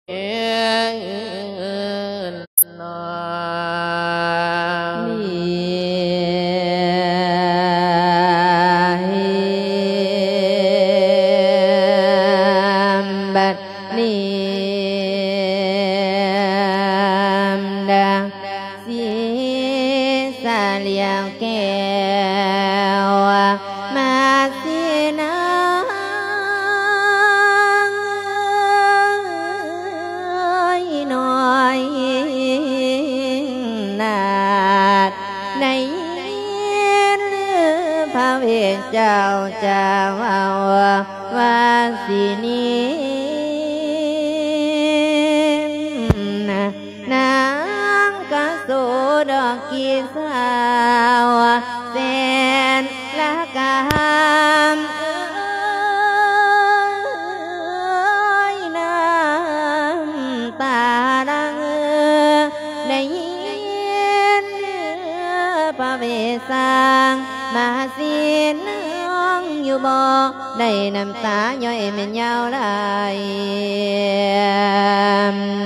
ນນອນ. ບັດນີ້ ດາ ສີສາຫຼຽວແກ້ວ ມາສີນາງນ້ອຍນາດ ໄດ້ຍິນພະເວດເຈົ້າຈາເວົ້າວ່າ ວ່າຊິນິ ນາງກະໂສດອກກີສາວແສນລະກາມ ເອີຍ ນ້ຳຕາຫຼັ່ງ ໄດ້ຍິນພະເວດສ້າງມາສີນາງຢູ່ບໍ່? ໄດ້ນ້ຳຕາຍ້ອຍແມ່ນຍາວຫຼາຍ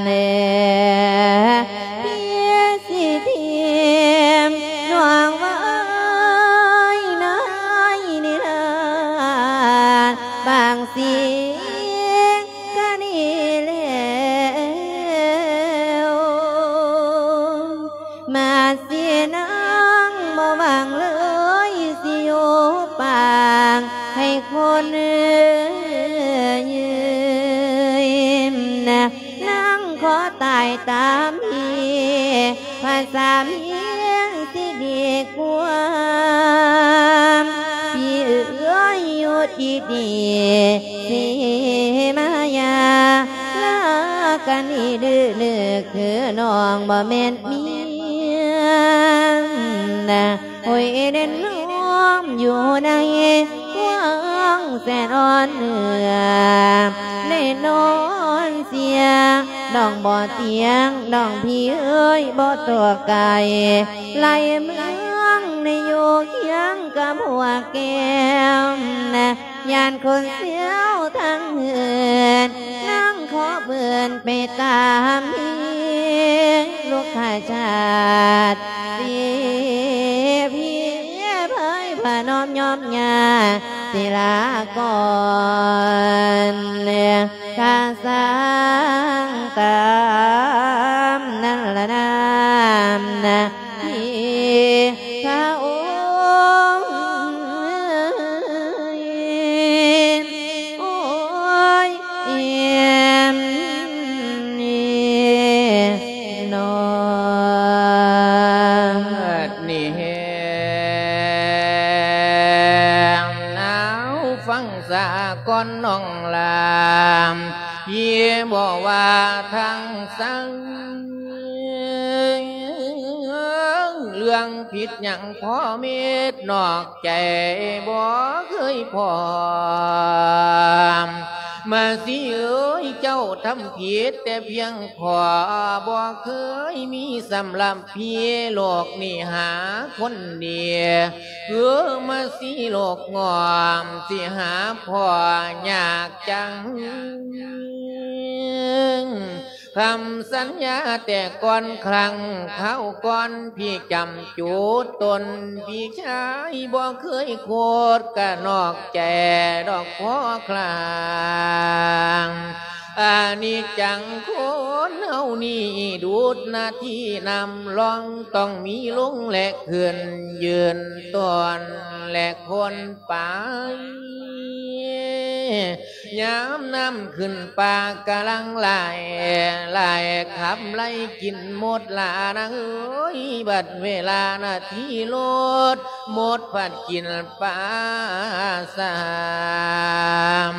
ເອີ ເພຍຊິທິມນ້ອງເອີຍ ນ້ອຍນິລາດ ບາງສິ່ງກະດີແລ້ວ ມາສີນາງບໍ່ຫວັງເລີຍ ຊິຢູ່ປາງໃຫ້ຄົນອື່ນນະ ນາງຂໍຕາຍຕາມພີ້ ພາສາພຽງຊິດີກວ່າ ພີ້ເອີຍ ຢູ່ດີໆ ຊິມາຢ່າລາກັນອີກ ດື້ໆ ຄືນ້ອງບໍ່ແມ່ນເມຍນະ ໂອ້ຍ ເດັ່ນນອມຢູ່ໃນວັງແສນອ່ອນເໜືອ ໄດ້ນອນເສຍ ນ້ອງບໍ່ຕຽງ ນ້ອງພີ່ເອີຍ ບໍ່ຕົວໄກ ໄຫຼເມືອງໄດ້ຢູ່ຄຽງກັບຫົວແກ້ວນະ ຢ້ານຄົນເຊວທັງເຮືອນ ນາງຂໍເພິ່ນໄປຕາມພີ້ ລູກຂ້າຊາດເສຍພີ້ ເພິ່ນພະນອມຍອມຍ່າຊິລາກ່ອນ ກະສ້າງຕາມນັ້ນລະນາ ທີ່ພະອົງ ໂອ້ຍ ເອັມນີ້ນ້ອງ ນີ້ແຮງນາວ ຟັງສາກ່ອນນ້ອງຫຼາ ພີ່ບໍ່ວ່າທາງໃສ ເລື່ອງຜິດຫຍັງພໍເມັດ ນອກໃຈບໍ່ເຄີຍພ້ອມ ມາສີເອີຍ ເຈົ້າທຳຜິດແຕ່ພຽງພໍ ບໍ່ເຄີຍມີສຳລັບ ພີ່ໂລກນີ້ຫາຄົນດີ ເອີ ມາສີໂລກງອມ ຊິຫາພໍ່ຍາກຈັງ ຄຳສັນຍາແຕ່ກ່ອນຄັ້ງ ຄາວກ່ອນພີ່ຈຳຈູດຕົນ ພີ່ຊາຍບໍ່ເຄີຍໂຄດ ກະນອກໃຈດອກພໍຄລາງ ອານິດຈັງຄົນເຮົານີ້ ດູດນາທີນ້ຳລ່ອງ ຕ້ອງມີລົງແລະຂຶ້ນ ຢືນຕົ້ນແລະຄົນໄປ ຍາມນ້ຳຂຶ້ນປາກະຫຼັ່ງໄຫຼ ໄຫຼຂັບໄລ່ກິນໝົດລະນາງເອີຍ ບັດເວລານາທີລົດ ໝົດພັດກິນປາສາມ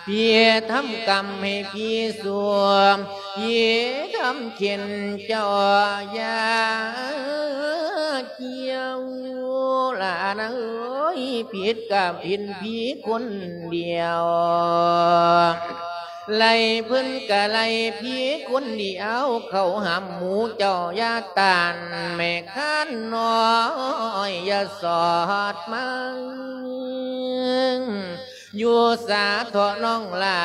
ເພຍທຳກຳໃຫ້ພີ່ສວມ ເພຍທຳເຂັນເຈົ້າຢ່າກ່ຽວ ຫຼານເອີຍ ຜິດກະເປັນພີ່ຄົນດຽວ ໄລ່ເພິ່ນກະໄລ່ພີ່ຄົນດຽວ ເຂົ້າຫຳໝູ່ເຈົ້າຢ່າຕ້ານ ແມ່ຄ້ານນ້ອຍຢ່າສອດມາ ຢູ່ສາເຖາະນ້ອງຫຼ້າ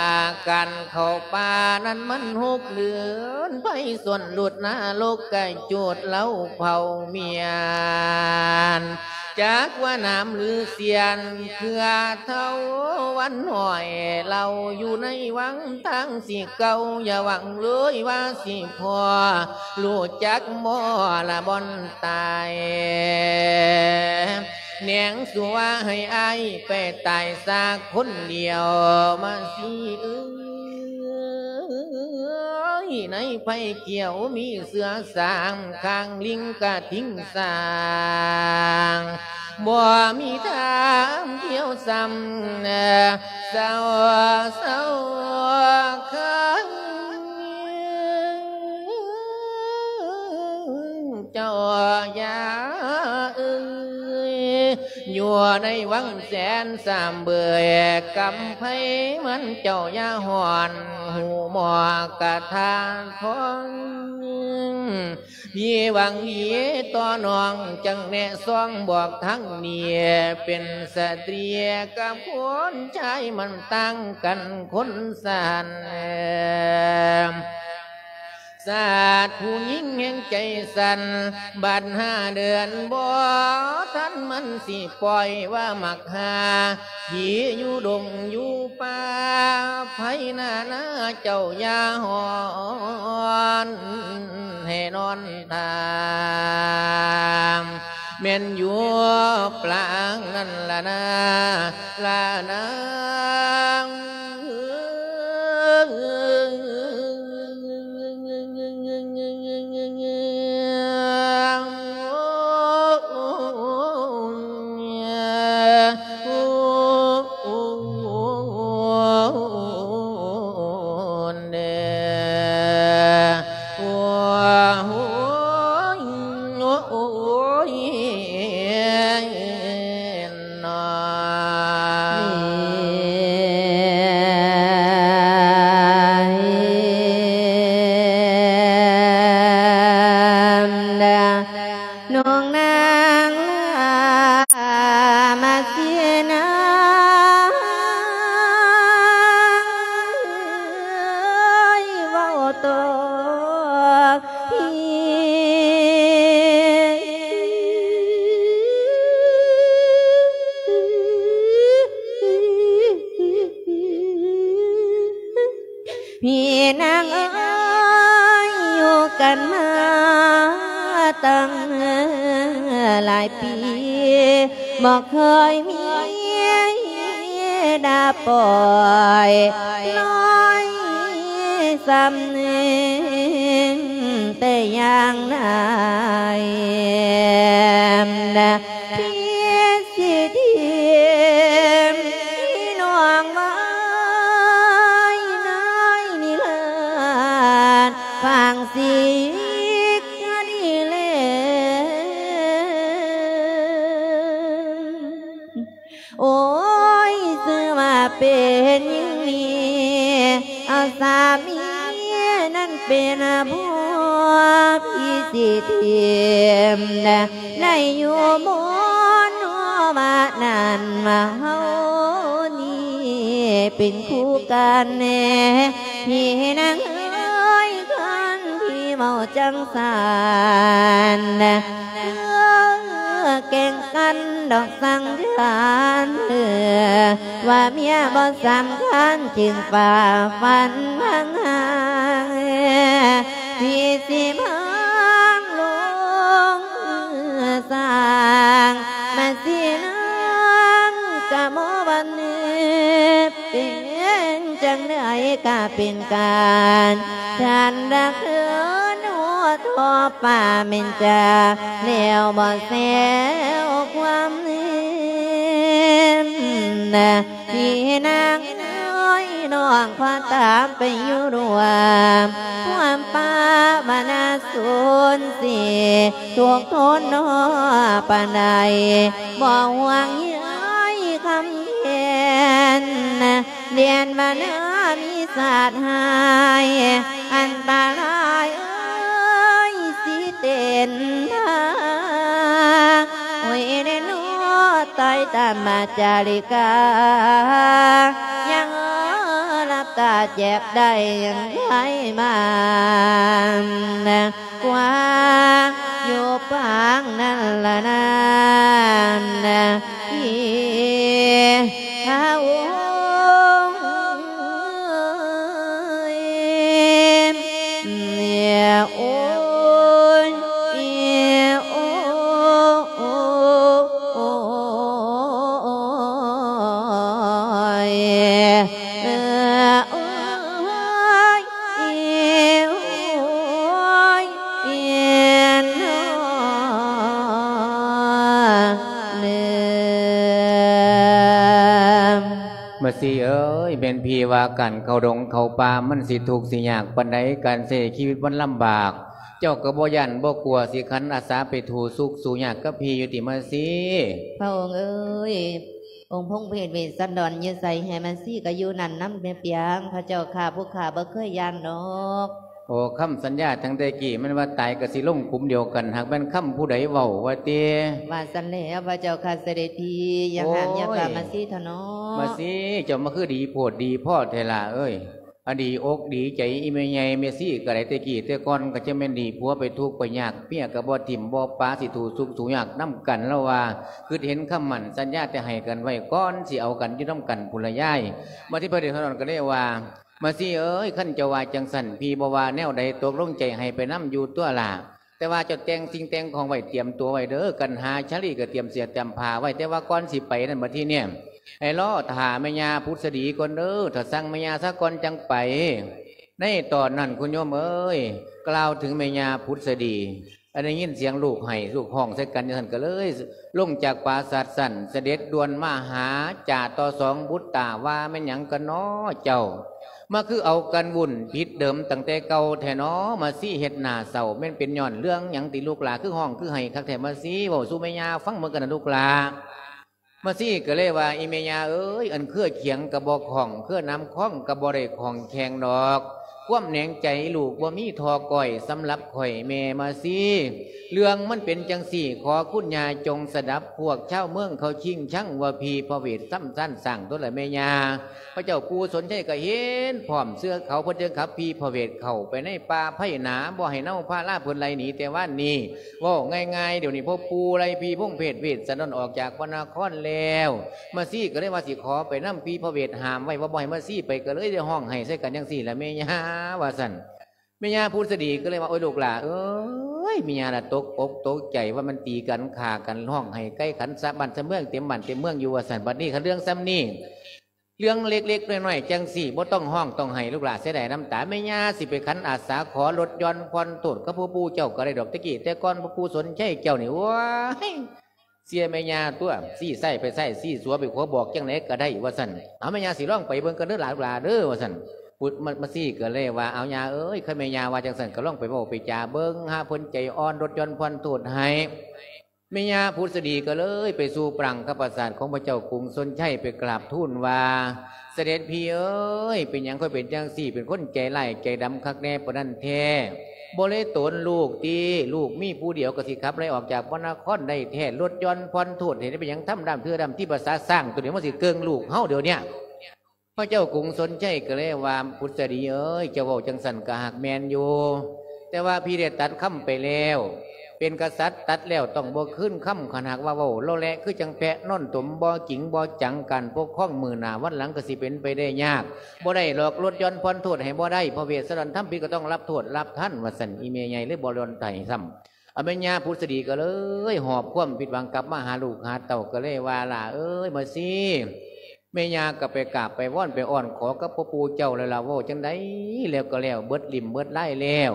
ການເຂົ້າປ່ານັ້ນມັນຫົກເດືອນ ໄຟສ່ວນລຸດນະລົກກະຈູດ ເລົາເຜົາມຽນ ຈັກວ່າໜາມຫຼືສຽນ ເຄືອເຖົ້າວັນຫ້ອຍ ເລົ່າຢູ່ໃນວັງທາງຊິເກົ່າ ຢ່າຫວັງເລີຍວ່າຊິພໍ ຮູ້ຈັກບໍ່ລະບ່ອນຕາຍ ແນງສູ່ວ່າໃຫ້ອ້າຍໄປຕາຍຊາກຄົນດຽວມາຊິເອີຍ ໃນໄຟຂຽວມີເສືອສາມຂ້າງ ລິງກະທິງສາງ ບໍ່ມີທາງທ່ຽວຊ້ຳ ເຊົາ ເຊົາ ຄັນ ເຈົ້າຢ່າເອີຍ ຢູ່ໃນວັງແສນສາມເບີຍ ກຳໄພມັນເຈົ້າຢ່າຮ້ອນ ຫູໝໍກະທາທອງ ພີ່ຫວັງດີຕໍ່ນ້ອງ ຈັ່ງແນະຊອງບອກທາງນີ້ ເປັນສະຕຣີກັບຄົນຊາຍ ມັນຕ່າງກັນຄົນຊັ້ນ ຊາດຜູ້ຍິງແຫ່ງໃຈສັ່ນ ບາດຫ້າເດືອນບໍ່ທັນ ມັນຊິປ່ອຍວ່າມັກຫາ ຜີຢູ່ດົງຢູ່ປ່າ ໃຜໜ້ານາເຈົ້າຢ່າຮ້ອນ ໃຫ້ນອນທ່າ ແມ່ນຢູ່ປາງນັ້ນລະນາ ລະນາ ນ້ອງນາງມາເສນາ ເວົ້າຕໍ່ ພີ່ ພີ່ນາງເອີຍ ຢູ່ກັນມາຕັ້ງຫຼາຍປີ ບໍ່ເຄີຍມີດາປ່ອຍນ້ອຍຊ້ຳໜຶ່ງແຕ່ຢ່າງໃດ ທີ່ຊິຖິ້ມນ້ອງໄວ້ໃນນິລັນດ໌ ຟັງສິກະດີແລ ໂອ້ຍ ຊື່ວ່າເປັນຍິງນີ້ ເອົາສາມີນັ້ນເປັນຜົວ ພີ່ຊິຖິ້ມໄດ້ຢູ່ໝົດເນາະ ມານັ້ນມາເຮົານີ້ເປັນຄູ່ກັນແນ່ ພີ່ນາງເອີຍ ຄັນພີ່ເວົ້າຈັ່ງຊັ້ນ ເອີ ແກ່ງກັນດອກສັງຂານ ເອີ ວ່າເມຍບໍ່ສຳຄັນ ຈຶ່ງຝ່າຝັນຫາງ ທີ່ຊິມາລົງສ້າງ ມາຊິນາງກະບໍ່ວັນນີ້ ເປັນຈັ່ງໃດກະເປັນການ ທ່ານດາກເດີນຫົວທໍ່ຟ້າແມ່ນຈາ ແລ້ວບໍ່ແຊວຄວາມເຫັນ ພີ່ນາງເອີຍ ນ້ອງຂໍຕາມໄປຢູ່ຮ່ວມ ຄວາມປາວະນາສູນສີ ທຸກທົນເນາະປານໃດ ບໍ່ຫ່ວງໃຍຄຳແຄ້ນ ແດນບ້ານນາມີສາດຮ້າຍ ອັນຕະລາຍເອີຍ ຊິເຕັ້ນທ່າ ໂອ້ຍແນ່ເນາະ ຕາຍ ຕາມາຈາລິກາ ຍັງຫຼັບຕາແຈກໄດ້ໃຫ້ມາ ກວາງຢູ່ປາງນັ້ນລະນານ ເອີຍ ໂອ້ຍ ໂອ້ຍ ໂອ້ຍ ໂອ້ຍ ເອີ ໂອ້ຍ ເອີ ໂອ້ຍ ເອີ ເອີ ມາຊີເອີຍ ແມ່ນພີ່ວ່າການເຂົ້າດົງເຂົ້າປ່າ ມັນຊິທຸກຊິຍາກປານໃດ ການໃຊ້ຊີວິດມັນລຳບາກ ເຈົ້າກໍບໍ່ຢ້ານບໍ່ກົວ ຊິຂັນອາສາໄປທຸກສຸກສູ້ຍາກກັບພີ່ຢູ່ຕິມາຊີ? ພະອົງເອີຍ ອົງພົງເພດເວດສັນດອນຢູ່ໃສ ໃຫ້ມາຊີກໍຢູ່ນັ້ນນຳແມ່ປຽງ ພະເຈົ້າຂ້າ ພວກຂ້າບໍ່ເຄີຍຢ້ານດອກ. ໂອ້ ຄຳສັນຍາຕັ້ງແຕ່ກີ້ ແມ່ນວ່າຕາຍກໍຊິລົງຂຸມດຽວກັນ ຫາກແມ່ນຄຳຜູ້ໃດເວົ້າວ່າຕິ? ວ່າຊັ້ນແຫຼະ ພະເຈົ້າຂ້າ ສະເດັດພີ່ ຢ່າຫ້າມຢ່າປາມມາຊີເຖາະເນາະ. ມາຊີ ເຈົ້າມາຄືດີໂພດດີພໍແທ້ຫຼ້າເອີຍ. ອັນດີອົກດີໃຈອີ່ແມ່ໃຫຍ່ແມ່ຊີກໍໄດ້ ແຕ່ກີ້ແຕ່ກ່ອນກໍຈະແມ່ນດີຜົວໄປທຸກໄປຍາກ ເມຍກໍບໍ່ຖິ້ມບໍ່ປະ ຊິທຸກສຸກສູ້ຍາກນຳກັນ ລາວວ່າ ຄິດເຫັນຄຳໝັ້ນສັນຍາທີ່ໃຫ້ກັນໄວ້ ກ່ອນຊິເອົາກັນຢູ່ນຳກັນພຸ້ນລະຍາຍ. ມາທີ່ພະເດດພະດອນກໍເລີຍວ່າ ມາຊີເອີຍ ຄັນເຈົ້າວ່າຈັ່ງຊັ້ນ ພີ່ບໍ່ວ່າແນວໃດ ຕົກລົງໃຈໃຫ້ໄປນຳຢູ່ຕົວະຫຼ້າ ແຕ່ວ່າເຈົ້າແຕ່ງສິ່ງແຕ່ງຂອງໄວ້ ຕຽມຕົວໄວ້ເດີ ກັນຫາຊາລີກໍຕຽມເສື້ອຕຽມຜ້າໄວ້ ແຕ່ວ່າກ່ອນຊິໄປນັ້ນ ບັດທີນີ້ ໃຫ້ລໍຖ້າແມ່ຍ່າພຸດສະດີກ່ອນເດີ ຖ້າສັ່ງແມ່ຍ່າຊະກ່ອນຈັ່ງໄປ. ໃນຕອນນັ້ນ ຄຸນໂຍມເອີຍ ກ່າວເຖິງແມ່ຍ່າພຸດສະດີ ອັນໄດ້ຍິນສຽງລູກໄຫ້ລູກຮ້ອງໃສ່ກັນຈັ່ງຊັ້ນ ກໍເລີຍລົງຈາກປາສາດຊັ້ນ ສະເດັດດ່ວນມາຫາ ຈາຕໍ່ສອງບຸດຕາ ວ່າແມ່ນຫຍັງກັນນໍເຈົ້າ ມາຄືເອົາກັນວຸ້ນຜິດເດີມຕັ້ງແຕ່ເກົ່າແທ້ນໍ ມາຊີເຮັດໜ້າເສົ້າ ແມ່ນເປັນຍ້ອນເລື່ອງຫຍັງຕິລູກຫຼ້າ ຄືຮ້ອງຄືໄຫ້ຄັກແທ້ ມາຊີເວົ້າສູ່ແມ່ຍ່າຟັງເບິ່ງກັນນະລູກຫຼ້າ. ມາຊີກໍເລີຍວ່າ ອີ່ແມ່ຍ່າເອີຍ ອັນເຄືອຂຽງກໍບໍ່ຄ່ອງ ເຄືອນ້ຳຄອງກໍບໍ່ໄດ້ຄ່ອງແຂງດອກ ຄວາມແໜງໃຈລູກບໍ່ມີທໍ່ກ້ອຍ ສຳລັບຂ້ອຍແມ່ມາຊີ ເລື່ອງມັນເປັນຈັ່ງຊີ້ ຂໍຄຸນຍ່າຈົ່ງສະດັບ ພວກຊາວເມືອງເຂົາຊິງຊັງວ່າຜີພະເວດຊຳຊານສ້າງຕົວລະແມ່ຍ່າ ພະເຈົ້າປູ່ສົນໄຊກໍເຫັນພ້ອມເຊື່ອເຂົາ ເພິ່ນຈຶ່ງຂັບຜີພະເວດເຂົ້າໄປໃນປ່າໄພໜາ ບໍ່ໃຫ້ເນົາພາລາເພິ່ນໄລ່ໜີແຕ່ວານນີ້. ເວົ້າງ່າຍໆ ດຽວນີ້ພໍ່ປູ່ໄລ່ຜີພົງເພດເວດສະດອນອອກຈາກພະນະຄອນແລ້ວ ມາຊີກໍເລີຍວ່າຊິຂໍໄປນຳ ຜີພະເວດຫ້າມໄວ້ວ່າບໍ່ໃຫ້ມາຊີໄປ ກໍເລີຍໄດ້ຮ້ອງໄຫ້ໃສ່ກັນຈັ່ງຊີ້ລະແມ່ຍ່າ ວ່າຊັ້ນ. ແມ່ຍ່າພຸດສະດີກໍເລີຍວ່າ ໂອ້ຍ ລູກຫຼ້າເອີຍ ແມ່ຍ່າລະຕົກອົກຕົກໃຈ ວ່າມັນຕີກັນຂ້າກັນ ຮ້ອງໄຫ້ໄກ່ຂັນສະບ້ານສະເມືອງ ເຕັມບ້ານເຕັມເມືອງຢູ່ວ່າຊັ້ນ. ບັດນີ້ຄັນເລື່ອງສ່ຳນີ້ ເລື່ອງເລັກໆນ້ອຍໆຈັ່ງຊີ້ ບໍ່ຕ້ອງຮ້ອງຕ້ອງໄຫ້ ລູກຫຼ້າເສຍດາຍນ້ຳຕາ ແມ່ຍ່າຊິໄປຂັນອາສາຂໍລົດຢ່ອນຜ່ອນໂທດກັບພໍ່ປູ່ເຈົ້າກໍໄດ້ດອກ. ແຕ່ກີ້ແຕ່ກ່ອນພໍ່ປູ່ສົນໄຊເຈົ້ານີ້ ໂອ້ຍ ເຊື່ອແມ່ຍ່າຕົວະ ຊີ້ຊ້າຍໄປຊ້າຍ ຊີ້ຂວາໄປຂວາ ບອກຈັ່ງໃດກໍໄດ້ວ່າຊັ້ນ. ເອົາ ແມ່ຍ່າຊິລອງໄປເບິ່ງກັນເດີຫຼານລູກຫຼ້າເດີວ່າຊັ້ນ. ພຸດມາ ມາຊີກໍເລີຍວ່າ ເອົາ ຍ່າເອີຍ ຄັນແມ່ຍ່າວ່າຈັ່ງຊັ້ນ ກໍລອງໄປເວົ້າໄປຈາເບິ່ງ ຫາເພິ່ນໃຈອ່ອນ ລົດຢ່ອນຜ່ອນໂທດໃຫ້. ແມ່ຍ່າພຸດສະດີກໍເລີຍໄປສູ່ປາງຄະປາສາດຂອງພະເຈົ້າກຸງຊົນໄຊ ໄປກາບທູນວ່າ ສະເດັດພີ່ເອີຍ ເປັນຫຍັງຄ່ອຍເປັນຈັ່ງຊີ້ ເປັນຄົນໃຈຮ້າຍໃຈດຳຄັກແນ່ປານນັ້ນແທ້? ບໍ່ເລີຍໂຕນລູກຕິ ລູກມີຜູ້ດຽວກໍຊິຂັບໄລ່ອອກຈາກພະນະຄອນໄດ້ແທ້ ລົດຢ່ອນຜ່ອນໂທດໃຫ້ໄດ້ ເປັນຫຍັງທຳດຳເທື່ອດຳ ທີ່ພາສາຊ້າງໂຕນີ້ ມັນຊິເກິ່ງລູກເຮົາດຽວເນີ້ຍ. ພະເຈົ້າກຸງຊົນໄຊກໍເລີຍວ່າ ພຸດສະດີເອີຍ ເຈົ້າເວົ້າຈັ່ງຊັ້ນກໍຫາກແມ່ນຢູ່ ແຕ່ວ່າພີ່ໄດ້ຕັດຄຳໄປແລ້ວ ເປັນກະສັດຕັດແລ້ວຕ້ອງບໍ່ຄືນຄຳ ຄັນຫາກວ່າເວົ້າເລາະແລະ ຄືຈັ່ງແພະນອນຕົມ ບໍ່ຈິງບໍ່ຈັງ ການປົກຄອງມື້ໜ້າວັນຫຼັງກໍຊິເປັນໄປໄດ້ຍາກ ບໍ່ໄດ້ດອກ ລົດຢ່ອນຜ່ອນໂທດໃຫ້ບໍ່ໄດ້ ພະເວດສະດອນທຳຜິດກໍຕ້ອງຮັບໂທດຮັບທັນ ວ່າຊັ້ນ. ອີ່ແມ່ໃຫຍ່ເລີຍບໍ່ລອນໃຈຊ້ຳ. ອາ ແມ່ຍ່າພຸດສະດີກໍເລີຍຫອບຄວາມຜິດຫວັງກັບມາຫາລູກຫາເຕົ້າ ກໍເລີຍວ່າ ຫຼ້າເອີຍ ມາຊີ ແມ່ຍ່າກໍໄປກາບໄປວອນໄປອ້ອນຂໍກັບພໍ່ປູ່ເຈົ້າແລ້ວລະ ເວົ້າຈັ່ງໃດແລ້ວກໍແລ້ວ ເບິດຫຼິ້ມເບິດລາຍແລ້ວ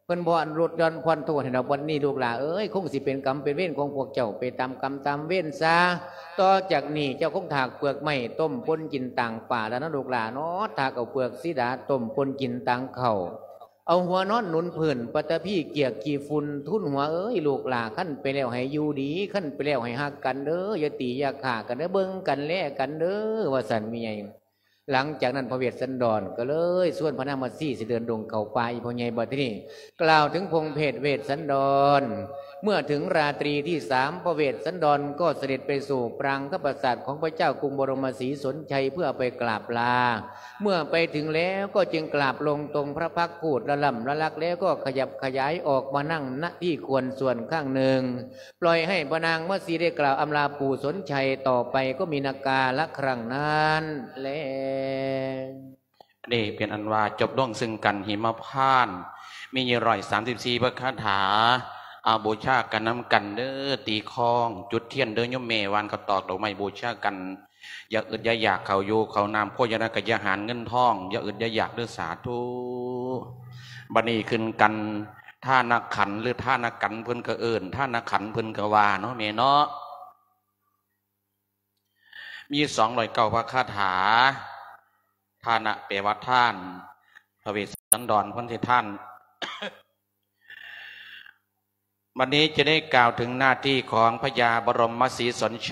ເພິ່ນບໍ່ອະນຸໂລດຢ່ອນຜ່ອນໂທດໃຫ້ດອກ. ບັດນີ້ລູກຫຼ້າເອີຍ ຄົງຊິເປັນກຳເປັນເວນຂອງພວກເຈົ້າ ໄປຕາມກຳຕາມເວນຊະ. ຕໍ່ຈາກນີ້ເຈົ້າຄົງຖາກເປືອກໄມ້ຕົ້ມປົ່ນກິນຕາງປ່າແລ້ວນະລູກຫຼ້າເນາະ ຖາກເອົາເປືອກສີດາຕົ້ມປົ່ນກິນຕາງເຂົ້າ ເອົາຫົວນອນໜູນພື້ນ ປັດຕະພີກຽກຂີ້ຝຸ່ນ ທູນຫົວເອີຍ ລູກຫຼ້າ ຄັນໄປແລ້ວໃຫ້ຢູ່ດີ ຄັນໄປແລ້ວໃຫ້ຮັກກັນເດີ ຢ່າຕີຢ່າຂ້າກັນເດີ ເບິ່ງກັນແລກັນເດີ ວ່າຊັ້ນແມ່ໃຫຍ່. ຫຼັງຈາກນັ້ນພະເວດສັນດອນກໍເລີຍຊວນພະນາງມາຊີຊິເດີນດົງເຂົ້າປ່າ. ອີ່ພໍ່ໃຫຍ່ບັດທີນີ້ ກ່າວເຖິງພົມເພດເວດສັນດອນ. ເມື່ອເຖິງລາຕຣີທີສາມ ພະເວດສັນດອນກໍສະເດັດໄປສູ່ປາງຄະປາສາດຂອງພະເຈົ້າກຸງບໍລົມມະສີສົນໄຊ ເພື່ອໄປກາບລາ. ເມື່ອໄປເຖິງແລ້ວກໍຈຶ່ງກາບລົງຕົງພະພັກພູດລະລ່ຳລະລັກ ແລ້ວກໍຂະຫຍັບຂະຫຍາຍອອກມານັ່ງ ນະ ທີ່ຄວນສ່ວນຂ້າງໜຶ່ງ ປ່ອຍໃຫ້ພະນາງມາຊີໄດ້ກ່າວອຳລາປູ່ສົນໄຊ. ຕໍ່ໄປກໍມີນະກາລະຄັ້ງນັ້ນແລ. ນີ້ເປັນອັນວ່າຈົບລົງເຊິ່ງກັນຫິມະພານ ມີຢູ່ຮ້ອຍສາມສິບສີ່ພະຄາຖາ. ເອົາ ບູຊາກັນນຳກັນເດີ ຕີຄ້ອງ ຈຸດທຽນເດີໂຍມແມ່ ຫວ່ານເຂົ້າຕອກດອກໄມ້ບູຊາກັນ. ຢ່າອຶດຢ່າຢາກເຂົ້າຢູ່ເຂົ້ານ້ຳ ໂພຊະນາກະຍາຫານເງິນທອງ ຢ່າອຶດຢ່າຢາກເດີ ສາທຸ. ບັດນີ້ຂຶ້ນກັນ ທານະຂັນ ຫຼື ທານະກັນ ເພິ່ນກໍເອີ້ນ ທານະຂັນ ເພິ່ນກໍວ່າເນາະແມ່ເນາະ. ມີສອງຮ້ອຍເກົ້າພະຄາຖາ. ທານະແປວ່າທານ ພະເວດສັນດອນ ເພິ່ນຊິທານ. ບັດນີ້ຈະໄດ້ກ່າວເຖິງໜ້າທີ່ຂອງພະຍາບໍລົມມະສີສົນໄຊ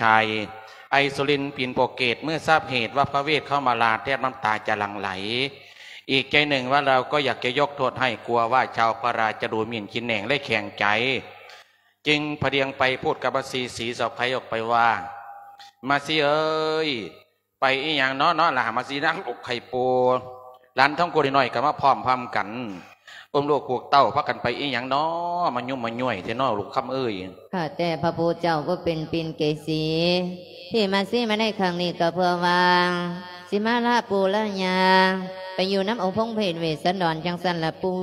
ໄອສຸລິນປິນໂປເກດ ເມື່ອຊາບເຫດວ່າພະເວດເຂົ້າມາລາ ແທບນ້ຳຕາຈະຫຼັ່ງໄຫຼ. ອີກໃຈໜຶ່ງວ່າລາວກໍຢາກຈະຍົກໂທດໃຫ້ ກົວວ່າຊາວພະລາຈະດູໝິ່ນຂີ້ແໜງ ແລະ ແຂງໃຈ. ຈຶ່ງພະດຽງໄປພູດກັບມາຊີສີສະໄພອອກໄປວ່າ ມາຊີເອີຍ ໄປອີ່ຫຍັງເນາະ ເນາະຫຼາ ມາຊີນາງລູກໄຂ່ປູ ຫຼານທອງໂກນ້ອຍກໍມາພ້ອມພາມກັນ ອຸ້ມລູກຜູກເຕົ້າ ພາກັນໄປອີ່ຫຍັງເນາະ ມາຫຍຸ້ມມາຍ້ວຍແທ້ເນາະ ລູກຄຳເອີຍ. ຂ້າແຕ່ພະຜູ້ເຈົ້າຜູ້ເປັນປິ່ນເກສີ ທີ່ມາຊີມາໃນຄັ້ງນີ້ກໍເພື່ອວ່າ ຊິມາລາປູ່ລາຍ່າ ໄປຢູ່ນຳອົງພົມເພດເວດສັນດອນ ຈັ່ງຊັ້ນລະປູ່.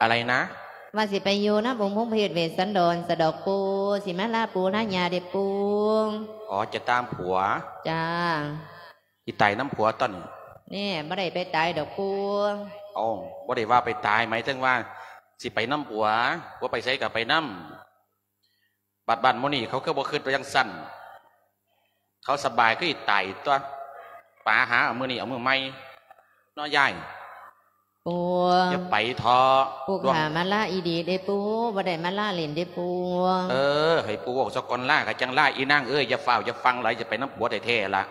ອະໄລນະ? ວ່າຊິໄປຢູ່ນຳອົງພົມເພດເວດສັນດອນສະດອກປູ່ ຊິມາລາປູ່ລາຍ່າເດ້ປູ່. ອໍ ຈະຕາມຜົວ? ຈ້າ. ຊິຕາຍນຳຜົວຕົ໋ອນີ້? ແນ່ ບໍ່ໄດ້ໄປຕາຍດອກປູ່. ເອົ້າ ບໍ່ໄດ້ວ່າໄປຕາຍ ໝາຍເຖິງວ່າຊິໄປນຳຜົວ ຜົວໄປໃສກໍໄປນຳ. ບັດບ້ານໝູ່ນີ້ເຂົາຄືບໍ່ຄິດວ່າຈັ່ງຊັ້ນ? ເຂົາສະບາຍຄືຊິຕາຍຕົ໋ອ ປາຫາເອົາມື້ນີ້ເອົາມື້ໃໝ່ເນາະຍາຍ. ປູ່ ຢ່າໄປເທາະ. ປູ່ຂ້າມາລາອີ່ດີເດ້ປູ່ ບໍ່ໄດ້ມາລາຫຼິ້ນເດ້ປູ່. ເອີ ໃຫ້ປູ່ເວົ້າສາກ່ອນ ລາກໍຈັ່ງລາ. ອີນາງເອີຍ ຢ່າຟ້າວຢ່າຟັ່ງຫຼາຍ ຈະໄປນຳຜົວແທ້ໆລະ.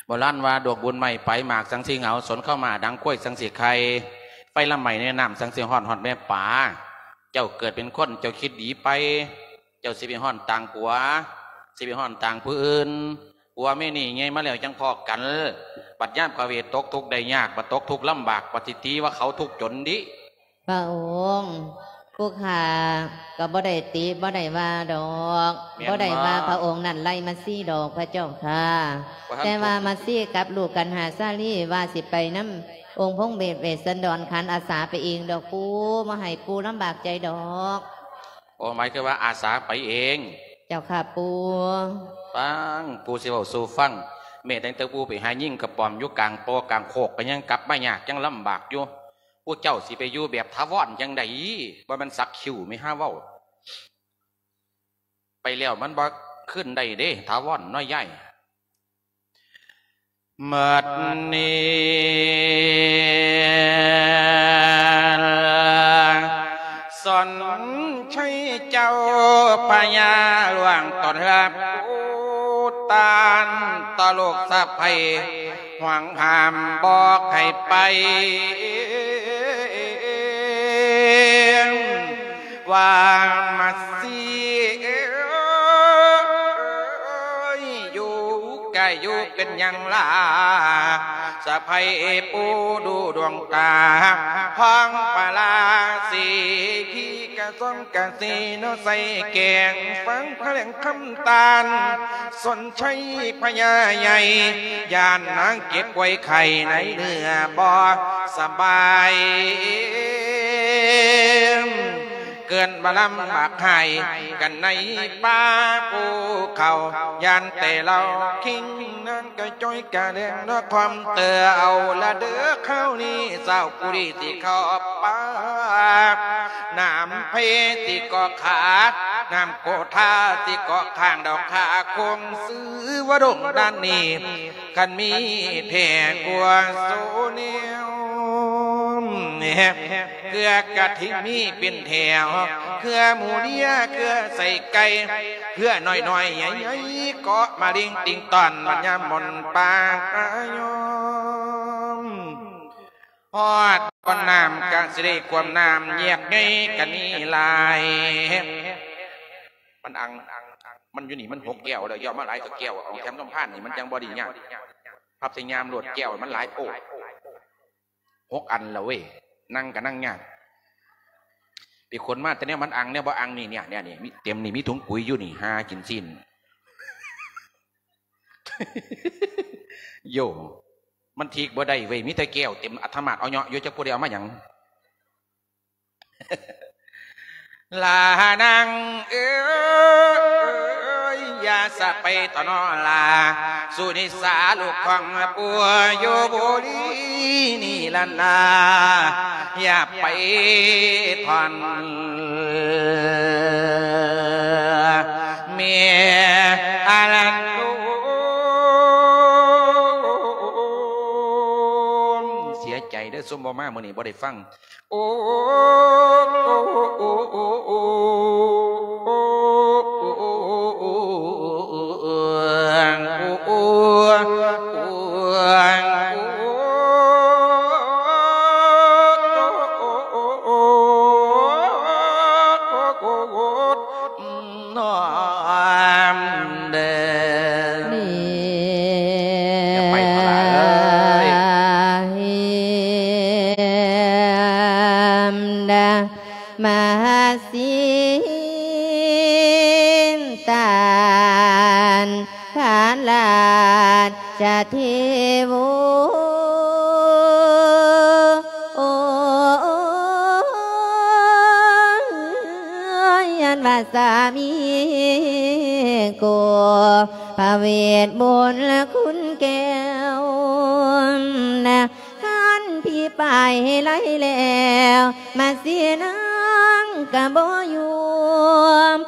ໂບລານວ່າ ດອກບຸນໄມ້ໄປ ໝາກສັງຊິເຫງົາ ສົນເຂົ້າມາດັງຄວາຍສັງຊິໄຂ່ ໄຟລະໄໝ້ໃນນ້ຳສັງຊິຮ້ອນ ຮອດແມ່ປາ. ເຈົ້າເກີດເປັນຄົນ ເຈົ້າຄິດດີໄປ? ເຈົ້າຊິໄປຮ້ອນຕ່າງຜົວ ຊິໄປຮ້ອນຕ່າງຜູ້ອື່ນ. ຜົວເມຍນີ້ໃຫຍ່ມາແລ້ວຈັ່ງພໍ້ກັນ. ບັດຍາມພະເວດຕົກທຸກໄດ້ຍາກ ບັດຕົກທຸກລຳບາກ ບັດຊິຕິວ່າເຂົາທຸກຈົນດິ. ພະອົງ ຜູ້ຂ້າກໍບໍ່ໄດ້ຕິບໍ່ໄດ້ວ່າດອກ. ແມ່ນບໍ່? ບໍ່ໄດ້ວ່າພະອົງນັ້ນໄລ່ມາຊີດອກ ພະເຈົ້າຂ້າ. ແຕ່ວ່າມາຊີກັບລູກກັນຫາຊາລີ ວ່າຊິໄປນຳອົງພົມເພດເວດສັນດອນ ຂັນອາສາໄປເອງດອກປູ່ ບໍ່ໃຫ້ປູ່ລຳບາກໃຈດອກ. ໂອ້ ໝາຍຄືວ່າອາສາໄປເອງ? ເຈົ້າຂ້າປູ່. ຟັງ ປູ່ຊິເວົ້າສູ່ຟັງ. ແມ້ແຕ່ປູ່ໄປຫາຍິງກະປອມຢູ່ກາງປ່າກາງໂຄກ ກໍຍັງກັບມາຍາກ ຍັງລຳບາກຢູ່. ຜູ້ເຈົ້າຊິໄປຢູ່ແບບຖາວອນຈັ່ງໃດ? ບໍ່ແມ່ນສັກຄິ້ວແມ່ ຫາເວົ້າ. ໄປແລ້ວມັນບໍ່ຄືນໄດ້ເດ້ ຖາວອນນ້ອຍໃຫຍ່. ໝົດນີ້ ສົນໄຊເຈົ້າພະຍາຫຼວງ ຕ້ອນຮັບອຸທານຕໍ່ລູກສະໃພ້ ຫວງຫ້າມບໍ່ໃຫ້ໄປ ວ່າມາຊີເອີຍ ຢູ່ກະຢູ່ເປັນຫຍັງລະ ສະໃພ້ປູ່ດູດວງຕາ ຫ້ອງປາລາສີພີກະຊອງກະສີເນາະ ໃສ່ແກງຟັງພະແຫຼງຄຳຕານ ສົນໄຊພະຍາໃຫຍ່ ຢ້ານນາງເຈັບປ່ວຍໄຂ້ໃນເນື້ອບໍ່ສະບາຍ ເກີດມາລຳບາກຫາຍກັນໃນປ່າພູເຂົາ ຢ້ານແຕ່ເລົ່າຄິງ ນາງກະຈ່ອຍກະແດງເນາະ ຄວາມເຕີເອົາລະເດີ ຄາວນີ້ສາວຜູ້ດີຊິເຂົ້າປ່າ ນ້ຳເພຊິເກາະຂາ ນ້ຳໂກທາຊິເກາະຂ້າງດອກ ຂ້າຄົງຊື່ວ່າດົງດ້ານນີ້ ຄັນມີແທ້ກວ່າໂຊແນວ ເກືອກະທິງມີເປັນແຖວ ເຄືອໝູເລຍ ເຄືອໄສ້ໄກ່ ເຄືອນ້ອຍໆໃຫຍ່ໆ ເກາະມາລິງຕິງຕອນ ມັນຍາມໝົນປາກອາຍອມ ຮອດບ່ອນນ້ຳກະຊິໄດ້ກວມນ້ຳ ແຍກໃຫຍ່ກະມີຫຼາຍ. ມັນອັ່ງ ມັນຢູ່ນີ້ມັນຫົກແກ້ວແລ້ວ ຢ່າເອົາມາຫຼາຍກວ່າແກ້ວ ເອົາແຖມສຳພານນີ້ ມັນຈັ່ງບໍ່ໄດ້ຍາກ. ພັບໃສ່ຍາມໂລດ ແກ້ວມັນຫຼາຍໂພດ. ຫົກອັນລະເວີຍ ນັ່ງກະນັ່ງຍາກ. ໄປຂົນມາແຕ່ແນວມັນອັ່ງ ແນວບໍ່ອັ່ງນີ້ ເນຍ ເນຍ ນີ້ ມີເຕັມນີ້ ມີຖົງປຸ໋ຍຢູ່ນີ້ ຫາກິນຊີ້ນ. ໂຢ ມັນທີກບໍ່ໄດ້ເວີຍ ມີແຕ່ແກ້ວເຕັມອັດຕະມາດ ເອົາເຍາະຢູ່ ຈັກຜູ້ໃດເອົາມາຫຍັງ. ລານາງເອີຍ ຢ່າສະໄປຕໍ່ນໍລາ ສຸນິສາລູກຂອງປົວຢູ່ບຸລີນີ້ລະນາ ຢ່າໄປທ່ອນແມ່ອາລັນໂລນ. ເສຍໃຈເດີ້ ຊຸມບໍ່ມາມື້ນີ້ບໍ່ໄດ້ຟັງ. ມະຫັດສິນຕັນທະລາຊະເທໂວ ໂອຍ ອັນວ່າສາມີໂກ ພະເວດບຸນຄຸນແກ້ວນະ ຄັນຜີໄປໄລ່ແລ້ວ ມາສີນາງກະບໍ່ຢູ່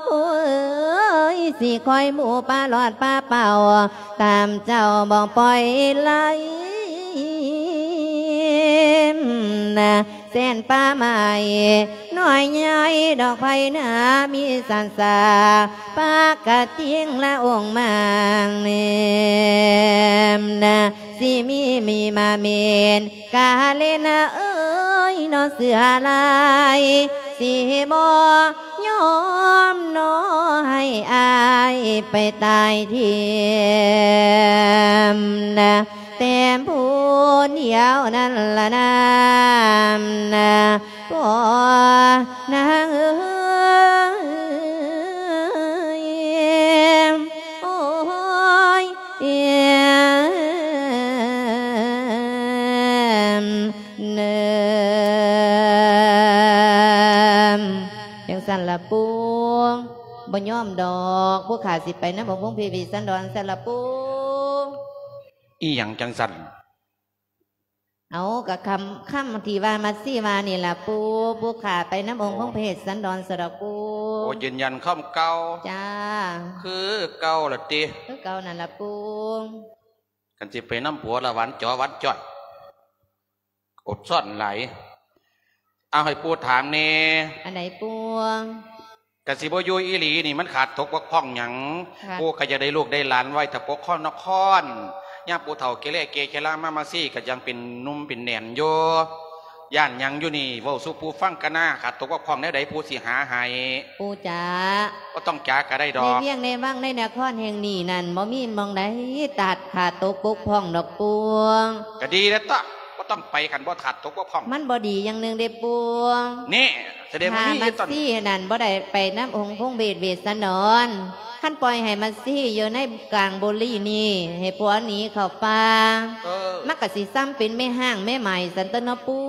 ໂອ້ຍ ຊິຄອຍໝູປາຫຼອດປາເປົ່າ ຕາມເຈົ້າບໍ່ປ່ອຍໄລ່ນະ ແສນປ່າໄມ້ນ້ອຍໃຫຍ່ດອກໄຜ່ນາ ມີສັນສາ ປາກະຕິງລະອົງມາງແນມນະ ຊິມີມີມາເມນ ກາເລນະເອີຍ ເນາະເສືອລາຍ ຊິບໍ່ຍອມເນາະ ໃຫ້ອາຍໄປຕາຍຖິ້ມນະ ແຕ່ຜູ້ດຽວນັ້ນລະນາມນະ ພໍ່ນາງເອີຍ ໂອ້ຍ ເອີມ ເນີມ ຈັ່ງຊັ້ນລະປູ່ ບໍ່ຍອມດອກ ຜູ້ຂ້າຊິໄປນຳອົງຄົງເພດເວດສັນດອນຊັ້ນລະປູ່. ອີ່ຫຍັງຈັ່ງຊັ້ນ? ເອົາ ກະຄຳ ຄຳທີ່ວ່າມາຊີວ່ານີ້ລະປູ່ ຜູ້ຂ້າໄປນຳອົງຄົງເພດສັນດອນຊັ້ນລະປູ່. ໂອ ຢືນຢັນຄຳເກົ່າ. ຈ້າ ຄືເກົ່າລະຕິ? ຄືເກົ່ານັ້ນລະປູ່. ຄັນຊິໄປນຳຜົວລະຫວານຈໍຫວານຈ້ອຍ ອົດຊ້ອນຫຼາຍ. ເອົາ ໃຫ້ປູ່ຖາມແດ່. ອັນໃດປູ່? ກະຊິບໍ່ຢູ່ອີ່ຫຼີນີ້ ມັນຂາດຕົກບົກຜ່ອງຫຍັງ? ຂາດ ປູ່ກະຢາກໄດ້ລູກໄດ້ຫຼານໄວ້ຖ້າປົກຄອງນະຄອນ ຍາມປູ່ເຖົ້າແກ່ແລ້ແກ່ຊະລາມາ ມາຊີກະຍັງເປັນໜຸ່ມເປັນແໜ້ນຢູ່. ຢ້ານຫຍັງຢູ່ນີ້ ເວົ້າສູ່ປູ່ຟັງກະນາ ຂາດຕົກບົກຜ່ອງແນວໃດ ປູ່ຊິຫາໃຫ້. ປູ່ຈ໋າ ບໍ່ຕ້ອງຈ໋າກະໄດ້ດອກ. ໃນວຽງໃນວັງໃນນະຄອນແຫ່ງນີ້ນັ້ນ ບໍ່ມີໝ່ອງໃດຕັດຂາດຕົກບົກຜ່ອງດອກປູ່. ກະດີແລ້ວຕົວະ ບໍ່ຕ້ອງໄປ ຄັນບໍ່ຂາດຕົກບົກຜ່ອງ. ມັນບໍ່ດີຢ່າງໜຶ່ງເດ້ປູ່. ນີ້ ສະແດງວ່າມີຢູ່ຕອນ ຖ້າມາຊີນັ້ນບໍ່ໄດ້ໄປນຳອົງຄົງເພດເວດສັນດອນ ຄັນປ່ອຍໃຫ້ມາຊີຢູ່ໃນກາງບູລີນີ້ ໃຫ້ຜົວໜີເຂົ້າປ່າ ເອີ ມັນກະຊິຊ່ຳເປັນແມ່ຮ້າງແມ່ໝ້າຍຊັ້ນຕົວະເນາະປູ່.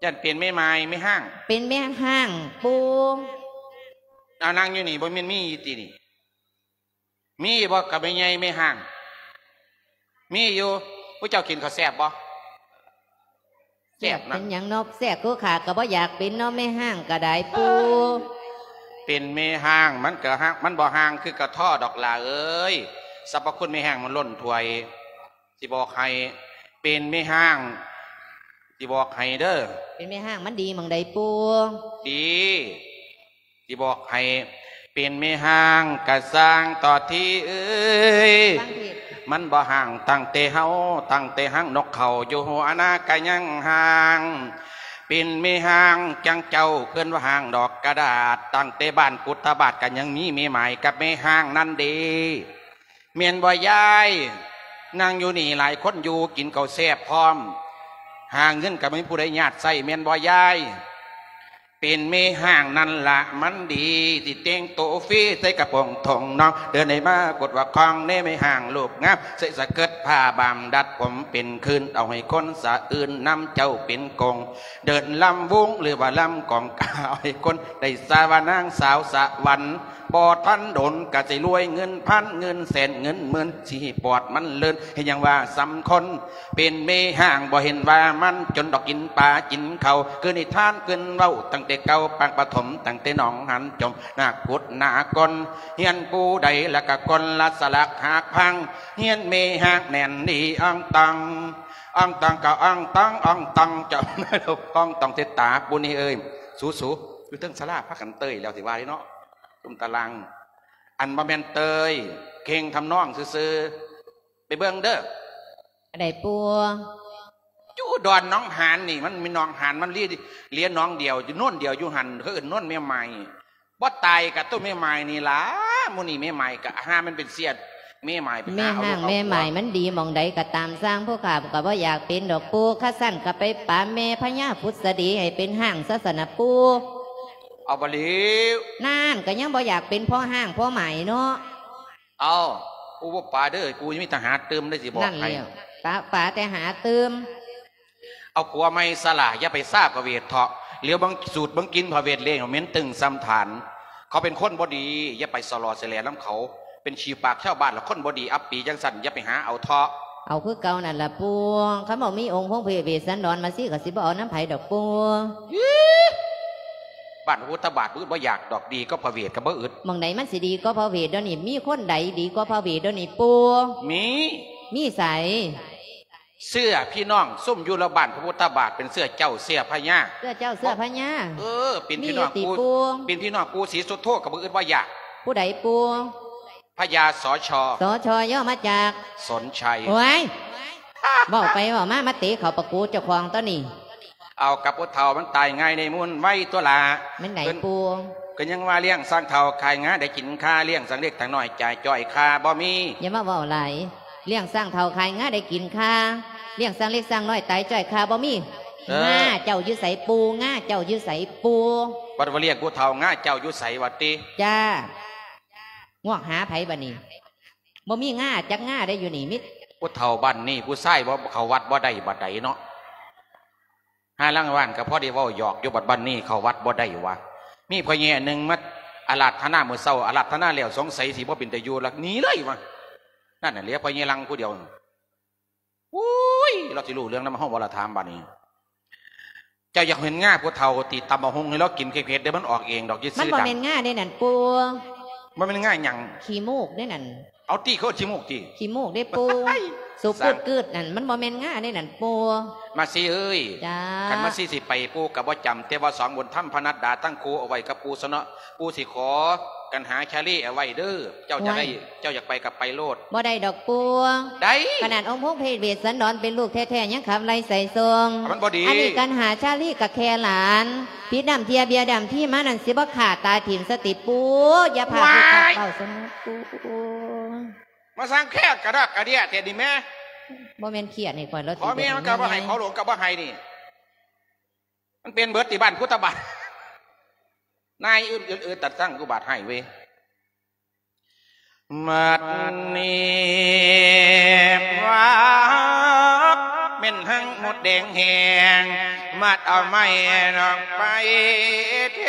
ຢ້ານເປັນແມ່ໝ້າຍແມ່ຮ້າງ. ເປັນແມ່ຮ້າງປູ່. ເອົາ ນັ່ງຢູ່ນີ້ ບໍ່ແມ່ນມີຢູ່ຕິນີ້? ມີບໍ່ກັບແມ່ໃຫຍ່ແມ່ຮ້າງ? ມີຢູ່. ຜູ້ເຈົ້າກິນເຂົ້າແຊບບໍ່? ແຊບນະ. ເປັນຫຍັງເນາະ ແຊບຄືຂ້າກະບໍ່ຢາກເປັນເນາະ ແມ່ຮ້າງກະໄດ້ປູ່. ເປັນແມ່ຮ້າງມັນກະຮ້າງ ມັນບໍ່ຮ້າງຄືກະທໍ້ດອກຫຼ້າເອີຍ. ສັບພະຄຸນແມ່ຮ້າງມັນລົ້ນຖ້ວຍ. ຊິບອກໃຫ້ ເປັນແມ່ຮ້າງ ຊິບອກໃຫ້ເດີ. ເປັນແມ່ຮ້າງມັນດີໝ່ອງໃດປູ່? ດີ. ຊິບອກໃຫ້ ເປັນແມ່ຮ້າງກະຊ່າງເຖາະທີເອີຍ ມັນບໍ່ຮ້າງຕັ້ງແຕ່ເຮົາ ຕັ້ງແຕ່ຮ້າງນົກເຂົາຢູ່ຫົວນາກະຍັງຮ້າງ. ເປັນແມ່ຮ້າງຈັ່ງເຈົ້າ ເພິ່ນວ່າຮ້າງດອກກະດາດ ຕັ້ງແຕ່ບ້ານກຸດຕະບາດກະຍັງມີແມ່ໝ້າຍກັບແມ່ຮ້າງນັ້ນເດ. ແມ່ນບໍ່ຍາຍ? ນັ່ງຢູ່ນີ້ຫຼາຍຄົນຢູ່ ກິນເຂົ້າແຊບພ້ອມ ຫາເງິນກໍບໍ່ມີຜູ້ໃດຍາດໃຊ້ ແມ່ນບໍ່ຍາຍ? ເປັນແມ່ຮ້າງນັ້ນລະມັນດີ ທີ່ແຕ່ງໂຕຟຣີໃສ່ກະໂປງທົ່ງນອງ ເດີນໃນມາກົດວ່າຄອງ ແນ່ແມ່ຮ້າງຮູບງາມ ໃສ່ສະເກີດຜ້າບາມ ດັດຜົມເປັນຄືນ ເອົາໃຫ້ຄົນສະອື່ນນຳເຈົ້າເປັນກົງ ເດີນລຳວົງ ຫຼືວ່າລຳກອງກາ ເອົາໃຫ້ຄົນໄດ້ສາວ່ານາງສາວສະຫວັນ. ບໍ່ທັນດົນກະຊິລວຍ ເງິນພັນເງິນແສນເງິນໝື່ນ ຊິປອດມັນເລີນ ເຮັດຫຍັງວ່າສ່ຳຄົນ ເປັນແມ່ຮ້າງບໍ່ເຫັນວ່າມັນຈົນດອກ ກິນປາກິນເຂົ້າ ຄືນິທານຄືນເວົ້າຕັ້ງແຕ່ເກົ່າ ປາງປະຖົມຕັ້ງແຕ່ໜອງຫັນຈົມ ນາກພຸດນາກອນ ຮຽນຜູ້ໃດລະກະຄົນລະສະຫຼັກຫັກພັງ ຮຽນແມ່ຮ້າງແໜ້ນດີອ່ອງຕອງ ອ່ອງຕອງກະອ່ອງຕອງ ອ່ອງຕອງ ເຈົ້າ ອ່ອງຕອງເຕັດຕາ ປູ່ນີ້ເອີຍ ສູໆ ຢູ່ເທິງສາລາພາກັນເຕີຍແລ້ວ ຊິວ່າເດເນາະ. ຕຸ້ມຕາລາງ ອັນບໍ່ແມ່ນເຕີຍ ເຄັ່ງທຳນອງຊື່ໆ ໄປເບິ່ງເດີ. ອັນໃດປູ່? ຢູ່ດອນໜອງຫານນີ້ ມັນມີໜອງຫານ ມັນເຫຼືອ ເຫຼືອໜອງດຽວ ຢູ່ໂນນດຽວຢູ່ຫັ້ນ ເຂົາເອີ້ນໂນນແມ່ໝ້າຍ. ບໍ່ຕາຍກະໂຕແມ່ໝ້າຍນີ້ລະ ໝູ່ນີ້ແມ່ໝ້າຍກະຫາມັນເປັນເສຍດ ແມ່ໝ້າຍໄປຫາເອົາລູກເອົາຜົວ. ແມ່ຮ້າງແມ່ໝ້າຍມັນດີໝ່ອງໃດກະຕາມຊ່າງ ພວກຂ້າກະບໍ່ຢາກເປັນດອກປູ່ ຄັນຊັ້ນກະໄປປາແມ່ພະຍາພຸດສະດີໃຫ້ເປັນຮ້າງຊະຊັ້ນນະປູ່. ເອົາບໍ່ແລ້ວ ນັ້ນ ກະຍັງບໍ່ຢາກເປັນພໍ່ຮ້າງພໍ່ໝ້າຍເນາະ. ເອົາ ປູ່ບໍ່ປາເດີ ປູ່ຍັງມີຕາຫາຕື່ມໄດ້ ຊິບອກໃຫ້. ນັ້ນແລ້ວ ປາ ປາແຕ່ຫາຕື່ມ. ເອົາຜົວໃໝ່ຊະລະ ຢ່າໄປຊາພະເວດເຖາະ ຫຼຽວເບິ່ງສູດເບິ່ງກິ່ນພະເວດເລງ ເໝັນຕຶງຊ່ຳຖານ. ເຂົາເປັນຄົນບໍ່ດີ ຢ່າໄປສະຫຼໍ່ສະແຫຼນຳເຂົາ ເປັນຂີ້ປາກຊາວບ້ານລະ ຄົນບໍ່ດີອັບປີຈັ່ງຊັ້ນ ຢ່າໄປຫາເອົາເຖາະ. ເອົາຄືເກົ່ານັ້ນລະປູ່ ຄັນບໍ່ມີອົງພົງເພດເວດສັນດອນມາຊີ ກະຊິບໍ່ເອົານຳໃຜດອກປູ່. ບ້ານພະພຸດທະບາດ ບໍ່ອຶດບໍ່ຢາກດອກ ດີກວ່າພະເວດກະບໍ່ອຶດ. ໝ່ອງໃດມັນຊິດີກວ່າພະເວດດຽວນີ້? ມີຄົນໃດດີກວ່າພະເວດດຽວນີ້ປູ່? ມີ ມີໃສ? ເຊື້ອພີ່ນ້ອງຊຸມຢູ່ລະບ້ານພະພຸດທະບາດ ເປັນເຊື້ອເຈົ້າເຊື້ອພະຍາ. ເຊື້ອເຈົ້າເຊື້ອພະຍາ? ເອີ ເປັນພີ່ນ້ອງ ມີຢູ່ຕິ ປູ່ ເປັນພີ່ນ້ອງປູ່ສີສຸດໂທ ກະບໍ່ອຶດບໍ່ຢາກ. ຜູ້ໃດປູ່? ພະຍາ ສຊ. ສຊ ຫຍໍ້ມາຈາກ? ສົນໄຊ. ໂອ້ຍ ເວົ້າໄປເວົ້າມາ ມາເຕະເຂົ້າປາກກູເຈົ້າຂອງຕົວນີ້. ເອົາ ກະຜູ້ເຖົ້າມັນຕາຍງ່າຍໃນມູນໄວຕົວລະ. ແມ່ນໃດ ເພິ່ນ ປູ່? ກະຍັງວ່າລ້ຽງຊ້າງເຖົ້າຂາຍງາໄດ້ກິນຄາ ລ້ຽງຊ້າງເລັກຊ້າງນ້ອຍຕາຍຈ້ອຍຄາບໍ່ມີ. ຢ່າມາເວົ້າຫຼາຍ ລ້ຽງຊ້າງເຖົ້າຂາຍງາໄດ້ກິນຄາ ລ້ຽງຊ້າງເລັກຊ້າງນ້ອຍຕາຍຈ້ອຍຄາບໍ່ມີ. ເອີ ງາເຈົ້າຢູ່ໃສປູ່? ງາເຈົ້າຢູ່ໃສປູ່? ບັດວ່າລ້ຽງຜູ້ເຖົ້າ ງາເຈົ້າຢູ່ໃສຫວາຕິ? ຈ້າ ງວກຫາໃຜບາດນີ້? ບໍ່ມີງາຈັກງາໄດ໋ຢູ່ນີ້ ມີ ຜູ້ເຖົ້າບ້ານນີ້ ຜູ້ຊາຍບໍ່ເຂົ້າວັດບໍ່ໄດ້ບາດໃດເນາະ. ຫາລາງວານກະພໍໄດ້ເວົ້າຫຍອກຢູ່ ບັດບັດນີ້ເຂົ້າວັດບໍ່ໄດ້ຫວາ. ມີພໍ່ໃຫຍ່ອັນໜຶ່ງມາອາລາດຖະນາມື້ເຊົ້າ ອາລາດຖະນາແລ້ວ ສົງໄສຊິບໍ່ເປັນຕາຢູ່ລະ ໜີເລີຍຫວາ. ນັ້ນນະ ເຫຼືອພໍ່ໃຫຍ່ລັງຜູ້ດຽວ. ໂອ້ຍ ລາວຊິຮູ້ເລື່ອງນຳເຮົາບໍ່ລະ ຖາມບາດນີ້. ເຈົ້າຢາກເຫັນງາຜູ້ເຖົ້າຕິ ຕຳບັກຫຸ່ງໃຫ້ລາວກິນເຜັດໆເດີ ມັນອອກເອງດອກ ຢ່າຊື້ດັງ. ມັນບໍ່ແມ່ນງາເດ້ນັ້ນປູ່. ບໍ່ແມ່ນງາຫຍັງ? ຂີ້ມູກເດ້ນັ້ນ. ເອົາຕິ ເຂົາເອີ້ນຂີ້ມູກຕິ? ຂີ້ມູກເດ້ປູ່. ສູບປູດກືດນັ້ນ ມັນບໍ່ແມ່ນງາເດ້ນັ້ນປູ່. ມາຊີເອີຍ ຈ້າ ຄັນມາຊີຊິໄປ ປູ່ກະບໍ່ຈຳ ແຕ່ວ່າສອງບຸນທຳພະນັດດາ ຕັ້ງຄູ່ເອົາໄວ້ກັບປູ່ຊະເນາະ. ປູ່ຊິຂໍກັນຫາຊາລີເອົາໄວ້ເດີ ເຈົ້າຈະໄດ້ ໂອ້ຍ ເຈົ້າຢາກໄປກະໄປໂລດ. ບໍ່ໄດ້ດອກປູ່. ໄດ້ ຂະໜາດອົງພົງເພດເວດສັນດອນເປັນລູກແທ້ໆ ຍັງຂັບໄລ່ໄສສົ່ງ. ມັນບໍ່ດີ. ອັນນີ້ກັນຫາຊາລີກະແຄ່ຫຼານ ຜິດນ້ຳເທຍເບຍດຳທີມານັ້ນ ຊິບໍ່ຂ້າຕາຖິ້ມສະຕິປູ່. ຢ່າພາຜູ້ຂ້າເວົ້າສະນະປູ່. ມາສ້າງແຄ່ກະດອກກະເດຍແທ້ນີ້ແມ. ບໍ່ແມ່ນຄຽດໃຫ້ຂ້ອຍ ລາວຕິ ຂໍແມ່ມັນກະບໍ່ໃຫ້ ຂໍຫຼວງກະບໍ່ໃຫ້ນີ້. ມັນເປັນເບິດຕິບ້ານພຸດທະບາດ. ນາຍອຶດອຶດອຶດຕັດສັງ ອຸບາດຮ້າຍເວີຍ. ບັດນີ້ວ່າແມ່ນຫັງມົດແດງແຮງ ມັດເອົາໄມ້ນອກໄປແທ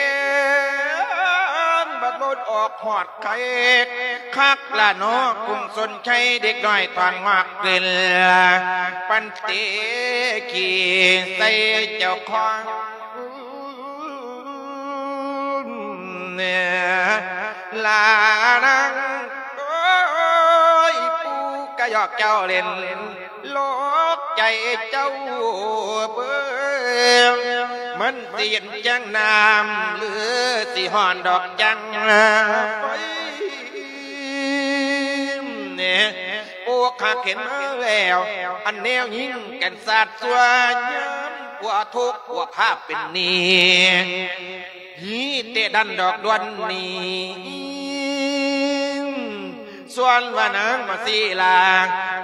ງ ບັດບົດອອກຮອດໄຄ ຄັກລະເນາະ ກຸງສົນໄຊ ເດັກນ້ອຍຖອນງອກຂຶ້ນ ປັນເຕະຂີ້ໃສ່ເຈົ້າຂອງ ລານາງ ໂອ້ຍ ປູ່ກະຫຍອກເຈົ້າຫຼິ້ນ ຫຼອກໃຈເຈົ້າເບີ. ຊິເຢັນຈັ່ງນ້ຳ ຫຼື ຊິຮ້ອນດອກຈັ່ງໄຟ ໂອ້ ຂ້າເຫັນມາແລ້ວ ອັນແນວຍິງກັນສາດຊົ່ວ ຍາມກວ່າທຸກ ພວກຂ້າເປັນໜີ້ ມີແຕ່ດັນດອກດວນນີ້ ສ່ວນວ່ານາງມາສີລາ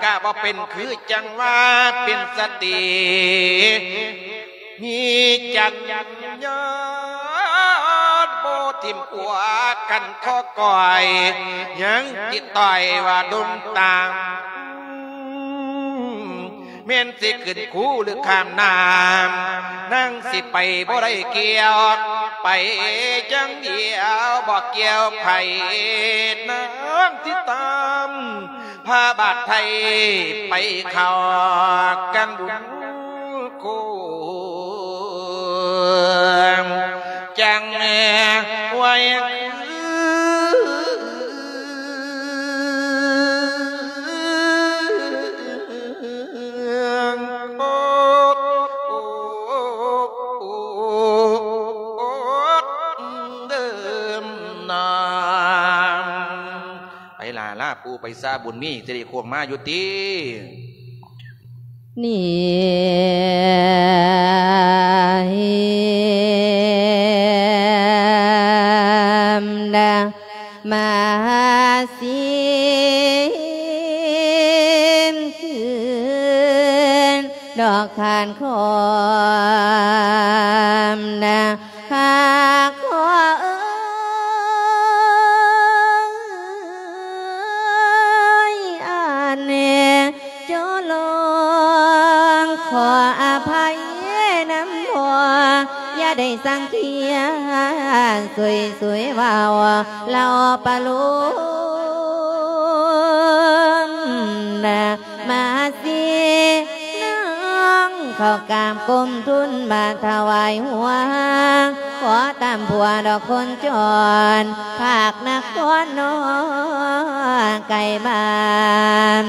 ກະບໍ່ເປັນຄືຈັ່ງວ່າເປັນສະຕີ ມີຈັນຍາດບໍ່ຖິ້ມກົວກັນຂໍກ່ອຍ ຍັງຕິດຕ່ອຍວ່າດົງຕາມ ແມ່ນຊິຂຶ້ນພູຫຼືຂ້າມນ້ຳ ນາງຊິໄປບໍ່ໄດ້ກ່ຽວ ໄປຈັ່ງດຽວບໍ່ກ່ຽວໃຜ ນາງຊິຕາມພາບາດໄທ ໄປເຂົ້າກັງບຸນໂຄງ ຈັ່ງໄວຄື ໄປລະ ລາປູ່ໄປຊາບຸນມີ ຊິໄດ້ຄວາມມາຢູ່ຕິ. ນີ້ ມາຊີນຄືນດອກທານຄອມນະ ຂ້າຂໍເອີຍ ອັນ ໂຈລອງຂໍອະໄພນຳພໍ່ ຢ່າໄດ້ສັງຂຽນ ຊ່ວຍໆເວົ້າເລົ່າປະໂລມນະ ມາຊິນາງເຂົ້າກາບກົ້ມທູນບາດຖວາຍຫົວ ຂໍຕາມຜົວດອກຄົນຈອນ ພາກນະຄອນນອກໄກບ້ານ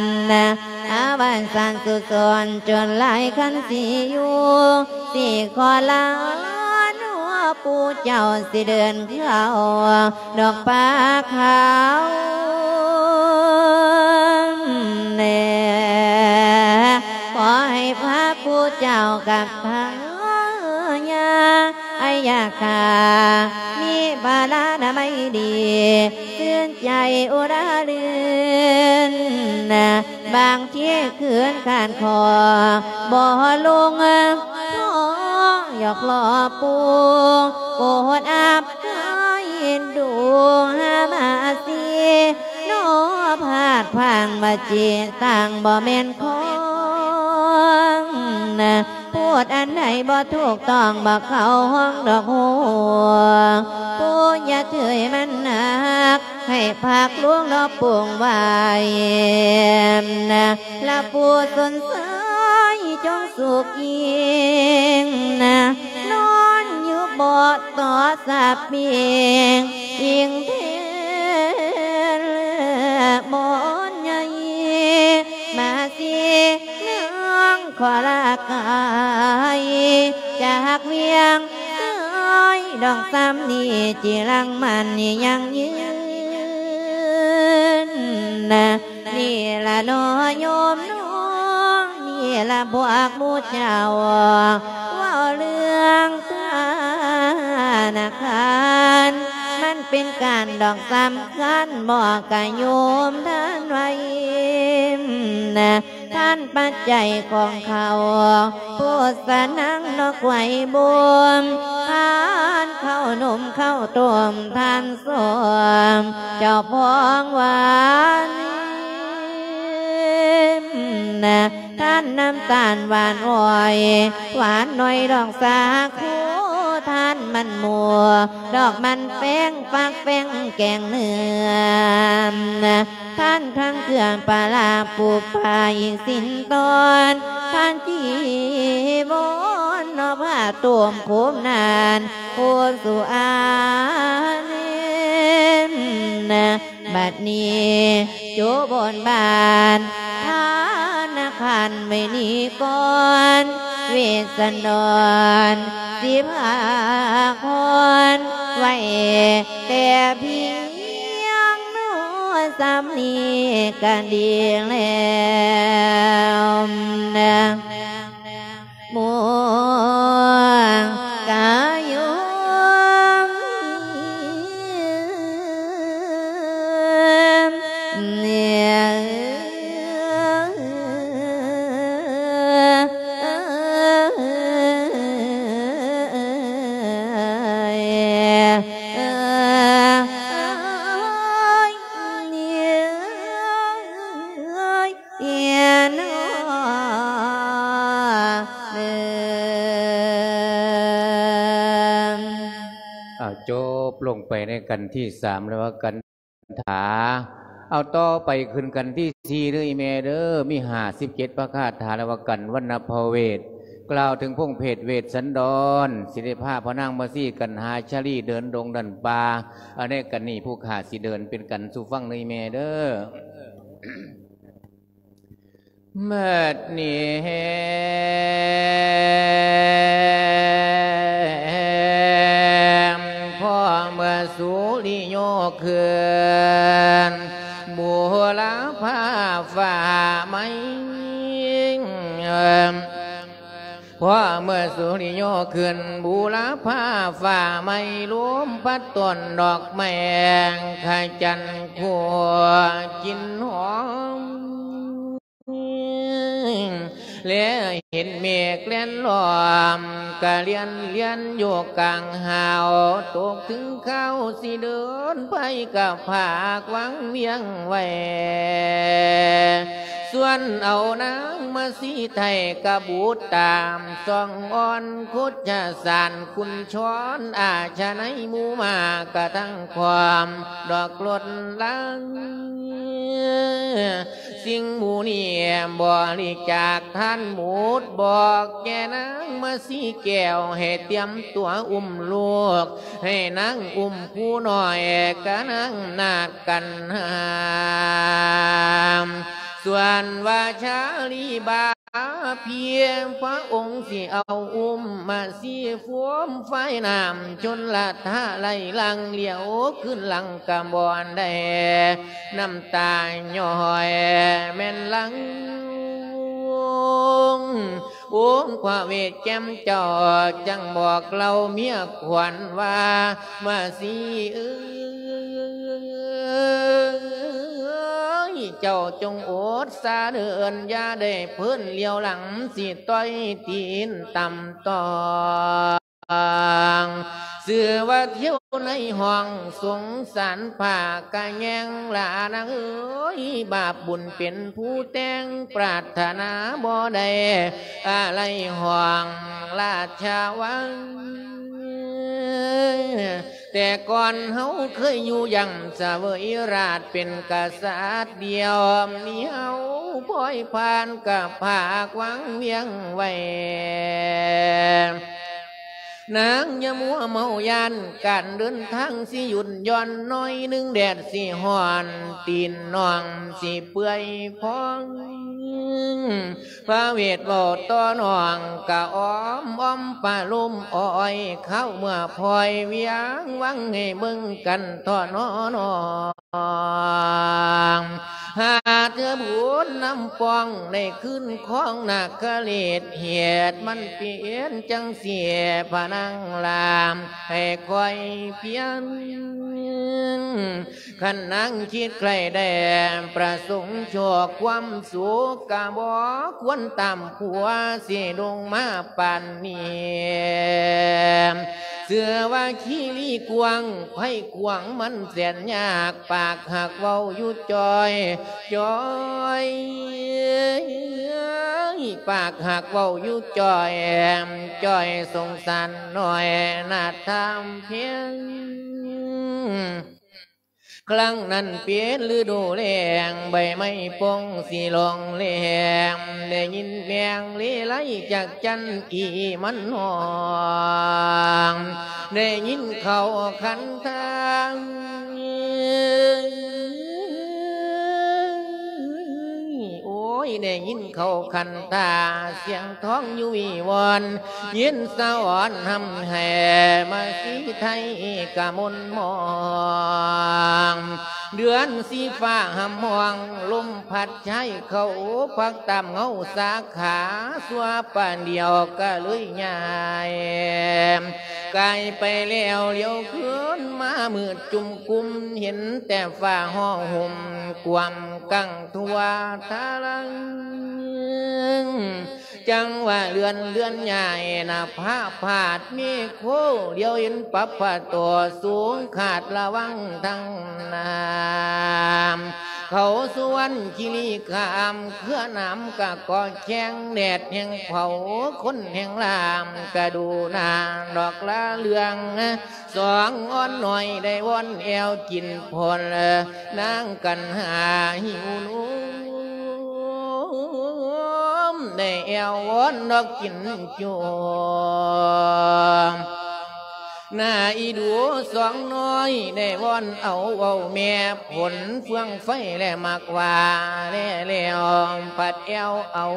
ອາວັນສັນສຸດສອນຈົນຫຼາຍຄັນຊິຢູ່ ຊິຂໍລານອກປູ່ເຈົ້າ ຊິເດີນເຂົ້າດອກປ່າຂາວແນ່ ຂໍໃຫ້ພະປູ່ເຈົ້າກັບພະຍາ ອາຍາກາ ມີພະລານາໄມດີ ຊື່ນໃຈອຸລາລື່ນ ບາງທີຄືນຄານຄໍ ບໍ່ລົງຂໍ ຢອກລໍປູ່ ໂປດອະໄພເອັນດູຫາມາຊີ ນອພາດພາງວະຈີ ຕ່າງບໍ່ແມ່ນຂອງ ນະ ພູດອັນໃດບໍ່ຖືກຕ້ອງ ບໍ່ເຂົ້າຫ້ອງດອກໂຫ ປູ່ຢ່າເທີຍມັນໜັກ ໃຫ້ພາກຫຼວງເນາະປຸງໄວ້ນະ ລະປູ່ສົນໃສຈົ່ງສຸກຍິ່ງນະ ນອນຢູ່ເບາະຕໍ່ສະປິງ ອີງເທນໝອນໃຫຍ່ ມາຊິນາງ ຂໍລາກາຍຈາກວຽງເອີຍ ດອກສາມນີ້ຈິລັງມັນຍັງຍືນ ນີ້ລະເນາະໂຍມເນາະ ນີ້ລະພວກໝູ່ເຈົ້າ ເວົ້າເລື່ອງທະນາຄານ ມັນເປັນການດອກສຳຄັນ ບອກກະໂຍມທ່ານໄວ້ນະ ທານປັດໄຈຂອງເຂົາ ໂພຊະນັງເນາະ ໄກວບຸນ ທານເຂົ້າໜົມເຂົ້າຕົ້ມ ທານສົ້ມ ເຈົ້າຂອງຫວານນະ ທານນ້ຳຕານຫວານອ້ອຍ ຫວານໜ້ອຍດອກສາຄູ ທານມັນໝູ່ ດອກມັນແປ້ງ ຟາກແປ້ງແກງເນື້ອນະ ທ່ານທັງເກືອປາລາປູປາອີກສິນຕອນ ທ່ານຈີວອນເນາະ ຜ້າໂຕມໂຄມນານ ໂພສຸອາເນນນະ ບັດນີ້ໂຈບົນບານ ທານນະຄັນໄວ້ນີ້ກ່ອນ ເວດສັນດອນ ຊິພາກຜ່ອນໄວ້ແຕ່ພຽງນອ ສ່ຳນີ້ກະດີແລ້ວນະ ໝູ່ກະໂຍມ ອ່າ ຈົບລົງໄປໃນກັນທີສາມ ແລ້ວວ່າກັນ ຖາ ເອົາ ຕໍ່ໄປຂຶ້ນກັນທີສີ່ເດີອີ່ແມ່ເດີ ມີຫ້າສິບເຈັດພະຄາຖາ ແລ້ວວ່າກັນວັນນະພະເວດ ກ່າວເຖິງພົງເພດເວດສັນດອນ ຊິໄດ້ພາພະນາງມາຊີກັນຫາຊາລີເດີນດົງດັນປ່າ ອັນໃນກັນນີ້ຜູ້ຂ້າຊິເດີນເປັນກັນສູ່ຟັງເດີອີ່ແມ່ເດີ. ບັດນີ້ແຮງ ພໍເມື່ອສຸລິໂຍຂຶ້ນ ບູລະພາຟ້າໃໝ່ ພໍເມື່ອສຸລິໂຍຂຶ້ນ ບູລະພາຟ້າໃໝ່ ລົມພັດຕົ້ນດອກໄມ້ ຂະຈັນຄູ່ກິ່ນຫອມ ແລເຫັນເມກແລ່ນລ້ອມ ກະລຽນລຽນຢູ່ກາງຫາວ ຕົກເຖິງຄາວຊິເດີນໄປ ກະພາກວັງວຽງໄວ້ ສ່ວນເອົານາງມາຊີໄທ ກະບູດຕາມຊ່ອງອ່ອນ ໂຄດຊະສານຄຸນຊອນ ອາຊະໄນໝູ່ມາກະທັງພ້ອມ ດອກລົດລາງ ສິ່ງໝູ່ນີ້ບໍລິຈາກທານໝົດ ບອກແກ່ນາງມາຊີແກ້ວ ໃຫ້ຕຽມຕົວອຸ້ມລູກ ໃຫ້ນາງອຸ້ມຜູ້ນ້ອຍ ກະນາງນາດກັນຫາມ ສ່ວນວ່າຊາລີບາ ພຽງພະອົງຊິເອົາອຸ້ມມາຊີ ຟວມຟາຍນ້ຳຊົນລະທະໄຫຼຫຼັງ ຫຼຽວຄືນຫຼັງກະບໍ່ໄດ້ ນ້ຳຕາຍ້ອຍແມ່ນຫຼັງ ອົງພະເວດແຈ່ມເຈົ້າ ຈັ່ງບອກເລົ່າເມຍຂວັນວ່າ ມາຊີເອີຍ ເຈົ້າຈົ່ງອົດສາເດີນ ຢ່າໄດ້ເພີນຫຼຽວຫຼັງ ຊິຕ່ອຍຕີນຕ່ຳຕ້ອງ ຊື່ວ່າທ່ຽວໃນຫ້ອງສົງສານ ພາກະແຍງລານາງເອີຍ ບາບບຸນເປັນຜູ້ແຕ່ງ ປາດຖະໜາບໍ່ໄດ້ ອາໄລຫ້ອງລາຊະວັງ ແຕ່ກ່ອນເຮົາເຄີຍຢູ່ຢ່າງສະເຫວີຍລາດເປັນກະສັດດຽວ ມີເຮົາພອຍຜ່ານກະພາກວັງວຽງໄວ້ ນາງຢ່າມົວເມົາຢ້ານ ການເດີນທາງຊິຢຸດຢ່ອນໜ້ອຍໜຶ່ງ ແດດຊິຮ້ອນ ຕີນນ້ອງຊິເປື່ອຍພອງ ພະເວດເວົ້າຕໍ່ນ້ອງກະອ້ອມອ້ອມປະໂລມອ້ອຍ ຄາວເມື່ອພອຍວຽງວັງໃຫ້ເບິ່ງກັນເທາະໜໍນ້ອງ ຫາເທື່ອບຸນນຳປອງ ໄດ້ຄືນຄອງນາຄະເລດ ເຫດມັນເປັນຈັ່ງຊີ້ ພະນາງລາມໃຫ້ຄອຍພຽນ ຄັນນາງຄິດໃຄ່ໄດ້ປະສົງໂຊກຄວາມສຸກ ກະບໍ່ຄວນຕາມຜົວຊິດົງມາປານນີ້ ເຊື່ອວ່າຄີລີກວ້າງ ໄພກວ້າງມັນແສນຍາກ ປາກຮັກເວົ້າຢູ່ຈ່ອຍ ຈ່ອຍ ປາກຮັກເວົ້າຢູ່ຈ່ອຍ ຈ່ອຍສົງສານນ້ອຍ ນາດທຳພຽງ ຄັ້ງນັ້ນເປັນລະດູແລ້ງ ໃບໄມ້ປົງສີລອງແລງ ໄດ້ຍິນແມງເລໄລຈັກຈັ່ນອີມັນຮ້ອງ ໄດ້ຍິນເຂົາຂັນທາງ ໂອ້ຍ ໄດ້ຍິນເຂົາຂັນຕາ ສຽງທອງຢູ່ວິວອນ ເຢັນສະອອນຮ່ຳແຮ່ ມາສີໄທກະມົນມອງ ເດືອນສີຟ້າຮ່ຳຮ້ອງ ລົມພັດຊາຍເຂົາ ພັກຕາມເງົາສາຂາ ຊົ່ວປານດຽວກະເລີຍຍ້າຍ ກາຍໄປແລ້ວ ຫຼຽວຄືນມາມືດຈຸ່ມກຸ່ມ ເຫັນແຕ່ຟ້າຫໍ່ຫົ່ມ ກວມກັງທົ່ວທະລັງ ຈັ່ງວ່າເລື່ອນເດືອນຍ້າຍ ໜ້າຜາພາດເມໂຄ ຫຼຽວເຫັນປັບພະໂຕ ສູງຂາດລະວັງທັງນ້ຳ ເຂົາສຸວັນຄີລີຄາມ ເຄືອນ້ຳກະກໍແຂງ ແດດແຮງເຜົາ ຄົນແຮງລາມ ກະດູໜ້າດອກລາເລື່ອງ ສອງອ່ອນນ້ອຍໄດ້ວອນແອວກິນພົນ ນາງກັນຫາຫິວນົມ ໄດ້ແອວວອນດອກກິນໂຈມ ໜ້າອີດູສອງນ້ອຍ ໄດ້ວອນເອົາເວົ້າແມ່ ຜົນເຟືອງໄຟແລມັກວ່າແລແລ້ວ ພັດແອວເອົາ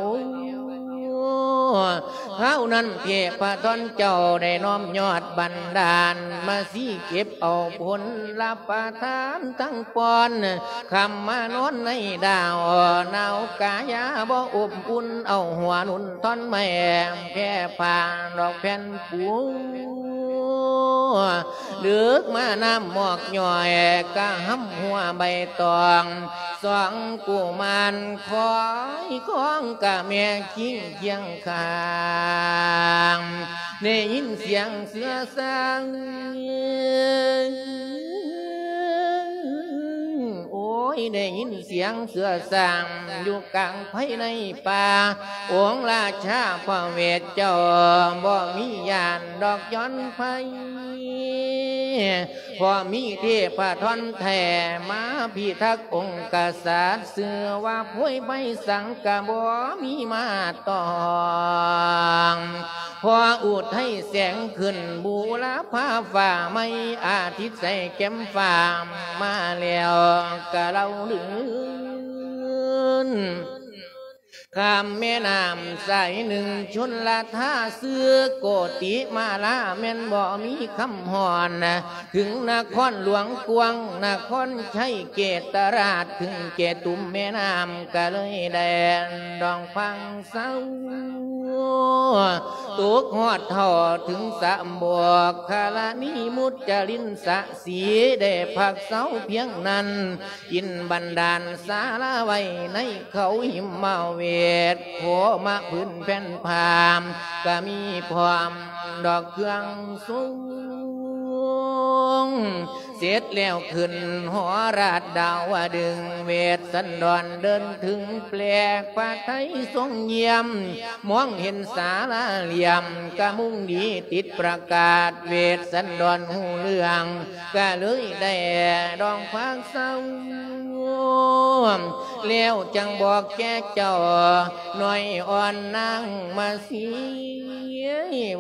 ຄາວນັ້ນເທພະທອນເຈົ້າ ໄດ້ນ້ອມຍອດບັນດານ ມາສີເກັບເອົາຜົນລະປະທານທັງປ່ອນ ຄ່ຳມານອນໃນດາວ ໜາວກາຍາບໍ່ອົບອຸ່ນ ເອົາຫົວໜຸ່ນທ່ອນໄມ້ ແຜ່ຜ້າດອກແຜ່ນປູ ດຶກມານ້ຳໝອກຍ້ອຍ ກະຫຳຫົວໃບຕອງ ສອງກຸມານຄອຍຄອງ ກະແມ່ຄີງຄຽງຂ້າງ ໄດ້ຍິນສຽງເສືອຊ້າງ ໂອ້ຍ ໄດ້ຍິນສຽງເສືອຊ້າງ ຢູ່ກາງໄພໃນປ່າ ອົງລາຊາພະເວດເຈົ້າ ບໍ່ມີຢ້ານດອກຢ່ອນໄພ ເພາະມີເທພະທອນແທ້ ມາພິທັກອົງກະສັດ ຊື່ວ່າພວຍໄພສັງກະບໍ່ມີມາຕ້ອງ ເພາະອຸໄທແສງຂຶ້ນ ບູລະພາຟ້າໃໝ່ ອາທິດໃສແກ້ມຟ້າ ມາແລ້ວກະເລົ່າລື່ນ ຂ້າມແມ່ນ້ຳສາຍໜຶ່ງ ຊົນລະທາຊື່ໂກຕິມາລາ ແມ່ນບໍ່ມີຄຳຮ້ອນ ເຖິງນະຄອນຫຼວງກວາງ ນະຄອນໄຊເກດຕະລາດ ເຖິງເຈຕຸມແມ່ນ້ຳ ກະເລີຍແດນດອງພັງເຊົາ ຕົກຮອດເທົ່າເຖິງສະບອກ ຄະລະນີມຸດຈະລິນສະສີ ໄດ້ພັກເຊົາພຽງນັ້ນ ກິນບັນດານສາລາໄວ້ໃນເຂົາຫິມມາເວດ ໂພມະພື້ນແຜ່ນຜ້າ ກະມີພ້ອມດອກເຄື່ອງຊົງ ເສັດແລ້ວຂຶ້ນຫໍລາດດາວະດຶງ ເວດສັນດອນເດີນເຖິງແປກ ພະໄທຊົງຢ້ຽມ ມອງເຫັນສາລາຫຼ່ຽມ ກະມຸງດີຕິດປະກາດ ເວດສັນດອນຮູ້ເລື່ອງ ກະເລີຍໄດ້ດອງພາກເຊົາ ແລ້ວຈັ່ງບອກແກ່ເຈົ້າ ນ້ອຍອ່ອນນາງມາສີ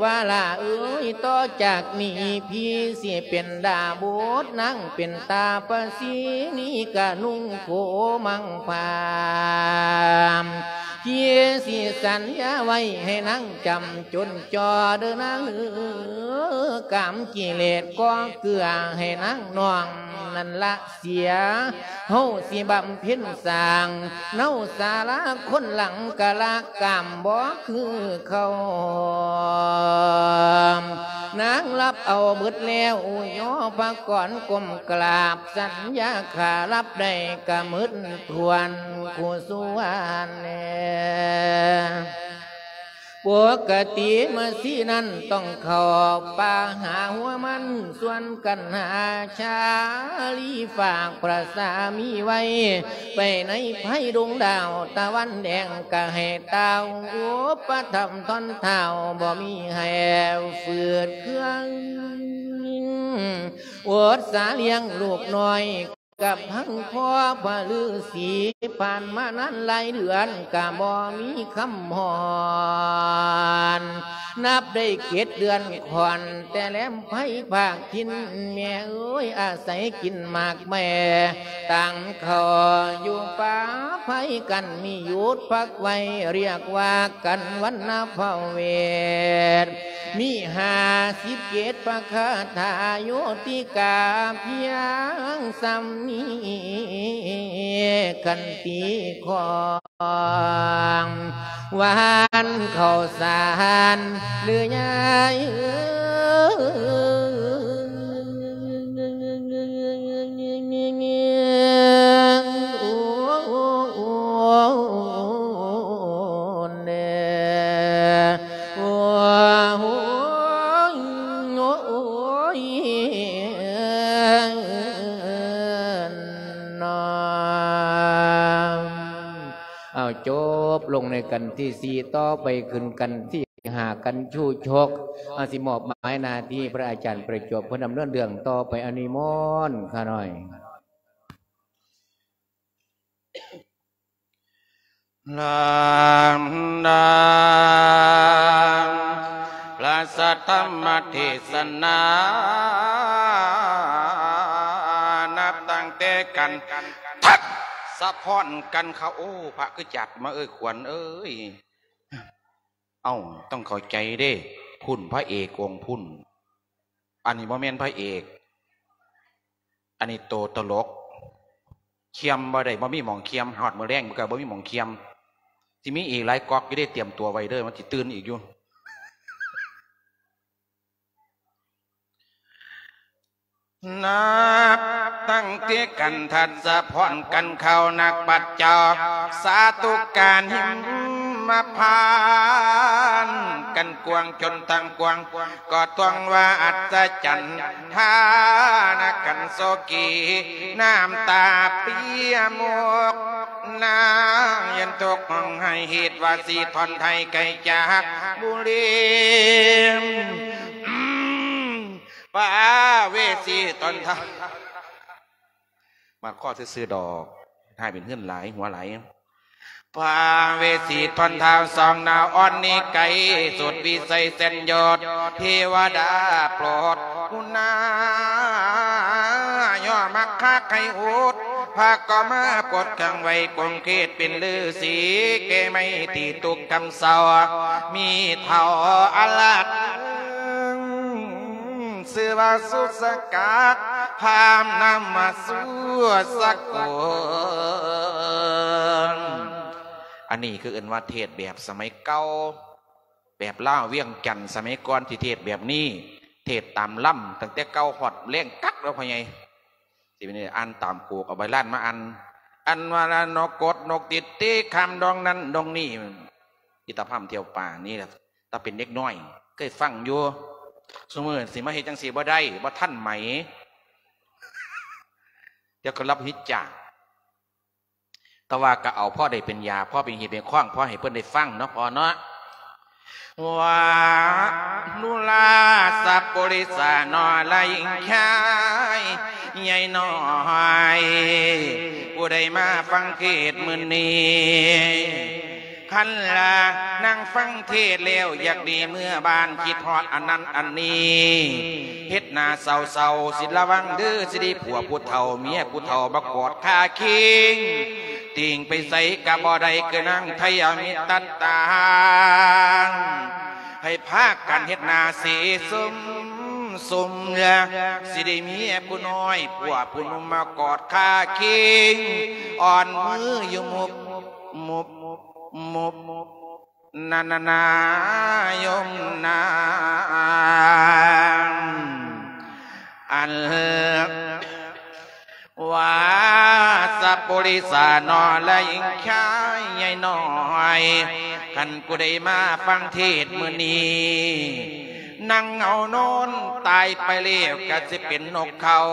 ວ່າຫຼ້າເອີຍ ຕໍ່ຈາກນີ້ພີ່ຊິເປັນດາບົດ ນາງເປັນຕາປະສີ ນີ້ກະນຸ່ງໂຄມັງຜ້າ ພີ່ຊິສັນຍາໄວ້ໃຫ້ນາງຈຳຈົນຈໍເດີນາງເອີ ກາມກິເລດກໍເກືອໃຫ້ນາງນ້ອງນັ້ນລະເສຍ ເຮົາຊິບຳເພັນສ້າງ ເນົາສາລາຄົນຫຼັງກະລະກາມບໍ່ຄືເຂົາ ນາງລັບເອົາເບິດແລ້ວ ອຸຍອພະກອນກົ້ມກາບ ສັນຍາຂ້າລັບໄດ້ກະໝົດຖ້ວນຄູ່ສ່ວນແລ ປົກກະຕິມາສີນັ້ນຕ້ອງເຂົ້າປ່າຫາຫົວມັນ ສ່ວນກັນຫາຊາລີຝາກພະສາມີໄວ້ ໄປໃນໄພດົງດາວຕາວັນແດງ ກະໃຫ້ຕ່າວອຸປະຖຳທ່ອນທ້າວ ບໍ່ມີໃຫ້ຝືດເຄືອງ ອົດສາລ້ຽງລູກນ້ອຍ ກັບທັງພໍ່ພະລືສີ ຜ່ານມານານຫຼາຍເດືອນ ກະບໍ່ມີຄຳຮ້ອນ ນັບໄດ້ເຈັດເດືອນຂ້ອນ ແຕ່ແລມໄພພາກຖິ່ນ ແມ່ເອີຍ ອາໄສກິນໝາກແໝ່ ຕັ້ງເຂົ້າຢູ່ປ່າໄພກັນ ມີຢຸດພັກໄວ້ ຮຽກວ່າກັນວັນນະພະເວດ ມີຫ້າສິບເຈັດພະຄາຖາ ໂຍຕິກາພຽງສ່ຳນີ້ ຂັນຕິຂອງ ຫວານເຂົ້າສານເດີຍາຍເອີຍ ໂອ້ ໂອ້ ໂອ້ ໂອ້ ໂອ້ຍ ໂອ້ຍ ໂອ້ຍ ນອມ ເອົາ ຈົບລົງໃນກັນທີສີ່ ຕໍ່ໄປຂຶ້ນກັນທີຫ້າ ກັນຊູ້ຊົກ ເຮົາຊິມອບໝາຍໜ້າທີ່ພະອາຈານປະຈວບ ເພິ່ນດຳເນີນເລື່ອງຕໍ່ໄປ ອະນຸໂມທນາຂ້ານ້ອຍ. ລຳດັບພະສັດທຳມະເທດສະນາ ນັບຕັ້ງແຕ່ກັນທັດສະພອນກັນເຂົ້າ ໂອ້ ພະຄືຈັດມາເອີຍ ຂວັນເອີຍ ເອົ້າ ຕ້ອງເຂົ້າໃຈເດ້ ພຸ້ນພະເອກອົງພຸ້ນ ອັນນີ້ບໍ່ແມ່ນພະເອກ ອັນນີ້ໂຕຕະຫຼົກ ຄຽມບໍ່ໄດ້ ບໍ່ມີໝ່ອງຄຽມ ຮອດມື້ແລງກໍບໍ່ມີໝ່ອງຄຽມ ຊິມີອີກຫຼາຍກ໋ອກຢູ່ເດ້ ຕຽມຕົວໄວ້ເດີ ມັນຊິຕື່ນອີກຢູ່. ນັບຕັ້ງແຕ່ກັນທັດສະພອນກັນເຂົ້າ ນັກປັດເຈົ້າສາທຸການຫິມມະພານ ກັນກວ້າງຈົນທັງກວ້າງ ກໍຕ້ອງວ່າອັດສະຈັນ ທານະກັນໂສກີ ນ້ຳຕາເປຍໝົກ ນາງຍັນຕົກຮ້ອງໄຫ້ ເຫດວ່າສີທອນໄທໄກຈາກບຸຣີ ປາເວສີຕອນທ້າຍ ມາຂໍຊື່ໆດອກ ໃຫ້ເປັນເຮືອນຫຼາຍ ຫົວຫຼາຍ ປາເວສີທອນທ້າວສອງນາວອ່ອນນີ້ໄກ ສຸດວິໄສແສນຍອດ ເທວະດາໂປດ ຄຸນນາ ຍໍມັກຄາໄຄໂອດ ພາກໍມາປົດຂັງໄວ້ ກົງເຄດເປັນລືສີ ແກ່ໄມ້ທີ່ຕຸກຄຳເຊົາ ມີເຖົ້າອາລັດ ຊື່ວ່າສຸດສະກາດ ພາມນຳມາສູ່ສະກົນ ອັນນີ້ຄືເອີ້ນວ່າເທດແບບສະໄໝເກົ່າ ແບບລາວວຽງຈັນສະໄໝກ່ອນທີ່ເທດແບບນີ້ ເທດຕາມລຳ ຕັ້ງແຕ່ເກົ່າຮອດແລງກັກແລ້ວພໍ່ໃຫຍ່ ຊິເປັນອ່ານຕາມໂກກ ເອົາໃບລານມາອ່ານ ອັນວ່ານະ ນົກກົດນົກຕິດຕີຄຳດອງນັ້ນດອງນີ້ ອີຕາພາມທ່ຽວປ່ານີ້ລະ ຕາເປັນເດັກນ້ອຍເຄີຍຟັງຢູ່ ຊຸມື້ຊິມາເຮັດຈັ່ງຊີ້ບໍ່ໄດ້ ບໍ່ທັນໄໝ ດຽວກໍລັບຫິດຈາກ ແຕ່ວ່າກໍເອົາພໍໄດ້ເປັນຢາ ພໍເປັນຮີເປັນຄອງ ພໍໃຫ້ເພິ່ນໄດ້ຟັງເນາະພໍ່ເນາະ ວ່າ ນຸລາສະປຸລິສາ ນໍລະຍິງຊາຍໃຫຍ່ນ້ອຍ ຜູ້ໃດມາຟັງເທດມື້ນີ້ ຄັນລະນັ່ງຟັງເທດແລ້ວ ຢາກໜີເມືອບ້ານ ຄິດຮອດອັນນັ້ນອັນນີ້ ເຮັດໜ້າເສົ້າໆ ຊິລະວັງເດີ ຊິໄດ້ຜົວຜູ້ເຖົ້າ ເມຍຜູ້ເຖົ້າ ມາກອດຄາຄີງ ຕິ່ງໄປໃສກະບໍ່ໄດ້ ຄືນາງໄທຍາມິດຕັດຕາ ໃຫ້ພາກັນເຮັດໜ້າເສຊຸມ ຊຸມ ຊິໄດ້ເມຍຜູ້ນ້ອຍ ຜົວຜູ້ໜຸ່ມ ມາກອດຄາຄີງ ອ່ອນມືຢູ່ມຸບ ມຸບ ມຸບ ນານານາ ໂຍມນາ ອັນ ວ່າສະປຸລິສາ ນໍລະຍິງຊາຍໃຫຍ່ນ້ອຍ ຄັນຜູ້ໃດມາຟັງເທດມື້ນີ້ ນັ່ງເຫງົານອນຕາຍໄປແລ້ວ ກະຊິເປັນນົກເຂົາ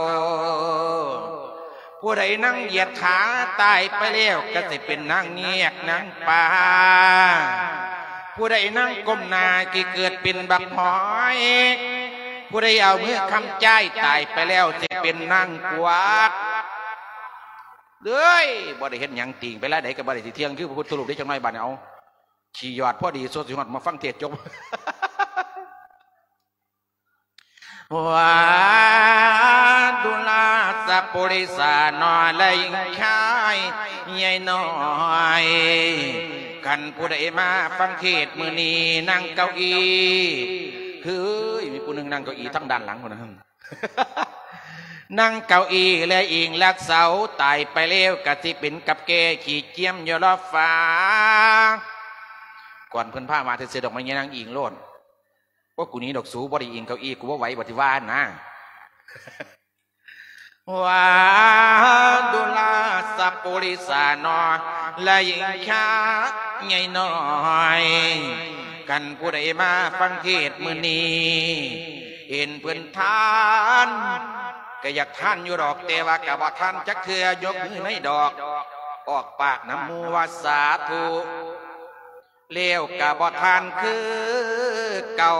ຜູ້ໃດນັ່ງຢຽດຂາຕາຍໄປແລ້ວ ກະຊິເປັນນາງງຽກນາງປາ ຜູ້ໃດນັ່ງກົ້ມໜ້າ ກະເກີດເປັນບັກຫອຍ ຜູ້ໃດເອົາມືຄ້ຳຈ້າຍຕາຍໄປແລ້ວ ຊິເປັນນາງກວັກ ເອີຍ ບໍ່ໄດ້ເຮັດຫຍັງ ຕີງໄປລາຍໃດກໍບໍ່ໄດ້ ຊິທ່ຽງຄືພະພຸດທະຮູບເດ້ ຈັກໜ້ອຍບາດນີ້ ເອົາ ຂີ້ຢອດພໍດີ ສົດຊິຮອດມາຟັງເທດຈົບ. ວ່າ ດູລາສະປຸລິສາ ໜໍ່ ແລະ ຍິງຊາຍໃຫຍ່ນ້ອຍ ຄັນຜູ້ໃດມາຟັງເທດມື້ນີ້ ນັ່ງເກົ້າອີ່ ເຮີ້ຍ ມີຜູ້ໜຶ່ງນັ່ງເກົ້າອີ່ທາງດ້ານຫຼັງພຸ້ນນະ ນັ່ງເກົ້າອີ່ ແລະ ອີງຫຼັກເສົາ ຕາຍໄປແລ້ວກະຊິເປັນກັບແກ່ ຂີ້ຈຽມຢູ່ລອບຟ້າ ກ່ອນເພິ່ນພາມາ ເທື່ອດອກໄມ້ ຍານັ່ງອີງໂລດ. ໂອ້ ກູໜີດອກ ສູບໍ່ໄດ້ອີງເກົ້າອີ່ ກູບໍ່ໄຫວ ບໍ່ຊິວ່ານະ ວ່າ ດູລາສະປຸລິສາ ໜໍ່ ແລະ ຍິງຊາຍໃຫຍ່ນ້ອຍ ຄັນຜູ້ໃດມາຟັງເທດມື້ນີ້ ເຫັນເພິ່ນທານ ກະຢາກທານຢູ່ດອກ ແຕ່ວ່າກະບໍ່ທານຈັກເທື່ອ ຍົກມືໃນດອກ ອອກປາກນຳໝູ່ວ່າ ສາທຸ ແລ້ວກະບໍ່ທານຄືເກົ່າ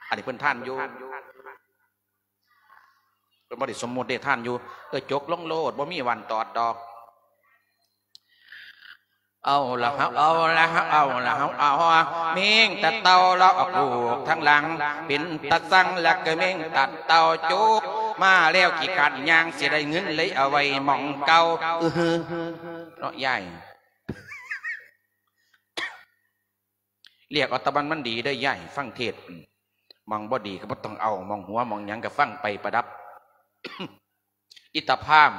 ອັນນີ້ເພິ່ນທານຢູ່ ເພິ່ນບໍ່ໄດ້ສົມມຸດເດ້ ທານຢູ່ ເອີ ຈົກລົງໂລດ ບໍ່ມີວັນຕອດດອກ ເອົາລະເຮົາ ເອົາລະເຮົາ ເອົາລະເຮົາ ເອົາ ແມ່ງຕັດເຕົ່າລະອອກລູກທາງຫຼັງ ເປັນຕາຊັງລະກະແມ່ງຕັດເຕົ່າ ຈົກມາແລ້ວຂີ້ຄ້ານຍ່າງ ຊິໄດ້ເງິນເລີຍເອົາໄວ້ໝ່ອງເກົ່າ ອືຮຶ ເນາະຍາຍ. ລຽກເອົາຕາບັນມັນດີເດີຍາຍ ຟັງເທດ ໝ່ອງບໍ່ດີກະບໍ່ຕ້ອງເອົາ ໝ່ອງຫົວໝ່ອງຫຍັງກະຟັງໄປປະດັບ ອິດຕະພາມ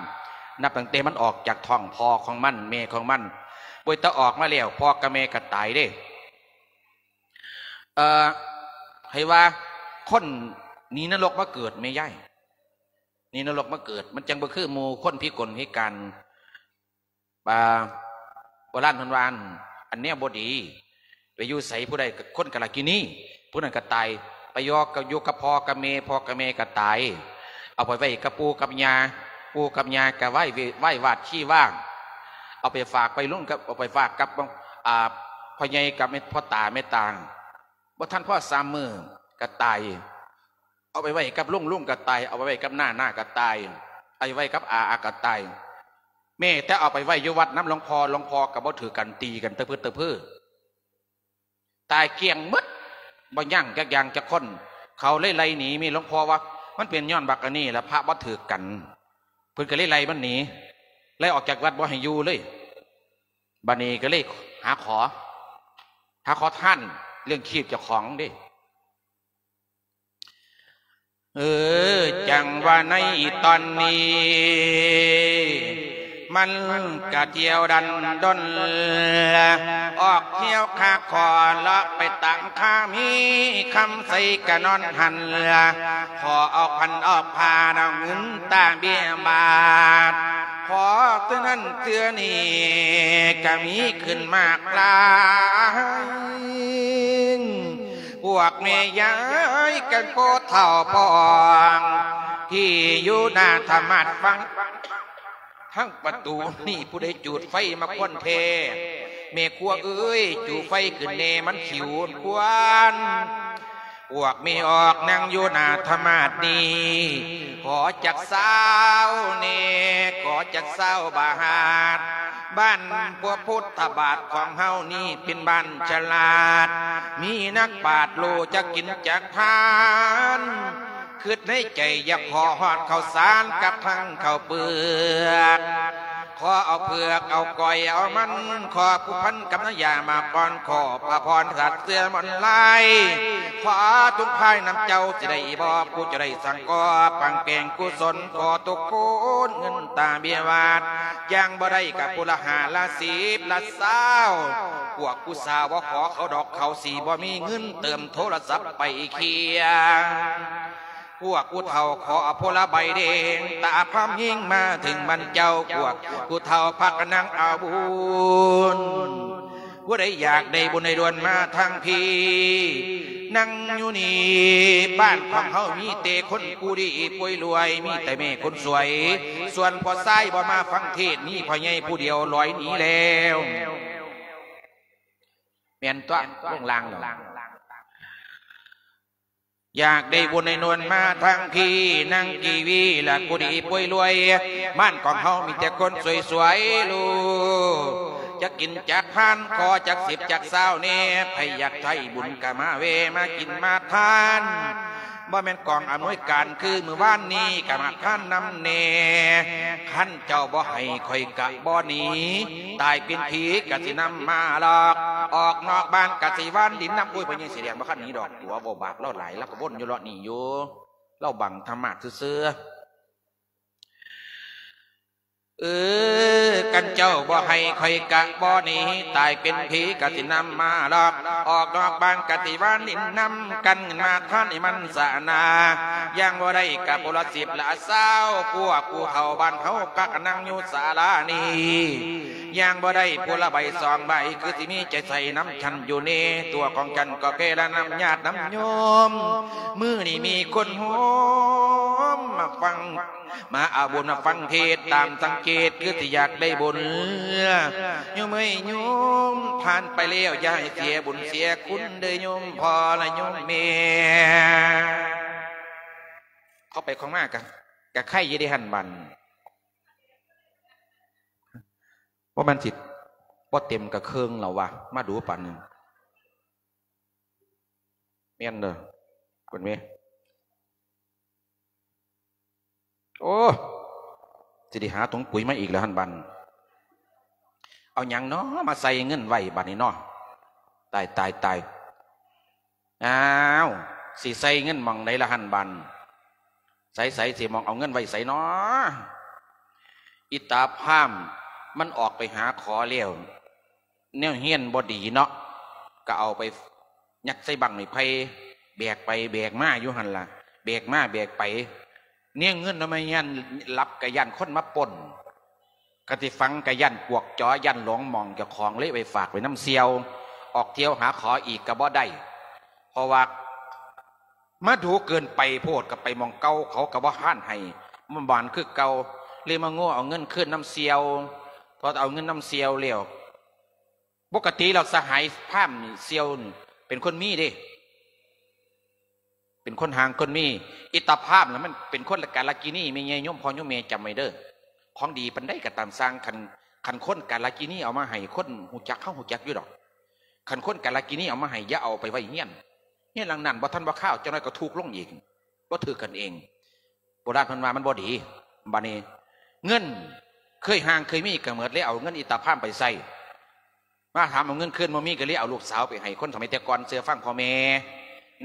ນັບຕັ້ງແຕ່ມັນອອກຈາກທ້ອງພໍ່ຂອງມັນ ແມ່ຂອງມັນ ໂອ້ຍ ແຕ່ອອກມາແລ້ວ ພໍ່ກັບແມ່ກະຕາຍເດ້ ເອີ ໃຫ້ວ່າຄົນໜີນະລົກມາເກີດແມ່ຍາຍ ໜີນະລົກມາເກີດ ມັນຈັ່ງບໍ່ຄືໝູ່ຄົນພິກົນພິການ ອ່າ ໂບລານເພິ່ນວ່າ ອັນແນວບໍ່ດີ ໄປຢູ່ໃສຜູ້ໃດ ຄົນກາລະກິນີ ຜູ້ນັ້ນກະຕາຍ ໄປຢູ່ກັບ ຢູ່ກັບພໍ່ກັບແມ່ ພໍ່ກັບແມ່ກະຕາຍ ເອົາໄປໄວ້ກັບປູ່ກັບຍ່າ ປູ່ກັບຍ່າກະໄວ້ ໄວ້ວາດຊີວາ ເອົາໄປຝາກໄປລຸງກັບ ເອົາໄປຝາກກັບ ອ່າ ພໍ່ໃຫຍ່ກັບແມ່ ພໍ່ຕາແມ່ຕາ ບໍ່ທັນພໍສາມມື້ກະຕາຍ ເອົາໄປໄວ້ກັບລຸງ ລຸງກະຕາຍ ເອົາໄປໄວ້ກັບນ້າ ນ້າກະຕາຍ ເອົາໄປໄວ້ກັບອາ ອາກະຕາຍ ແມ້ແຕ່ເອົາໄປໄວ້ຢູ່ວັດນຳຫຼວງພໍ່ ຫຼວງພໍ່ກະບໍ່ຖືກກັນ ຕີກັນຕະພຶດຕະເພີ ຕາຍກ້ຽງໝົດ ບໍ່ຍັງຈັກຢ່າງຈັກຄົນ ເຂົາເລີຍໄລ່ໜີ ມີຫຼວງພໍ່ວ່າ ມັນເປັນຍ້ອນບັກອັນນີ້ລະ ພະບໍ່ຖືກກັນ ເພິ່ນກະເລີຍໄລ່ມັນໜີ ໄລ່ອອກຈາກວັດ ບໍ່ໃຫ້ຢູ່ເລີຍ ບາດນີ້ກະເລີຍຫາຂໍ ຫາຂໍທານ ລ້ຽງຊີບເຈົ້າຂອງເດ້. ເອີ ຈັ່ງວ່າໃນຕອນນີ້ ມັນກະທ່ຽວດັນດົນ ອອກທ່ຽວຄາຂໍ ເລາະໄປຕາມຄາມີຄຳໃສ ກະນອນຫັ້ນ ຂໍເອົາພັນເອົາພານ ເອົາເງິນຕາເບຍບາດ ພໍເທື່ອນັ້ນເທື່ອນີ້ ກະມີຂຶ້ນມາກຫຼາຍ ພວກແມ່ຍາຍກັນ ພໍ່ເຖົ້າພໍ່ອ່ອນ ທີ່ຢູ່ໜ້າທຳມາດ ຟັງທາງປະຕູນີ້ ຜູ້ໃດຈູດໄຟມາຄວັນແທ້ ແມ່ຄົວເອີຍ ຈູດໄຟຂຶ້ນແດ່ ມັນຂິວຄວັນ ພວກແມ່ອອກນັ່ງຢູ່ໜ້າທຳມາດນີ້ ຂໍຈັກຊາວແດ່ ຂໍຈັກຊາວບາດ ບ້ານພວກພຸດທະບາດຂອງເຮົານີ້ ເປັນບ້ານສະຫຼາດ ມີນັກປາດຮູ້ຈັກກິນຈັກທານ ຄິດໃນໃຈຢາກຂໍຮອດເຂົ້າສານກັບທັງເຂົ້າເປືອກ ຂໍເອົາເຜືອກເອົາກ້ອຍເອົາມັນ ຂໍພົວພັນກັບນ້ຳຢາໝາກອ່ອນ ຂໍພະພອນສັດເສືອມອນລາຍ ຂໍທຸກພາຍນຳເຈົ້າ ຊິໄດ້ບໍ່ ຜູ້ຈະໄດ້ສັງກໍປັງແປງກຸສົນ ຂໍທຸກຄົນເງິນຕາເບຍຫວາດ ຢ່າງບໍ່ໄດ້ກະຜູ້ລະຫ້າລະສິບລະຊາວ ພວກຜູ້ສາວບໍ່ຂໍເຂົາດອກ ເຂົາຊິບໍ່ມີເງິນເຕີມໂທລະສັບໄປເຄຍ ພວກຜູ້ເຖົ້າຂໍເອົາໂພລະໃບແດງ ຕາພາມຍິງມາເຖິງບ້ານເຈົ້າ ພວກຜູ້ເຖົ້າພາກັນນັ່ງເອົາບຸນ ຜູ້ໃດຢາກໄດ້ບຸນໄດ້ດ່ວນມາທາງພີ້ ນັ່ງຢູ່ນີ້ ບ້ານຂອງເຮົາມີແຕ່ຄົນຜູ້ດີຜູ້ລວຍ ມີແຕ່ແມ່ຄົນສວຍ ສ່ວນພໍ່ຊາຍບໍ່ມາຟັງເທດ ມີພໍ່ໃຫຍ່ຜູ້ດຽວລອຍໜີແລ້ວ ແມ່ນຕົວະ ລົງລ່າງແລ້ວ. ຢາກໄດ້ບຸນໄດ້ດ່ວນມາທາງພີ້ ນັ່ງກີວີລະຜູ້ດີຜູ້ລວຍ ບ້ານຂອງເຮົາມີແຕ່ຄົນສວຍໆ ລູກ ຈັກກິນຈັກທານ ຂໍຈັກສິບຈັກຊາວແດ່ ໃຜຢາກໃຊ້ບຸນກະມາແວ່ ມາກິນມາທານ ບໍ່ແມ່ນກອງອຳນວຍການຄືມື້ວານນີ້ ກະມາທານນຳແດ່ ຄັນເຈົ້າບໍ່ໃຫ້ຂ້ອຍກະບໍ່ໜີ ຕາຍເປັນຜີກະຊິນຳມາຫຼອກ ອອກນອກບ້ານກະຊິວານດິນນຳ ໂອ້ຍ ພໍ່ໃຫຍ່ສີແດງບໍ່ຄັນໜີດອກ ຕົວະເວົ້າບາບລາວຫຼາຍ ລາວກະວົນຢູ່ເລາະນີ້ຢູ່ ລາວບັງທຳມາດຊື່ໆ. ເອີ ຄັນເຈົ້າບໍ່ໃຫ້ຂ້ອຍກະບໍ່ໜີ ຕາຍເປັນຜີກະຊິນຳມາຫຼອກ ອອກນອກບ້ານກະຊິວານດິນນຳ ກັນມາທານໃຫ້ມັນສະໜາ ຢ່າງບໍ່ໄດ້ກະຜູ້ລະສິບລະຊາວ ພວກຜູ້ເຖົ້າບ້ານເຮົາພາກັນນັ່ງຢູ່ສາລານີ້ ຢ່າງບໍ່ໄດ້ຜູ້ລະໃບສອງໃບ ຄືຊິມີໃຈໃສ່ນຳ ຄັນຢູ່ເນ ຕົວຂອງຄັນກໍແຜ່ລະນຳຍາດນຳໂຍມ ມື້ນີ້ມີຄົນໂຮມມາຟັງ ມາເອົາບຸນມາຟັງເທດ ຕາມສັງເກດຄືຊິຢາກໄດ້ບຸນ ໂຍມເອີຍໂຍມ ຜ່ານໄປແລ້ວຢ່າໃຫ້ເສຍບຸນເສຍຄຸນເດີໂຍມພໍ່ລະໂຍມແມ່ ເຂົ້າໄປເຂົ້າມາກະ ກະໄຄຢູ່ເດ້ຫັ້ນບັດ ບໍ່ແມ່ນຊິບໍ່ເຕັມກະເຄິ່ງແລ້ວວະ ມາດູປານນີ້ ແມ່ນເດີ ເພິ່ນເວ ໂອ້ ຊິໄດ້ຫາຖົງປຸຍມາອີກແລ້ວຫັ້ນບັດ ເອົາຫຍັງນໍມາໃສ່ເງິນໄວ້ບັດນີ້ນໍ ຕາຍ ຕາຍ ຕາຍ ອ້າວ ຊິໃສ່ເງິນໝ່ອງໃດລະຫັ້ນບັດ ໃສໆ ຊິໝ່ອງເອົາເງິນໄວ້ໃສນໍ ອີຕາພາມ ມັນອອກໄປຫາຂໍແລ້ວ ແນວຮຽນບໍ່ດີເນາະ ກະເອົາໄປຍັດໃສ່ບັ້ງໄມ້ໄຜ່ ແບກໄປແບກມາຢູ່ຫັ້ນລະ ແບກມາແບກໄປ ແນວເງິນນຳມາຮຽນ ຫຼັບກະຢ້ານຄົນມາປຸ້ນ ຄັນຊິຝັງກະຢ້ານກວກຈໍ ຢ້ານຫຼົງໝ່ອງເຈົ້າຂອງ ເລີຍໄປຝາກໄວ້ນຳສ່ຽວ ອອກທ່ຽວຫາຂໍອີກກະບໍ່ໄດ້ ເພາະວ່າມາດູເກີນໄປໂພດ ກະໄປໝ່ອງເກົ່າ ເຂົາກະບໍ່ຮານໃຫ້ ມາບານຄືເກົ່າ ເລີຍມາໂງ່ເອົາເງິນຄືນນຳສ່ຽວ ພໍເອົາເງິນນຳສ່ຽວແລ້ວ ປົກກະຕິແລ້ວສະຫາຍພາມນີ້ ສ່ຽວນີ້ເປັນຄົນມີເດ້ ເປັນຄົນຮ່າງຄົນມີ ອີຕາພາມລະມັນເປັນຄົນກາລະກິນີ ແມ່ໃຫຍ່ໂຍມພໍ່ໂຍມແມ່ຈຳໄວ້ເດີ ຂອງດີປານໃດກະຕາມຊ່າງ ຄັນ ຄັນຄົນກາລະກິນີເອົາມາໃຫ້ ຄົນຮູ້ຈັກເຮົາຮູ້ຈັກຢູ່ດອກ ຄັນຄົນກາລະກິນີເອົາມາໃຫ້ ຢ່າເອົາໄປໄວ້ເຮືອນ ເຮືອນຫຼັງນັ້ນບໍ່ທັນບໍ່ຄາວ ຈັກໜ້ອຍກະທຸກລົງອີກ ບໍ່ຖືກກັນເອງ ໂບລານເພິ່ນວ່າມັນບໍ່ດີ ບາດນີ້ເງິນເຄີຍຮ່າງເຄີຍມີກະໝົດ ເລີຍເອົາເງິນອີຕາພາມໄປໃຊ້ ມາຖາມເອົາເງິນຄືນບໍ່ມີ ກະເລີຍເອົາລູກສາວໄປໃຫ້ຄົນສະໄໝແຕ່ກ່ອນ ເຊື່ອຟັງພໍ່ແມ່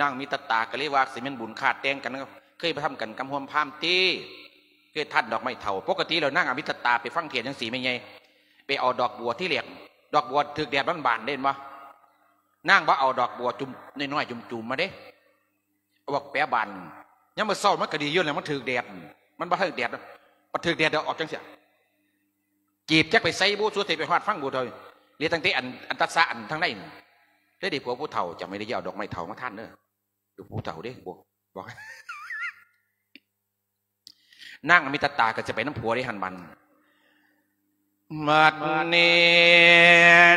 ນາງມີຕະຕາກະເລີຍວ່າ ຊິແມ່ນບຸນຄາດແຕ່ງກັນ ເຄີຍໄປທຳກັນກັບຮ່ວມພາມຕິ ເຄີຍທ່ານດອກໄມ້ເຖົ້າ ປົກກະຕິແລ້ວນາງອາມິຕະຕາໄປຟັງເທດຈັ່ງຊີ້ແມ່ໃຫຍ່ ໄປເອົາດອກບົວ ທີແລກດອກບົວຖືກແດດມັນບານເດ້ ເຫັນບໍ່ ນາງບໍ່ເອົາດອກບົວຈຸ່ມນ້ອຍໆ ຈຸ່ມໆ ມາເດ້ ເອົາບັກແປບານ ຍາມມື້ເຊົ້າມັນກະດີຢູ່ແລ້ວ ມັນຖືກແດດ ມັນບໍ່ຖືກແດດ ມັນຖືກແດດແລ້ວອອກຈັ່ງຊີ້ ຈີບຈັກໄປໃສບຸ ສຸດຊິໄປຮອດຟັງບຸເທົ່າ ເຫຼືອຕັ້ງແຕ່ອັນ ອັນຕັດສະອັນທາງໃນນີ້ ເລີຍໄດ້ຜົວຜູ້ເຖົ້າ ຈຳໄວ້ເດີ ຢ່າເອົາດອກໄມ້ເຖົ້າມາທ່ານເດີ ຜູ້ເຖົ້າເດ້ ບໍ່ ບອກ ນາງອາມິຕະຕາກະຊິໄປນຳຜົວເດ້ຫັ້ນບັດ ບັດນີ້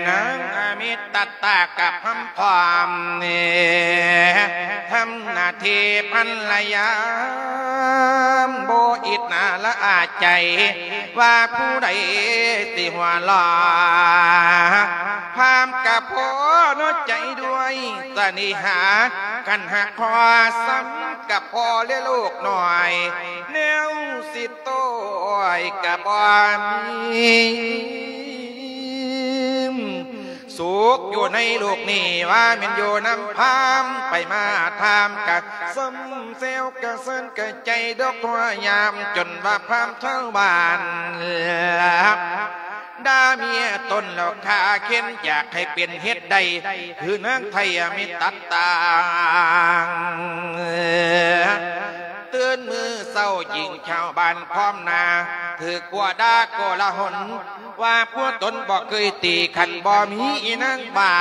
ນາງອາມິຕະຕາກະພາມພ້ອມນີ້ ທຳໜ້າທີ່ພັນລະຍາ ບໍ່ອິດໜ້າລະອາໃຈ ວ່າຜູ້ໃດຊິຫົວຫຼໍ່ ພາມກະພໍນ້ອຍໃຈດ້ວຍສະເໜ່ຫາ ຄັນຫາກພໍສ່ຳກະພໍແລະລູກນ້ອຍ ແນວຊິ ໂຕຍກະບໍ່ມີ ສຸກຢູ່ໃນໂລກນີ້ ວ່າແມ່ນຢູ່ນຳພາມ ໄປມາຖາມກະຊົມແຊວກະເຊີນກະໃຈ ດອກທົ່ວຍາມ ຈົນວ່າພາມຊາວບ້ານ ດ່າເມຍຕົນແລ້ວຄາເຂັນ ຢາກໃຫ້ເປັນເຮັດໄດ້ ຄືນາງໄທອາມິຕະຕາ ຕື່ນມື້ເຊົ້າຍິງຊາວບ້ານພ້ອມໜ້າ ຖືກຜົວດ່າໂກລາຫົນ ວ່າຜົວຕົນບໍ່ເຄີຍຕີ ຄັນບໍ່ມີອີນາງບ້າ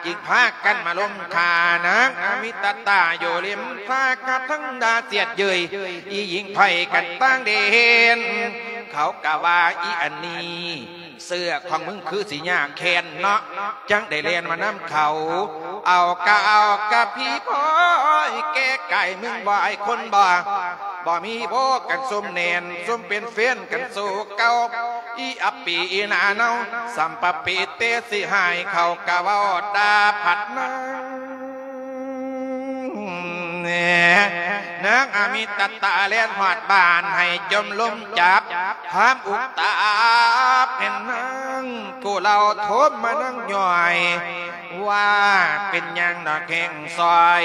ຈຶ່ງພາກັນມາລົມຂ້ານາງອາມິຕະຕາ ຢູ່ລິມທ່າກະທັງດ່າສຽດເຍີຍ ອີຍິງໄພກັນຕ່າງແດນ ເຂົາກະວ່າອີອັນນີ້ ເສື້ອຂອງມຶງຄືຊິຍາກແຄ້ນເນາະ ຈັ່ງໄດ້ແລ່ນມານຳເຂົາ ເອົາກະເອົາກະຜີພອຍແກ່ກາຍມຶງ ບໍ່ອາຍຄົນບໍ່ ບໍ່ມີບໍ່ກັນຊຸມແໜ້ນ ຊຸມເປັນແຟນກັນສູ່ເກົ່າ ອີອັບປີອີໜ້າເນົ່າ ສຳປະເປເຕ ຊິໃຫ້ເຂົາກະເວົ້າດ່າພັດນາງ. ນາງອາມິຕະຕະແລ່ນຮອດບ້ານ ໃຫ້ຈົ່ມລົມຈັບ ຄວາມອຸກຕາເປັນນາງ ກູເຫຼົ່າໂທມມານາງຍ່ອຍ ວ່າເປັນຫຍັງດອກແຮງຊອຍ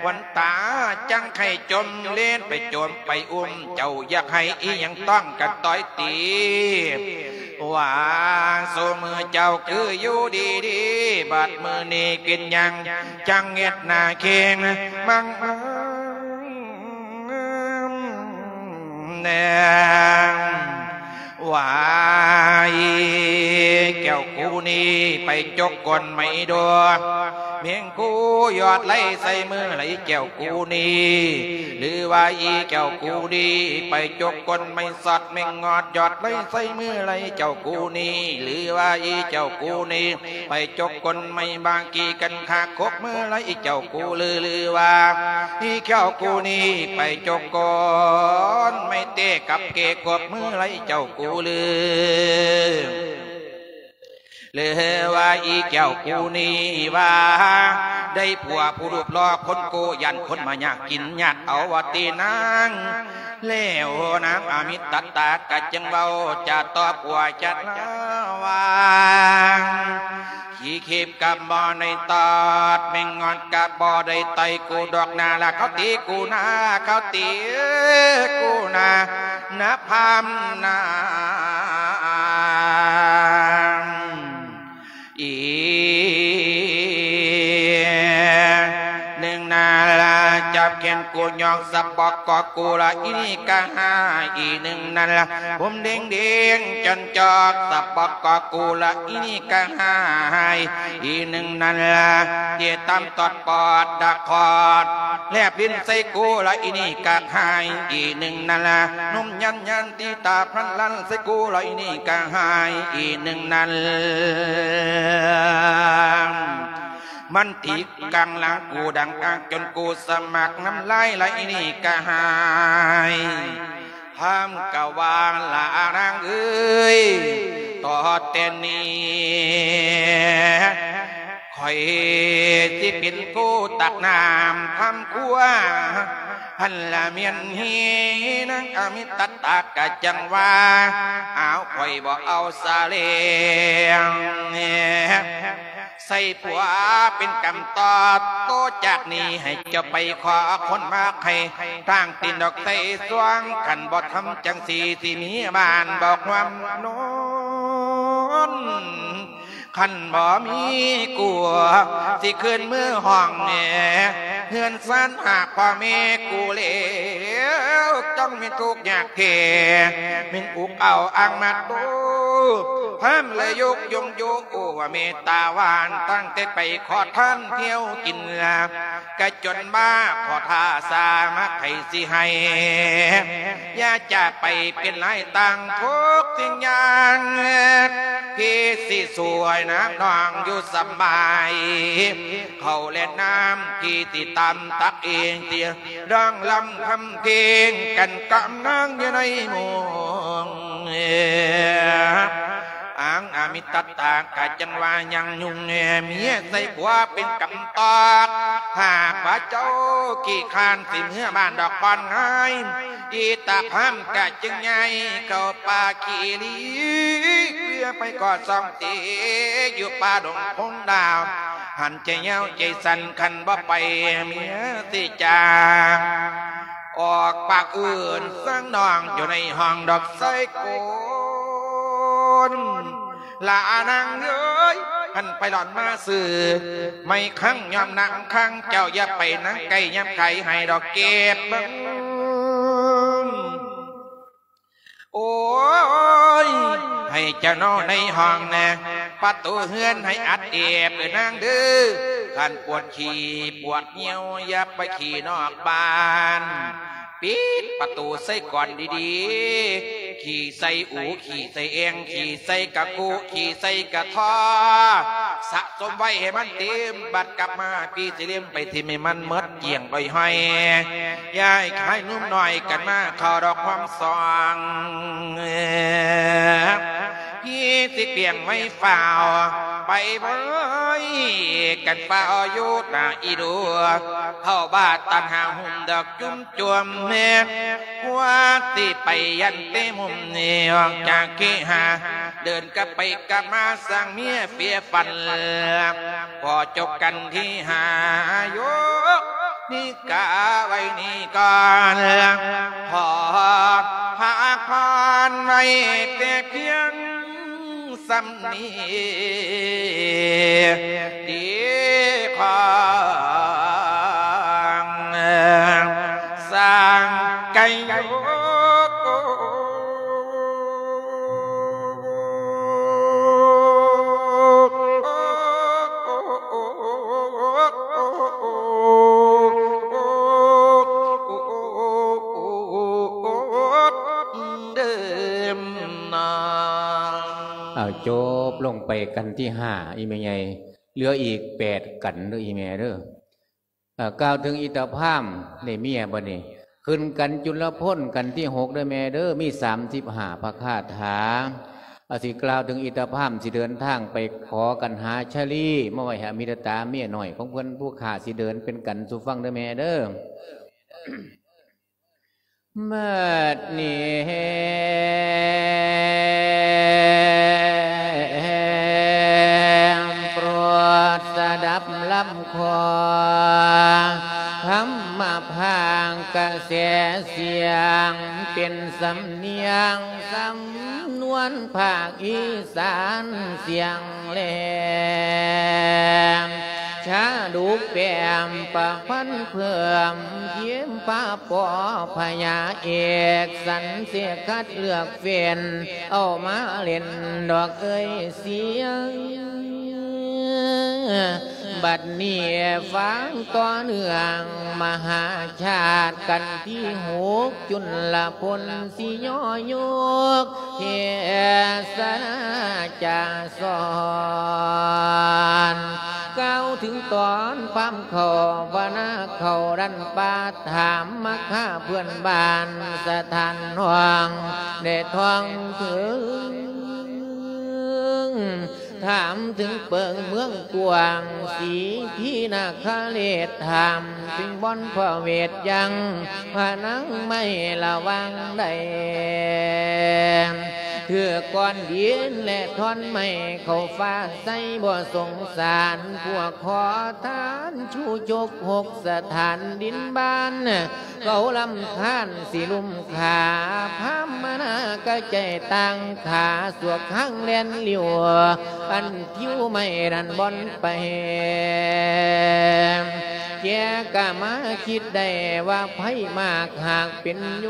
ຂວັນຕາຈັ່ງໄຂ້ຈົ່ມເລນໄປຈົ່ມໄປອຸ້ມ ເຈົ້າຢາກໃຫ້ອີ່ຫຍັງຕ້ອງກະຕ່ອຍຕີ ວ່າຊຸມື້ເຈົ້າຄືຢູ່ດີໆ ບັດມື້ນີ້ເປັນຫຍັງຈັ່ງເຮັດໜ້າເຄັ່ງມັງແນງ ວ່າອີ່ແກ້ວກູນີ້ໄປຈົກກົ້ນໄມ້ໂດ ແມງກູຢອດໄຫຼໃສ່ມືລະອີ່ແກ້ວກູນີ້ ຫຼືວ່າອີ່ແກ້ວກູນີ້ໄປຈົກກົ້ນໄມ້ຊອດ ແມງງອດຢອດໄຫຼໃສ່ມືລະອີ່ເຈົ້າກູນີ້ ຫຼືວ່າອີ່ເຈົ້າກູນີ້ໄປຈົກກົ້ນໄມ້ບາງກີກັນຄາຄົບມືລະອີ່ເຈົ້າກູລື ຫຼືວ່າ ອີ່ແກ້ວກູນີ້ໄປຈົກກ້ອນໄມ້ເຕະກັບເກກົບມືໄລ່ເຈົ້າກູລື ຫຼືວ່າອີ່ແກ້ວກູນີ້ວ່າ ໄດ້ຜົວຜູ້ຮູບຫຼໍ່ຄົນໂກ ຢ້ານຄົນມາຍາກກິນຍາດເອົາວ່າຕິນາງ. ແລ້ວນາງອາມິຕະຕາກະຈຶ່ງເວົ້າຈາຕອບຜົວຈັດລາວ່າ ຂີ້ເຂັບກະບໍ່ໄດ້ຕອດ ແມງງອດກະບໍ່ໄດ້ໄຕ່ກູດອກນາລະ ເຂົາຕີກູນາ ເຂົາຕີກູນາ ນາພາມນາ ອີໜຶ່ງນາລະ ຈັບແຂນກູຍອກສະບອກກອກກູລະ ອີນີ້ກະຫາຍ ອີໜຶ່ງນາລະ ຜົມເດັງໆ ຈອນຈອກສະບອກກອກກູລະ ອີນີ້ກະຫາຍ ອີໜຶ່ງນາລະ ເຕະຕາມຕອດປອດດາກຄອດ ແລບລິ້ນໃສ່ກູລະ ອີນີ້ກະຫາຍ ອີໜຶ່ງນາລະ ນົມຢັນໆ ຕີຕາພັນລັນໃສ່ກູລະ ອີນີ້ກະຫາຍ ອີໜຶ່ງນາລະ ມັນຕີກາງຫຼັງກູດັງອາກ ຈົນກູສະໝັກນ້ຳລາຍໄຫຼ ອີນີ້ກະຫາຍ ພາມກະວ່າ ລະນາງເອີຍ ຕໍ່ແຕ່ນີ້ ຂ້ອຍຊິເປັນຜູ້ຕັກນ້ຳທຳຄົວ ຫັ້ນລະແມ່ນເຮ ນາງອາມິຕະຕາກະຈັ່ງວ່າ ອ້າວ ຂ້ອຍບໍ່ເອົາສາແລງ ໃສ່ຜົວເປັນກຳຕອດ ໂຕຈາກນີ້ໃຫ້ເຈົ້າໄປຂໍຄົນມາໃຫ້ ທາງຕີນດອກໃສ່ສວງ ຄັນບໍ່ທຳຈັ່ງຊີ້ ຊິມີບ້ານບໍ່ຮ່ວມນອນ ຄັນບໍ່ມີກູ ຊິຂຶ້ນມືຫ້ອງແນ່ ເຮືອນຊານຫາກພໍ່ແມ່ກູແລ້ວ ຕ້ອງມີທຸກຍາກແທ້ ແມ່ນອຸກເອົາອ່າງມາໂຕ ພາມລະຍົກຍົງໂຍ ໂອ ວ່າເມດຕາຫວານ ຕັ້ງແຕ່ໄປຂໍທານທ່ຽວກິນລາບ ກະຈົນມາຂໍທ່າສາມາໃຜຊິໃຫ້ ຢ່າຈະໄປເປັນລາຍຕ່າງທຸກສິ່ງຢ່າງ ພີ່ຊິຊ່ວຍນາບນ້ອງຢູ່ສະບາຍ ເຂົ້າແລະນ້ຳ ພີ່ຊິຕຳຕັກເອງ ຊິຮ້ອງລຳທຳເພງກັນກັບນາງຢູ່ໃນໂມງ ອາງອາມິຕະຕາກະຈັ່ງວ່າຍັງຫຍຸ້ງແນ່ ເມຍໃສ່ຜົວເປັນກຳຕອກ ຫາກວ່າເຈົ້າຂີ້ຄ້ານ ຊິເມືອບ້ານດອກບ່ອນງ່າຍ ອີຕາພາມກະຈຶ່ງຍ້າຍເຂົ້າປ່າຂີ້ລີ ເພື່ອໄປກໍ່ຊ່ອງເຕ ຢູ່ປ່າດົງພົງດາວ ຫັ້ນໃຈຍາວໃຈສັ້ນ ຄັນບໍ່ໄປເມຍຊິຈາກ ອອກປາກອື່ນ ເຊິ່ງນ້ອງຢູ່ໃນຫ້ອງດອກໄຊໂກນ ລະນາງເອີຍ ຫັ້ນໄປຫຼອນມາຊື້ໄມ້ຄັງ ຍ້ອມນາງຄັງ ເຈົ້າຢ່າໄປນາງໃກ້ ຍາມໄກໃຫ້ດອກເກັບເບິ່ງ ໂອ້ຍ ໃຫ້ເຈົ້ານອນໃນຫ້ອງແນ່ ປະຕູເຮືອນໃຫ້ອັດແອບເດີນາງເດີ ຄັນປວດຂີ້ປວດຍ່ຽວ ຢ່າໄປຂີ້ນອກບ້ານ ປິດປະຕູໃສ່ກ່ອນດີໆ ຂີ້ໃສ່ອູ ຂີ້ໃສ່ແອ່ງ ຂີ້ໃສ່ກະຄຸ ຂີ້ໃສ່ກະທໍ ສະສົມໄວ້ໃຫ້ມັນເຕັມ, ບັດກັບມາປີຊິເລັມໄປຖິ້ມໃຫ້ມັນໝົດກ້ຽງດ້ອຍຫ້ອຍ. ຢ່າໃຫ້ຂາຍໜຸ່ມນ້ອຍກັນມາເຂົ້າດອກຄວາມຊ່ອງ. ພີ່ຊິປ່ຽງໄວ້ຟ້າວ ໄປເວີຍກັນຟ້າວຢູ່ໜ້າອີດູ ເຂົ້າບາດຕັນຫາຫຸ້ມດອກຈຸ້ມຈວມແມ່ ກວ່າຊິໄປຢັນເຕມຸມນີ້ອອກຈາກເຄຫາ ເດີນກັບໄປກັບມາສ້າງເມຍເຟຍຝັນ ພໍຈົບກັນທີຫ້າ ຍົກນິກາໄວ້ນີ້ກ່ອນ ຂໍພັກຜ່ອນໄວ້ແຕ່ພຽງສ່ຳນີ້ ດີຂອງສ້າງໄກໂຍ. ເອົາ ຈົບລົງໄປກັນທີຫ້າ ອີ່ແມ່ໃຫຍ່ ເຫຼືອອີກແປດກັນເດີອີ່ແມ່ເດີ. ເອີ ກ່າວເຖິງອິດຕະພາມ ໄດ້ເມຍບັດນີ້ ຂຶ້ນກັນຈຸລະພົນ ກັນທີຫົກເດີແມ່ເດີ ມີສາມສິບຫ້າພະຄາຖາ. ອາ ຊິກ່າວເຖິງອິດຕະພາມ ຊິເດີນທາງໄປຂໍກັນຫາຊາລີ ມາໄວ້ໃຫ້ອະມິດຕະຕາເມຍນ້ອຍຂອງເພິ່ນ ຜູ້ຂ້າຊິເດີນເປັນກັນສູ່ຟັງເດີແມ່ເດີ. ບັດນີ້ໂປດສະດັບລຳຂໍ ທຳມະພາກກະແສສຽງ ເປັນສຳນຽງສຳນວນພາກອີສານສຽງແຫຼມ ຊາດົກແປມປະພັນເພີ່ມ ເຢ້ມພະປໍພະຍາເອກ ສັນເສກຄັດເລືອກເຟັນ ເອົາມາຫຼິ້ນດອກເອີຍສຽງ. ບັດນີ້ຟັງຕໍ່ເນື່ອງມະຫາຊາດ ກັນທີຫົກ ຈຸນລະພົນ ຊິຍໍຍົກເທສະນາຈາສອນ ກ່າວເຖິງຕອນພາມເຂົ້າ ພະນາເຂົ້າດັນປ່າ ຖາມມາຄາເພື່ອນບ້ານ ສະຖານຫ້ອງ ແດ່ທ້ອງເຖິງ ຖາມເຖິງເປິງເມືອງກວ້າງ ສີພີນາຄະເລດ ຖາມເຖິງບ່ອນພະເວດຍັງ ພະນັງໄມ້ລະຫວ່າງໃດ ຖືກກ້ອນຫີນແລະທ່ອນໄມ້ ເຂົ້າຟ້າໃສ່ບໍ່ສົງສານ ພວກຂໍທານຊູຈົກຫົກສະຖານດິນບ້ານ ເຂົາລຳຄານຊິລຸມຂ້າ ພາມມະນາກະໃຈຕ່າງຂ້າ ສວກຫາງແລ່ນລິ້ວ ອັນ ຜິວໄມ້ນັ້ນບ່ອນໄປ ແກກະມາຄິດໄດ້ວ່າໃຜມາກຫາກເປັນໂຍ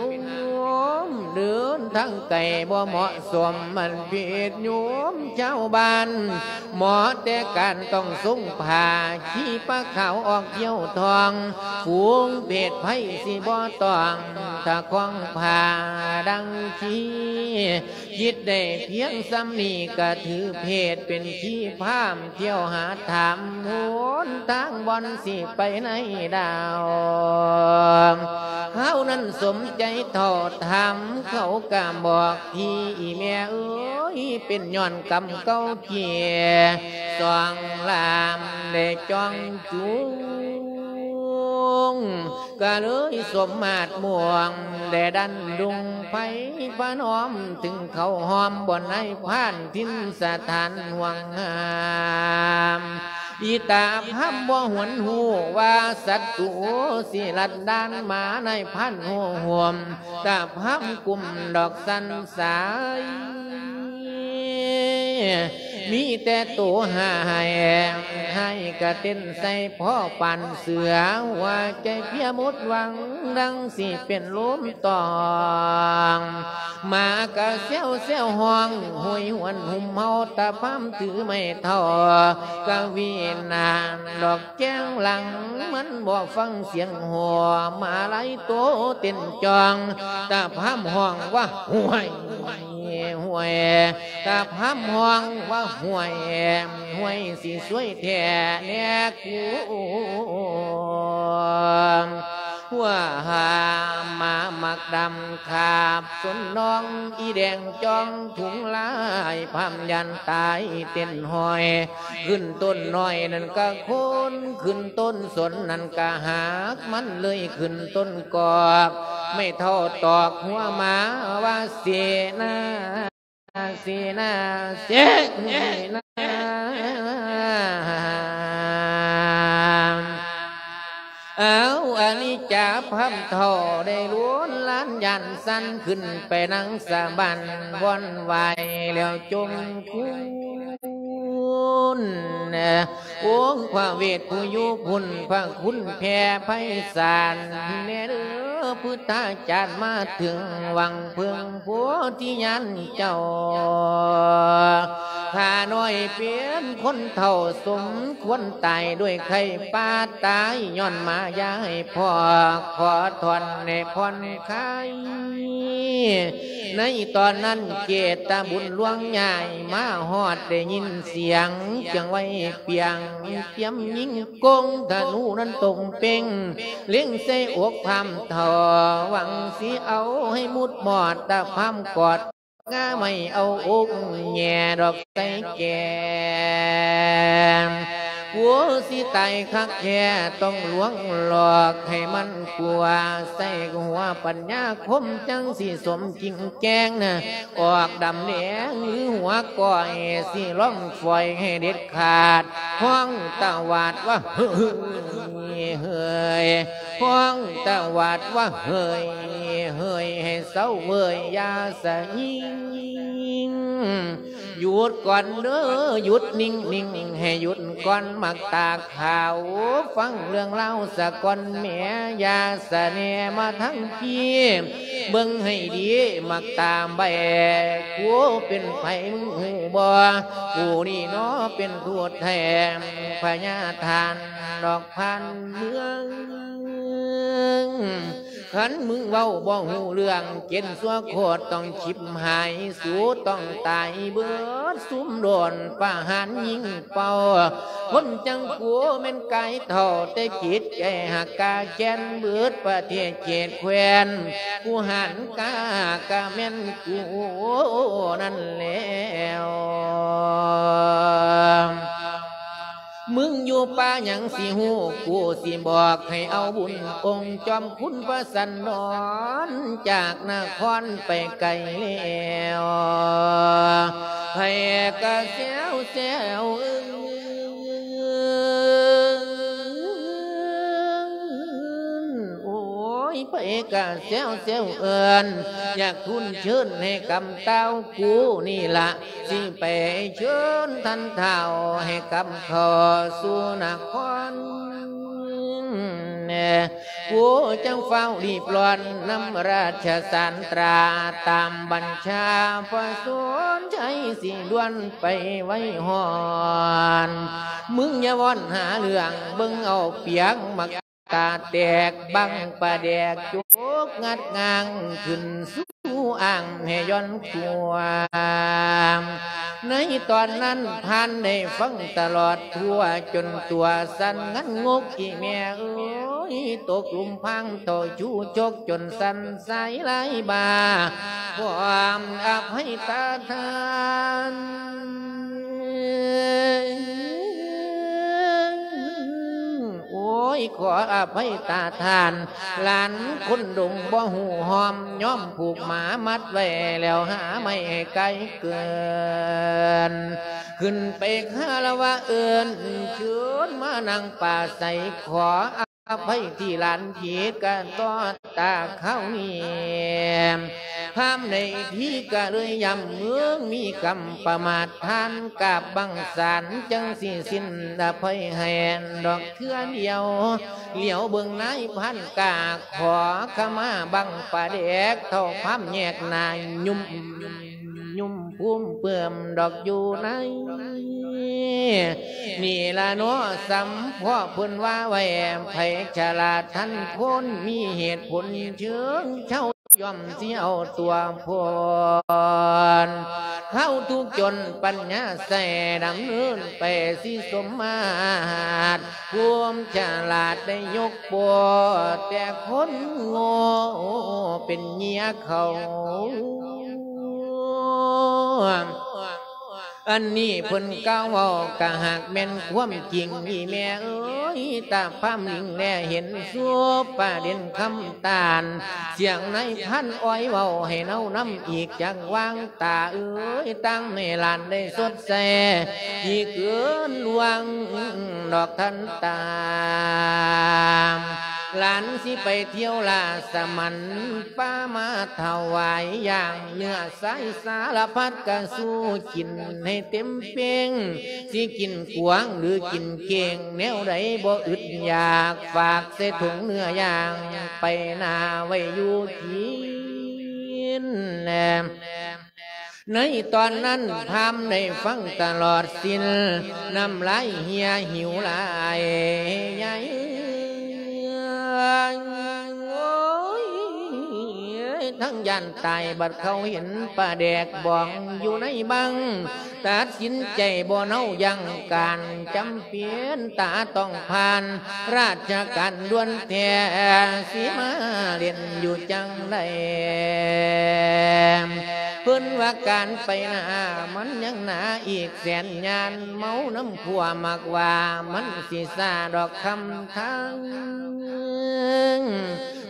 ມ ເດີນທາງໄກບໍ່ເໝາະສົມ ມັນຜິດໂຍມຊາວບ້ານ ເໝາະແຕ່ການຕ້ອງຊົງຜ້າ ຂີ່ປາຂາວອອກທ່ຽວທ່ອງ ຝູງເພດໃຜຊິບໍ່ຕ້ອງ ຖ້າຄອງຜ້າດັ່ງຄີ ຄິດໄດ້ພຽງສ່ຳນີ້ກະຖືເພດເປັນຄີ ພາມທ່ຽວຫາຖາມຫົນທາງບ່ອນຊິໄປໃນດາວ ຄາວນັ້ນສົມໃຈເຖົ້າຖາມ ເຂົາກະບອກທີ່ ອີ່ແມ່ເອີຍ ເປັນຍ້ອນກຳເກົ່າເກຍ ສອງລາມໄດ້ຈ່ອງຈູງ ກະເລີຍສົມມາດມ່ວງ ແດ່ດັນດຸງໄພພະນອມ ເຖິງເຂົ້າຫ້ອມບ່ອນນາຍພານຖິ່ນສະຖານຫ່ວງຫ້າມ ອີຕາພາມບໍ່ຫວນຮູ້ວ່າສັດຕູຊິລັດດານມາ ນາຍພານໂຫໂຫມ ຕາພາມກຸ້ມດອກສັນສາຍ ມີແຕ່ໂຕຫາຍ ຫາຍກະເຕັ້ນໃສ່ພໍປານເສືອ ຫົວໃຈເພຍໝົດຫວັງ ດັ່ງຊິເປັນລົມຕອງ ໝາກະແຊວແຊວຮ້ອງ ໂຫຍຫວນຫຸ້ມເຫົ່າ ຕາພາມຖືໄມ້ເຖົ້າ ກະຫວີນານດອກແຈງຫຼັງ ມັນບໍ່ຟັງສຽງຫົວ ໝາໄລໂຕເຕັ້ນຈ່ອງ ຕາພາມຮ້ອງວ່າ ຫ້ວຍ ຫ້ວຍ ຕາພາມຮ້ອງວ່າຫ້ວຍ ຫ້ວຍຊິຊ່ວຍແທ້ແນ່ກູ ຫົວຫາມາໝາກດຳຂາບສົນນ້ອງ ອີແດງຈ້ອງທຸງລາຍ ພາມຢ້ານຕາຍເຕັ້ນຫ້ອຍ ຂຶ້ນຕົ້ນນ້ອຍນັ້ນກະໂຄ່ນ ຂຶ້ນຕົ້ນສົນນັ້ນກະຫັກ ມັນເລີຍຂຶ້ນຕົ້ນກອກ ໄມ້ເຖົ້າຕອກຫົວມາວ່າເສນາ ເສນາ ເສນາ ເອົາ ອະນິດຈາພາມເຖົ້າໄດ້ລຸນລານຢ້ານສັ່ນ ຂຶ້ນໄປນັ່ງສະບັ້ນວອນໄຫວ້ແລ້ວຈົມຄຸນ ໂອ້ ພະເວດຜູ້ຢູ່ພຸ້ນ ພະຄຸນແຜ່ໄພສານແດ່ເດີ ພຸດທາຈານມາເຖິງຫວັງເພິ່ງໂພທິຍານເຈົ້າ ຂ້ານ້ອຍເປັນຄົນເຖົ້າສົມຄວນຕາຍດ້ວຍໄຂ້ປ່າຕາຍ ຍ້ອນມາຢາໃຫ້ພໍ່ ຂໍຖອນໃຫ້ຜ່ອນຄາຍ ໃນຕອນນັ້ນເກດຕະບຸນຫຼວງຍ້າຍມາຮອດ ໄດ້ຍິນສຽງຈຽງໄວປຽງ ຕຽມຍິງກົງທະນູນັ້ນຕົງເປັ່ງ ເລັງໃສ່ອົກພາມເຖົ້າ ຫວັງຊິເອົາໃຫ້ໝຸດມອດ ຕາພາມກອດງາໄມ້ເອົາອົກແຍ່ດອກໃສ່ແກ້ມ ກົວຊິຕາຍຄັກແທ້ ຕ້ອງລວງຫຼອກໃຫ້ມັນກົວ ໃສ່ຫົວປັນຍາຄົມ ຈັ່ງຊິສົມຈິງແຈ້ງນະ ອອກດຳແດງຫຼືຫົວກ້ອຍ ຊິລອງຝອຍໃຫ້ເດັດຂາດ ຮ້ອງຕະຫວາດວ່າ ເຮີ້ຍ ເຮີ້ຍ ເຮີ້ຍ ຮ້ອງຕະຫວາດວ່າ ເຮີ້ຍ ເຮີ້ຍ ໃຫ້ເຊົາເວີຍ ຢ່າສະຍິງ ຢຸດກ່ອນເດີ ຢຸດນິ່ງໆ ໃຫ້ຢຸດກ່ອນໝາກຕາຂາວ ຟັງເລື່ອງລາວສະກ່ອນແມ້ ຢ່າສະແນມາທາງພີ້ ເບິ່ງໃຫ້ດີໝາກຕາໃບ ກູເປັນໃຜມຶງຮູ້ບໍ່? ກູນີ້ນໍເປັນທູດແທນພະຍາທ່ານດອກຜ່ານເມືອງ ຄັນມຶງເວົ້າບໍ່ຮູ້ເລື່ອງ ເຈັນຊົ່ວໂຄດຕ້ອງຊິບຫາຍ ສູຕ້ອງຕາຍເບິດຊຸມໂດນປະຫານຍິງເປົ່າ ຄົນຈັ່ງກູແມ່ນກາຍເຖົ້າ ແຕ່ຈິດໃຈຫາກກາແຄ້ນ ເບິດປະເທດເຂດແຄວ້ນ ຜູ້ຫານກາກະແມ່ນກູນັ້ນແລ້ວ ມຶງຢູ່ປ່າຫຍັງຊິຮູ້ ກູຊິບອກໃຫ້ເອົາບຸນອົງຈອມຄຸນພະສັນດອນ ຈາກນະຄອນໄປໄກແລ້ວ ໃຜກະແຊວແຊວເອີ້ນ ໂອ້ຍ ໃຜກະແຊວແຊວເອີ້ນ ຢາກທູນເຊີນໃຫ້ກຳທ້າວ ກູນີ້ລະ ຊິໄປເຊີນທ່ານທ້າວໃຫ້ກັບເຂົ້າສູ່ນະຄອນ ກູຈັ່ງຟ້າວລີບລ້ອນນຳລາຊະສານຕາ ຕາມບັນຊາພະສົນໄຊ ຊິດ່ວນໄປໄວຮອດ ມຶງຢ່າວອນຫາເລື່ອງ ເບິ່ງເອົາປຽງໝາກ ຕາແຕກບັງປາແດກ ຈົກງັດງາງຂຶ້ນສູ່ອ່າງໃຫ້ຢ່ອນຂົວ ໃນຕອນນັ້ນທ່ານໄດ້ຟັງຕະຫຼອດທົ່ວ ຈົນຕົວສັ່ນງັນງົກ ອີ່ແມ່ເອີຍ ຕົກຫຼຸມພາງເຖົ້າຊູ່ຈົກ ຈົນສັ່ນສາຍລາຍບາ ຄວາມອະໄພຕາທ່ານ ໂອ້ຍ ຂໍອະໄພຕາທ່ານ ຫຼານຄົນດົງບໍ່ຮູ້ຮ່ອມ ຍ້ອມຜູກໝາມັດໄວ້ແລ້ວຫາໄມ້ໃຫ້ໄກເກີນ ຂຶ້ນໄປຄາລະວະເອີ້ນເຊີນມານັ່ງປາໄສ ຂໍອະໄພທີ່ຫຼານຜິດກະຕໍ່ຕາຄາວນີ້ ພາມໃນທີ່ກະເລີຍຢ້ຳເມືອງມີກຳປະໝາດ ທ່ານກາບບັງສານ ຈັ່ງຊິສິ້ນອະໄພໃຫ້ດອກເທື່ອດຽວ ຫຼຽວເບິ່ງນາຍພານກາ ຂໍຂະມາບັງປາແດກ ເຖົ້າພາມແຍກໜ້າຍຸ່ມ ຍຸ່ມພູມເປື້ອມດອກຢູ່ໃນ ນີ້ລະເນາະ ສຳເພາະເພິ່ນວ່າໄວ້ ໃຜສະຫຼາດທັນຄົນ ມີເຫດຜົນເຊີງເຊົາ ຍ່ອມຊິເອົາຕົວພົ້ນ ເຮົາທຸກຈົນປັນຍາໃສ່ ດຳເນີນໄປຊິສົມມາດ ພູມສະຫຼາດໄດ້ຍົກໂປ້ ແຕ່ຄົນໂງ່ເປັນເຫຍື່ອເຂົາ. ອັນນີ້ເພິ່ນກ່າວເວົ້າກະຫາກແມ່ນຄວາມຈິງ ອີ່ແມ່ເອີຍ ຕາພາມລິງແລເຫັນສຸບປະເດັນຄຳຕານ ສຽງນາຍພານອ້ອຍເວົ້າໃຫ້ເນົານຳອີກ ຈັກວາງຕາເອີຍ ຕັ້ງໃຫ້ຫຼານໄດ້ສົດໃສ ທີ່ເກີນລ່ວງດອກທັນຕາ ຫຼານຊິໄປທ່ຽວລາຊະມັນ ປາມາຖວາຍຢ່າງເນື້ອ ສາຍສາລະພັດກະສູ້ກິນໃຫ້ເຕັມເປັງ ຊິກິນກວາງຫຼືກິນເກ້ງ ແນວໃດບໍ່ອຶດຢາກ ຝາກໃສ່ຖົງເນື້ອຢ່າງ ໄປໜ້າໄວ້ຢູ່ກິນແລ. ໃນຕອນນັ້ນພາມໄດ້ຟັງຕະຫຼອດສິ້ນ ນ້ຳລາຍເຫື່ອຫິວຫຼາຍໃຫຍ່ ໂອ້ຍ ທັງຢ້ານຕາຍ ບັດເຂົາເຫັນປາແດກບອງຢູ່ໃນບັງ ຕັດສິນໃຈບໍ່ເນົາຢັ້ງການ ຈຳເປັນຕາຕ້ອງຜ່ານ ລາຊະການດ່ວນແທ້ ຊິມາຫຼິ້ນຢູ່ຈັ່ງໃດ ເພິ່ນວ່າການໄປໜ້າມັນຍັງໜາອີກແສນຍານ ເມົານຳພວກມັກວ່າມັນຊິຊ້າດອກຄຳທາງ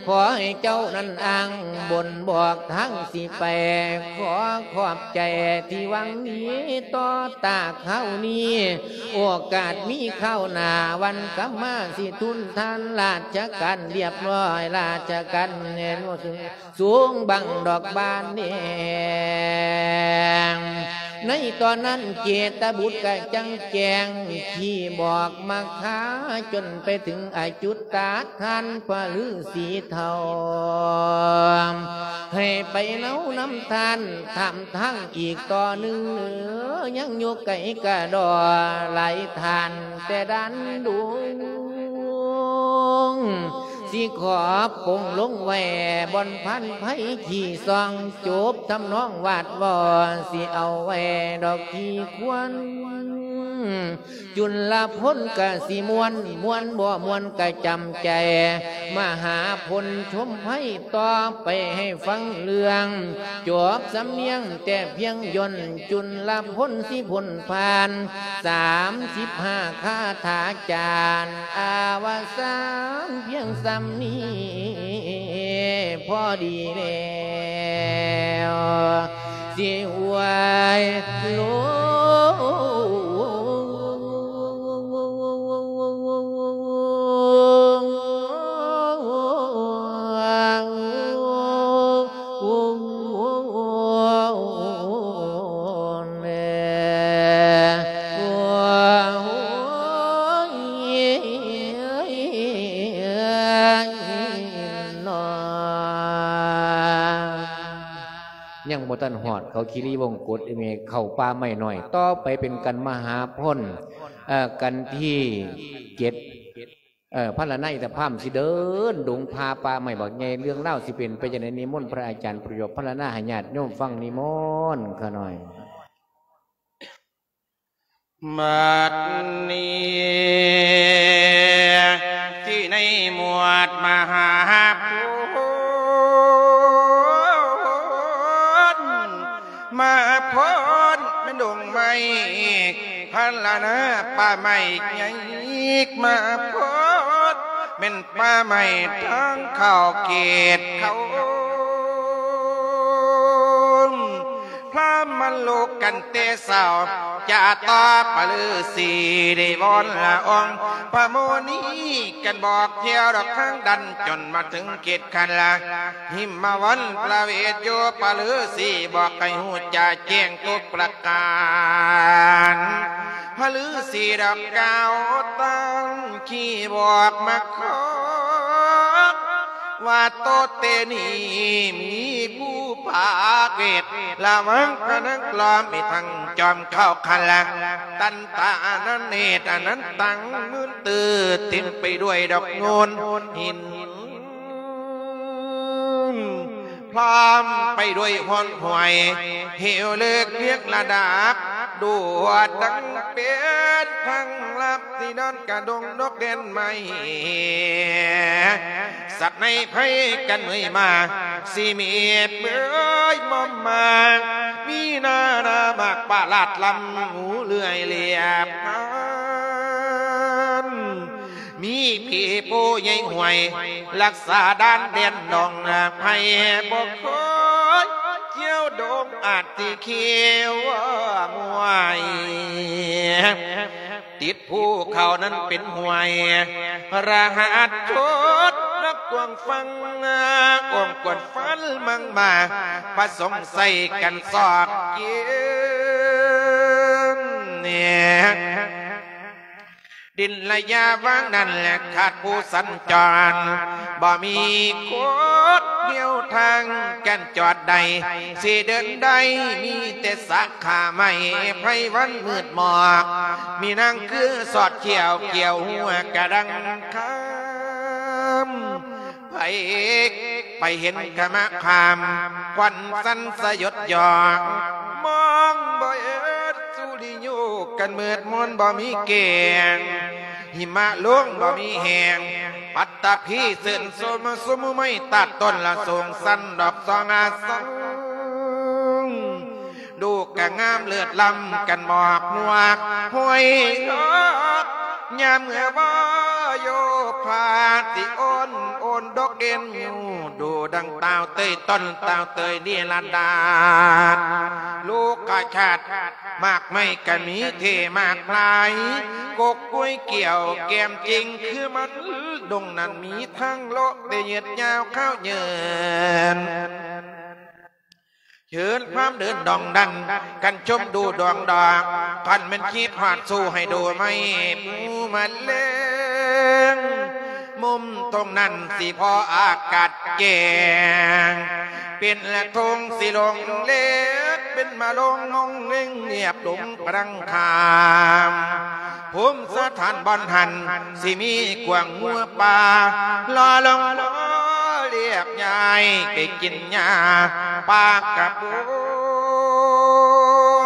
ຂໍໃຫ້ເຈົ້ານັ້ນອ້າງບົນບອກທາງຊິໄປ ຂໍຂອບໃຈທີ່ຫວັງດີຕໍ່ຕາຄາວນີ້ ໂອກາດມີຄາວໜ້າ ວັນກັບມາຊິທູນທານ ລາຊະການລຽບຮ້ອຍ ລາຊະການແໜ້ນ ສູງບັງດອກບານແດງ ໃນຕອນນັ້ນເຈດຕະບຸດກະຈັ່ງແຈ້ງ ທີ່ບອກມາຄາ ຈົນໄປເຖິງອາຈຸດຕາທ່ານພະລືສີເຖົ້າ ໃຫ້ໄປເນົານຳທ່ານ ຖາມທາງອີກຕໍ່ໜຶ່ງ ຍັງຢູ່ໄກກະດໍ ຫຼາຍທ່ານແຕ່ດ່ານດຸງ ຊິຂໍປົງລົງໄວ້ບ່ອນພານໄພຂີ້ຊ່ອງ ຈົບທຳນອງວາດວອ ຊິເອົາໄວ້ດອກທີ່ຄວນ ຈຸນລະພົນກະຊິມ່ວນ ມ່ວນບໍ່ມ່ວນກະຈຳໃຈ ມະຫາພົນຊົມໄພຕໍ່ໄປໃຫ້ຟັງເລື່ອງ ຈົບສຳນຽງແຕ່ພຽງຢ່ນ ຈຸນລະພົນຊິພົ້ນຜ່ານ ສາມສິບຫ້າຄາຖາຈານ ອາວະສານພຽງສ່ຳນີ້ພໍດີແລ້ວ ຊິອວຍລົງ ຍັງບໍ່ທັນຮອດເຂົາຄີຣີວົງກົດ ເອີ ເຂົ້າປ່າໄມ້ນ້ອຍ ຕໍ່ໄປເປັນກັນມະຫາພົນ ເອີ ກັນທີເຈັດ ເອີ ພັນລະນາອິນທະພາມຊິເດີນດົງຜ່າປ່າໄມ້ບັກໃຫຍ່ ເລື່ອງລາວຊິເປັນໄປຈັ່ງໃດ ນິມົນພະອາຈານປະໂຫຍກພັນລະນາໃຫ້ຍາດໂຍມຟັງ ນິມົນຂ້ານ້ອຍ. ບັດນີ້ ທີ່ໃນໝວດມະຫາພົນ ມະຫາພົນແມ່ນດົງໄມ້ ພັນລະນາປ່າໄມ້ໃຫຍ່ ມະຫາພົນແມ່ນປ່າໄມ້ທາງເຂົ້າເຂດເຂົາ ພາມມາລຸກກັນແຕ່ເຊົ້າ ຈາຕໍ່ປະລືສີໄດ້ວອນລະອອງ ພະໂມນີກັນບອກແຖວດອກທາງດັນ ຈົນມາເຖິງເຂດຄັນລະ ຫິມມະວັນປະເວດຢູ່ ປະລືສີບອກໃຫ້ຮູ້ຈະແຈ້ງທຸກປະການ ພະລືສີດອກກ່າວຕາມທີ່ບອກມາຂອ ວ່າໂຕເຕນີ້ມີຜູ້ພາກເວດ ລະວັງພະນັງກລອມ ມີທັງຈອມເຂົ້າຄັນລະ ຕັນຕາອະນັນເນດອະນັນຕັງ ມື່ນຕື່ເຕັມໄປດ້ວຍດອກໂງນຫີນ ພ້ອມໄປດ້ວຍຮ່ອນຫ້ວຍ ເຫວເລິກຮຽງລະດັບ ດວດດັງເປັນພັງລັບ ທີ່ດອນກະດົງນົກແດນໄມ້ ສັດໃນໄພກັນເມີຍມາ ຊິມີເປີຍມອມມາ ມີນານາມາກປະຫຼາດລຳ ຫູເລື່ອຍລຽບພັນ ມີຜີໂພໃຫຍ່ຫ້ວຍ ລັກສາດ່ານແດນໜອງນາໄພ ບໍ່ຄ່ອຍກ່ຽວດົງອາດຊິຂຽວມວຍ ຕິດພູເຂົານັ້ນເປັນຫ້ວຍ ລະຫັດຊົດນັກກວ້າງຝັ່ງ ກວ້າງກວ້າງຟັນມັງມາ ປະສົງໄສກັນຊອກກິນ ດິນລະຍະວາງນັ້ນແລະຂາດຜູ້ສັນຈອນ ບໍ່ມີຄົນຮຽວທາງກັນຈອດໃດ ຊິເດີນໄດ້ມີແຕ່ສາຂາໄມ້ ໄພວັນມືດໝອກ ມີນາງຄືສອດຂຽວ ຂຽວຫົວກະດັງຄຳ ໃຜໄປເຫັນຂະມະຄາມ ຄວັນສັນສະຫຍົດຢອກ ມອງບໍ່ເຫັນສຸລິໂຍກັນມືດມົນບໍ່ມີແກງ ຫິມະລົງບໍ່ມີແຫ້ງ ປັດຕະພີເຊີນຊົມ ຊຸມໄມ້ຕາດຕົ້ນລະສູງສັນດອກສອງອາສັງ ດູກະງາມເລີດລ້ຳກັນໝອກຮວກຫ້ວຍ ຍາມເມື່ອວາໂຍພາ ຊິໂອນໂອນດອກເອັນຢູ່ ດູດັ່ງຕ່າວເຕີຍຕົ້ນ ຕ່າວເຕີຍນິລະດາດ ໂລກະຊາດ ໝາກໄມ້ກະມີເທມາກຫຼາຍ ກົກກ້ວຍກ່ຽວແກ້ມຈິງຄືມັນ ດົງນັ້ນມີທັງໂລະ ແຕ່ຍືດຍາວຂາວເຍີນ ເຊີນຄວາມເດີນດອງດັນ ກັນຊົມດູດອງດອກ ຄັນແມ່ນຄິດຮອດສູ້ໃຫ້ດູໄມ້ພູມະເລງ ມຸມຕົງນັ້ນຊິພໍອາກາດແຈ້ງ ເປັນລະທົງຊິລົງເລັກ ເປັນມະລົງມົງເລັງລຽບລົງພະລັງຄາມ ພູມສະຖານບ່ອນຫັ້ນ ຊິມີກວາງງົວປ່າ ລໍລົງລໍລຽບຍ້າຍໄປກິນຫຍ້າປ່າກະໂປ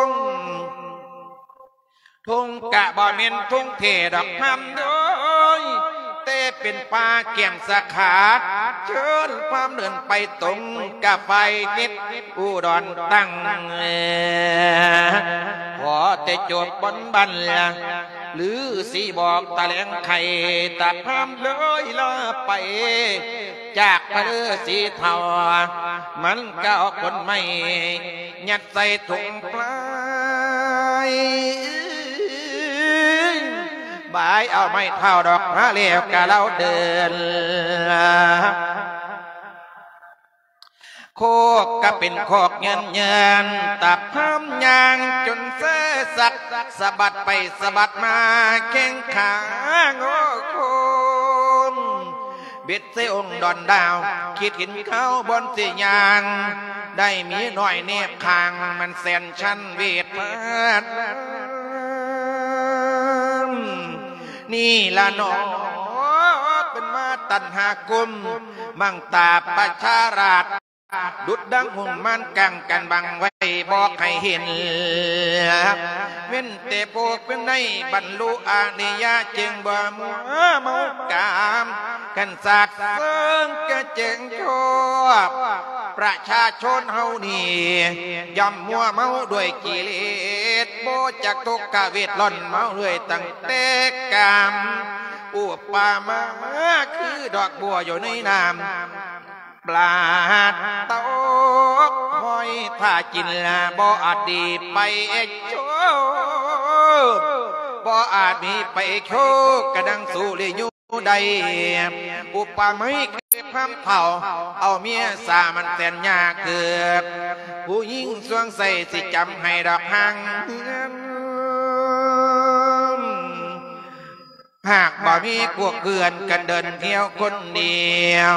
ງ ທົ່ງກະບໍ່ແມ່ນທົ່ງເທດອກພາມເອີຍ ແຕ່ເປັນປ່າແກ້ມສາຂາ ເຊີນພາມເດີນໄປຕົງກະໄຟເຮັດອຸດອນຕັ້ງ ຂໍແຕ່ຈົບບ່ອນບັນລະ ຫຼືຊິບອກຕະແຫຼງໄຂ ຕາພາມເລີຍລາໄປ ຈາກພະລືສີເຖົ້າ ມັນກະເອົາຂົນໄມ້ ຍັດໃສ່ຖົງປາຍ ບາຍເອົາໄມ້ເຖົ້າດອກມາແລ້ວກະລາວເດີນ ໂຄກກະເປັນຄອກເຍີນໆ ຕາພາມຍ່າງຈົນເຊຊັກ ສະບັດໄປສະບັດມາແຂ້ງຂາງໂອຄົນ ເບັດໃສ່ອົງດອນດາວ ຄິດເຫັນເຂົາບ່ອນຊິຍ່າງ ໄດ້ເມຍນ້ອຍແນບຂ້າງ ມັນແສນຊັນເວດທານ ນີ້ລະໜໍ ເປັນມາຕັນຫາກຸມ ບັງຕາປະຊາລາດ ດຸດດັ່ງຫົງມານກັງກັນບັງໄວ້ບໍ່ໃຫ້ເຫັນ ເວັ້ນແຕ່ພວກເພິ່ນໄດ້ບັນລຸອະລິຍະ ຈຶ່ງບໍ່ມົວເມົາກາມ ກັນສາກເສີງກະແຈ້ງຊອບ ປະຊາຊົນເຮົານີ້ ຍ່ອມມົວເມົາດ້ວຍກິເລດ ບໍ່ຈັກທຸກກະເວດ ລ່ອນເມົາເລື້ອຍຕັ້ງແຕ່ກາມ ອຸປະມາຄືດອກບົວຢູ່ໃນນ້ຳ ປາຕົກຫອຍຖ້າກິນລະບໍ່ອາດດີໄປໂຊ ບໍ່ອາດມີໄປໂຊ ກະດັງສຸລິໂຍໄດ້ ອຸປະໄມຄືພາມເຖົ້າ ເອົາເມຍສາມັນແສນຍາກເກີດ ຜູ້ຍິງສວງໃສຊິຈຳໃຫ້ດອກຫາງເຮືອນ ຫາກບໍ່ມີພວກເພື່ອນກັນເດີນທ່ຽວຄົນດຽວ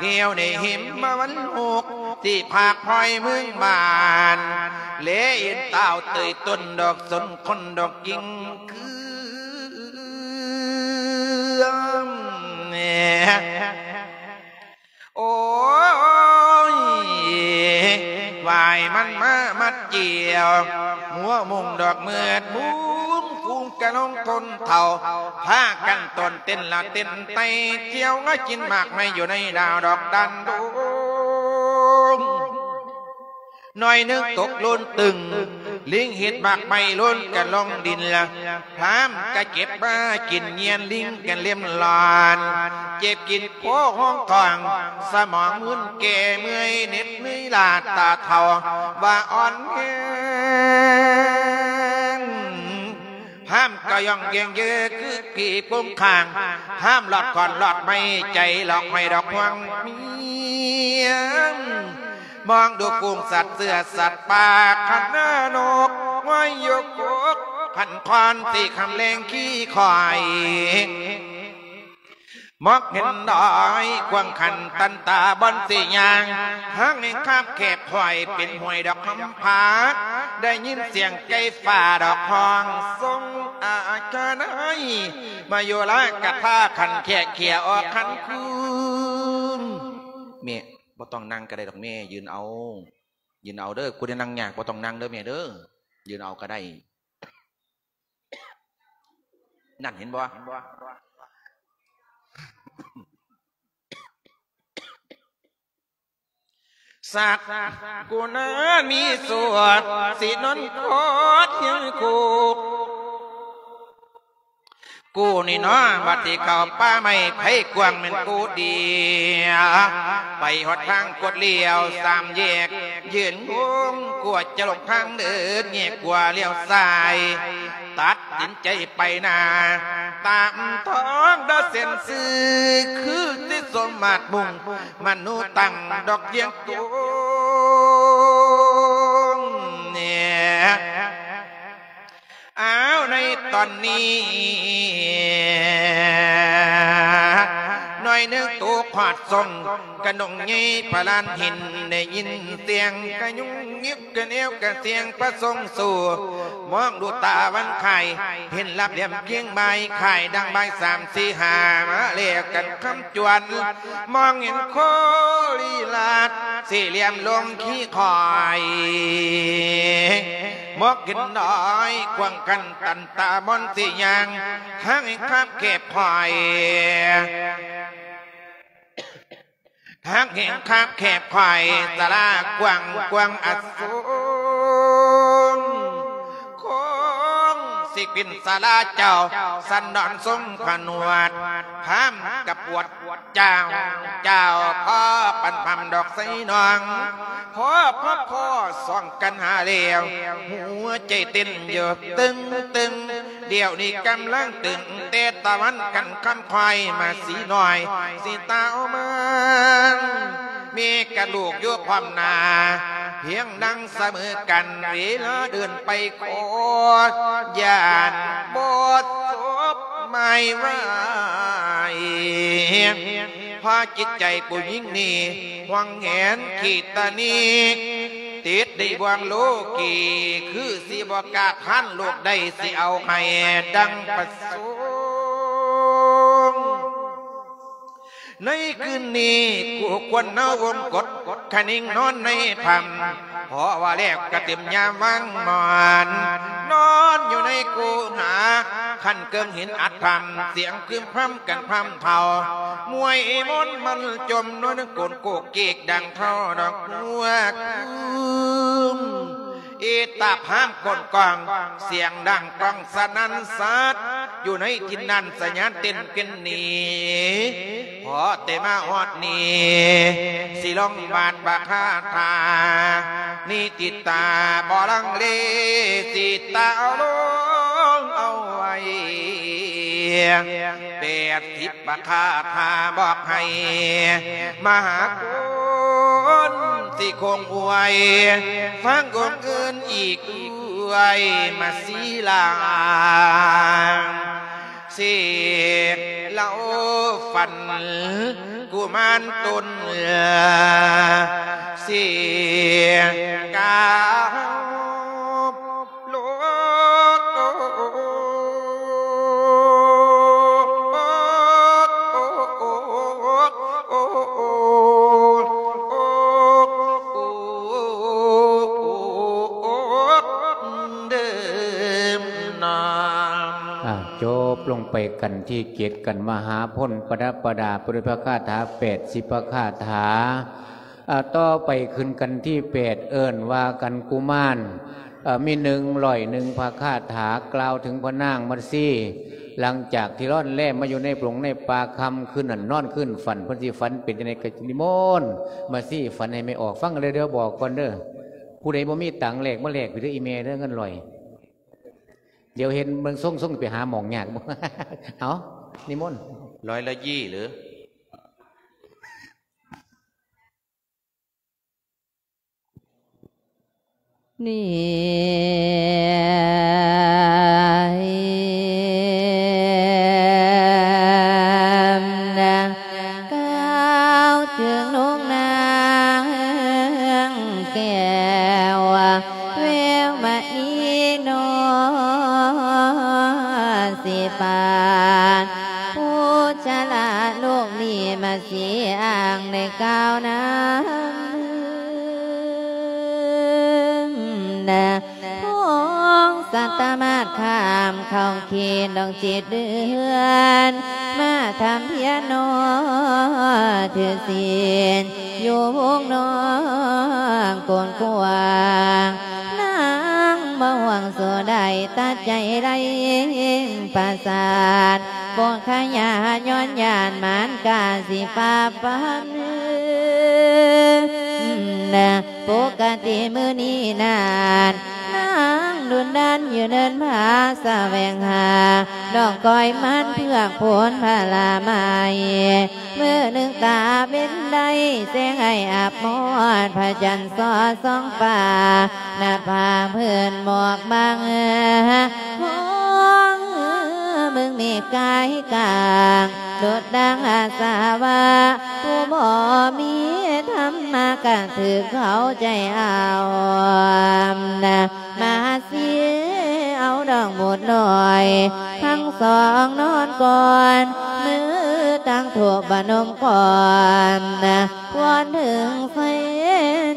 ທ່ຽວໃນຫິມມະວັນຫົກ ທີ່ພາກພອຍເມືອງບ້ານ ແລເຫັນຕ່າວເຕີຍຕົ້ນດອກສົນຄົນດອກກິ່ງເຄືອມ ໂອ້ຍ ຫົວມຸງດອກມືດມຸງຝູງກະນົງຊົນເຜົ່າ ພາກັນໂຕນເຕັ້ນລະເຕັ້ນໄຕ່ ທ່ຽວມາກິນໝາກໄມ້ຢູ່ໃນດາວດອກດັນດົງ. ໜ້ອຍໜຶ່ງຕົກໂລນຕຶງ ລິງເຮັດໝາກໄມ້ໂລນກະລົງດິນລະ ພາມກະເກັບມາກິນ ຍຽນລິງກະເລັມລອນ ເຈັບກິນໂພຮອງກອງ ສະໝອງມຶນແກ່ເມື່ອຍ ເໜັດເມື່ອຍລ້າຕາເຖົ້າວ່າອ່ອນແຮງ. ພາມກະຍ່ອງເຢີ້ງເຍີຄືຜີປົງຄາງ ພາມລອດຂອນລອດໄມ້ ໃຈລອກຫ້ອຍດອກຫ່ວງເມຍ. ມອງດູຝູງສັດເສືອສັດປ່າ ຂັນນານົກ ງວາຍຢູ່ກົກ ພັນຄອນ ສີຄຳແລງຂີ້ຄວາຍ ມອກເຫັນດອຍກວ້າງຂັນຕັນຕາບ່ອນຊິຍ່າງ ທາງແຫ່ງຄາບແຄບຄວາຍ ເປັນຫ້ວຍດອກຄຳຜາ ໄດ້ຍິນສຽງໄກ່ຟ້າດອກຮ້ອງ ຊົງອາຄາໄນ ມາໂຍລາກະທາຂັນແຄກເຂຍອອກຂັນຄູນ. ແມ່ ບໍ່ຕ້ອງນັ່ງກະໄດ້ດອກແມ່ ຢືນເອົາ ຢືນເອົາເດີ ຜູ້ໃດນັ່ງຍາກບໍ່ຕ້ອງນັ່ງເດີແມ່ເດີ ຢືນເອົາກະໄດ້ ນັ້ນເຫັນບໍ່? ສັກກຸນາມີສວດ ສິນົນຄອດຮຽງຄຸກ ກູນີ້ເນາະ ບັດທີ່ເຂົ້າປ່າໄມ້ໄຜ່ກວ້າງແມ່ນກູດຽວ ໄປຮອດທາງກົດລ້ຽວສາມແຍກ ຢືນງົງກວ່າຈະຫຼົງທາງເດີນ ແຍກຂວາລ້ຽວຊ້າຍ ຕັດສິນໃຈໄປໜ້າ ຕາມທາງດາເສັ້ນຊື່ ຄືຊິສົມມາດມຸ່ງ ມະນູຕັ້ງດອກວຽງຕົງ ແນ່ ອ້າວ ໃນຕອນນີ້ ໜ້ອຍໜຶ່ງໂຕຂອດຊົງ ກະນົງໃຫຍ່ພະລານຫີນ ໄດ້ຍິນສຽງກະຍຸງຍິບ ກະແນວກະສຽງພະຊົງສູ້ ມອງດູຕາວັນຄາຍ ເຫັນລາບຫຼ່ຽມພຽງບາຍ ຄ້າຍດັ່ງບາຍສາມສີ່ຫ້າ ມາແລກກັນຄຳຈວນ ມອງເຫັນໂຄລີລາດ ສີ່ຫຼ່ຽມລົງຂີ້ຄວາຍ ໝອກເຫັນນ້ອຍກວ້າງກັນ ຕັນຕາບ່ອນຊິຍ່າງ ທາງໃຫ້ຄາບແຄບຄວາຍ ຫາກແຫ່ງຄາບແຄບຄວາຍ ສາລາກວ້າງກວາງອະສົງ ຄົງຊິເປັນສາລາເຈົ້າ ສັນດອນຊົງຜະໜວດ ພາມກະປວດເຈົ້າ ເຈົ້າພໍປັນພຳດອກໄຊນ້ອງ ພໍ ພໍ ພໍສອງກັນຫາແລ້ວ ຫົວໃຈເຕັ້ນຢູ່ຕຶງໆ ດຽວນີ້ກຳລັງຕຶງ ແຕ່ຕາວັນກັນຄຳຄວາຍມາສີນ້ອຍ ສີຕາວມານ ມີກະດູກຢູ່ພ້ອມໜ້າ ພຽງດັງສະເໝີກັນ ເວລາເດີນໄປຂໍ ຢ້ານບໍ່ສົບໝາຍໄວ້ ເພາະຈິດໃຈຜູ້ຍິງນີ້ ຫວງແຫນຂີດຕະໜີ ຕິດໃນບ່ວງໂລກີ ຄືຊິບໍ່ກາດທານໂລກໃດ ຊິເອົາໃຫ້ດັ່ງປະສົງ. ໃນຄືນນີ້ ຄູ່ຄວນເອົາວົງກົດ ຄະນິງນອນໃນພຳ ເພາະວ່າແລ້ວກະເຕັມຍາມວາງໝອນ ນອນຢູ່ໃນກູຫາ ຂັ້ນເກິ່ງຫີນອັດພຳ ສຽງຄຶມພຳກັນພຳເທົາ ມວຍມົນມັນຈົມ ນວນກົນໂກກເກກ ດັ່ງເທົາດອກຫົວກຶມ ເອຕາພາມກົນກອງ ສຽງດັງກ້ອງສະໜັ່ນສັດ ຢູ່ໃນຖິ່ນນັ້ນສະຫຍານເຕັ້ນກັນໜີ ພໍແຕ່ມາຮອດນີ້ ຊິລອງບາດບາຄາຖາ ນິຕິຕາບໍ່ລັງເລ ຊິຕາເອົາລົງເອົາໄວ້ ແປດສິບ ປະຄາຖາບອກໃຫ້ມະຫາກຸນ ຊິຄົງອວຍ ຟັງອົງອື່ນອີກອວຍມາສີລາ ເສກເລົ່າຝັນກຸມານຕົນ ເສກກາວ ໂລກ ໄປກັນທີເຈັດ ກັນມະຫາພົນ ປະດັບປະດາໄປດ້ວຍພະຄາຖາແປດສິບພະຄາຖາ. ອາ ຕໍ່ໄປຂຶ້ນກັນທີແປດ ເອີ້ນວ່າກັນກຸມານ. ເອີ ມີໜຶ່ງຮ້ອຍໜຶ່ງພະຄາຖາ ກ່າວເຖິງພະນາງມາຊີ ຫຼັງຈາກທີ່ລອນແລມມາຢູ່ໃນປົງໃນປ່າ ຄ່ຳຄືນນັ້ນນອນຄືນຝັນ ເພິ່ນຊິຝັນເປັນຈັ່ງໃດ ກໍນິມົນມາຊີຝັນໃຫ້ແມ່ອອກຟັງເດີ. ດຽວບອກກ່ອນເດີ ຜູ້ໃດບໍ່ມີຕັງແລກມາແລກພີ້ເດີ ອີ່ແມ່ເດີ ເງິນຮ້ອຍ. ດຽວເຫັນເບິ່ງຊົງໆ ໄປຫາໝ່ອງຍາກ. ເອົາ ນິມົນ. ຮ້ອຍລະຢີ່ຫຼື? ນີ້ນະ ກ່າວເຖິງນົງນາງແກ້ວ ແວວມະນີນໍ ຊິປານ ຜູ້ຊະລາໂລກນີ້ມາຊິອ້າງໄດ້ກ່າວນຳ ນະ ພອງສັດຕະມາດຂ້າມເຂົ້າເຂດດອກເຈັດເດືອນ ມາທຳພຽນນໍ ຖືສິນຢູ່ວົງນອກກວ້າງ ນາງບໍ່ຫວງສູ່ໄດ້ຕັດໃຈໄດ້ປະສາດ ປົກຂະຍາຍ້ອນຢ້ານມານກາຊິປາບປາມ ນະ ປົກກະຕິມື້ນີ້ນັ້ນ ນາງດຸນດັນຢູ່ເນີນຜາສະແຫວງຫາ ດອກກ້ອຍມັນເຜືອກໂພນຜະລາໄມ້ ມື້ໜຶ່ງຕາເວັນໄດ້ແສງໃຫ້ອາບມອດ ພະຈັນສອດສ່ອງຟ້າ ໜ້າຜາເພິ່ນໝອກບັງ ຮອງເບິ່ງເມກກາຍກາງ ໂດດດັ່ງອາສາວະ ຜູ້ບໍ່ມີທຳມະກະຖືກເຂົາໃຈເອົາ ນະ ມາຊິເອົາດອກບຸດນ້ອຍ ທັງສອງນອນກ່ອນ ມືຕັ້ງທູບປະນົມກ່ອນ ວອນເຖິງໄຟ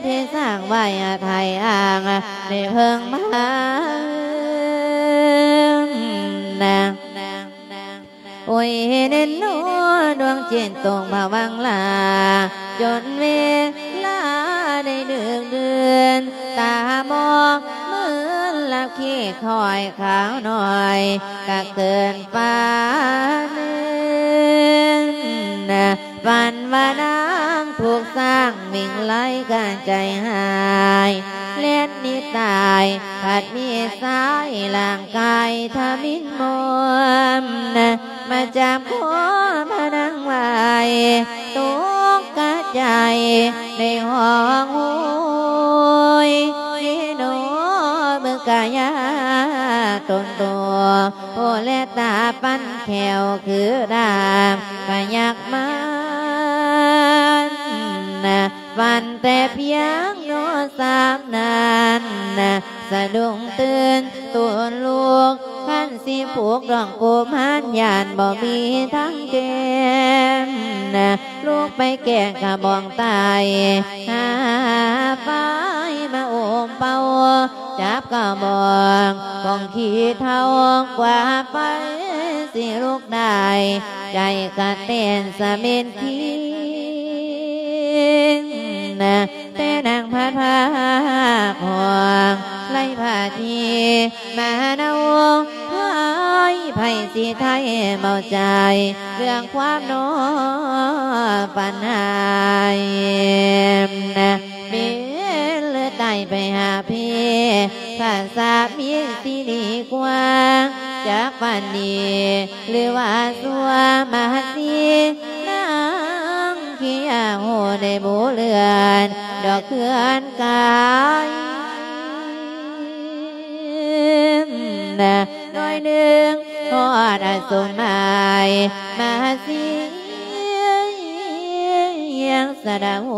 ທີ່ສ້າງໄວ້ອາໄທອ້າງ ໃນເພິ່ງມາ ນະ ໂອຍເນນໂນ ດວງຈິດຕົກຜະວັງລາ ຈົນເວລາໄດ້ດຶກດື່ນ ຕາໝອກມືນຫຼັບຄີຄ່ອຍຂາວໜ້ອຍ ກະເກີນປານ ຝັນວ່ານາງຖືກຊ້າງວິ່ງໄລ່ກະໃຈຫາຍ ແລ່ນໜີຕາຍ ພັດມີສາຍຮ່າງກາຍທະມິນມອມ ມາຈັບຄໍພະນາງໄວ້ ຕົກກະໃຈໄດ້ຮ້ອງໂຫຍ ເນໂນເບິ່ງກາຍາຕົນໂຕ ໂອແລຕາປັນແຂ້ວຄືດາບພະຍັກມານ ຝັນແຕ່ພຽງໂນສາມນັ້ນ ສະດຸ້ງຕື່ນໂຕນລຸກ ຄັນຊິຜູກດອງກຸມານ ຢ້ານບໍ່ມີທາງແກ້ມ ລຸກໄປແກ້ງກະບອງໄຕ້ ຫາໄຟມາໂອມເປົ່າ ຈັບກະບອງ ຂອງຂີ້ເຖົ້າກວ່າໄຟຊິລຸກໄດ້ ໃຈກະເຕັ້ນສະເມັດຄີງ ແຕ່ນາງພັດພາກຫ້ອງ ໄລພາທີມານະວົງ ໃຜ ໃຜຊິໄຖ່ເອົາໃຈ ເລື່ອງຄວາມນອນຝັນຫາຍ ເປັນຫຼືຕາຍໄປຫາພີ ພາສາມີຊິດີກວ່າ ຈັກຝັນດີ ຫຼືວ່າຊົ່ວມາຊີ ນາງເຄີຍໂຫໄດ້ບູເລື່ອນ ດອກເຄື່ອນກາຍ ໜ້ອຍໜຶ່ງຮອດອະສົມໝາຍ ມາຊີ ສະດາໂຫ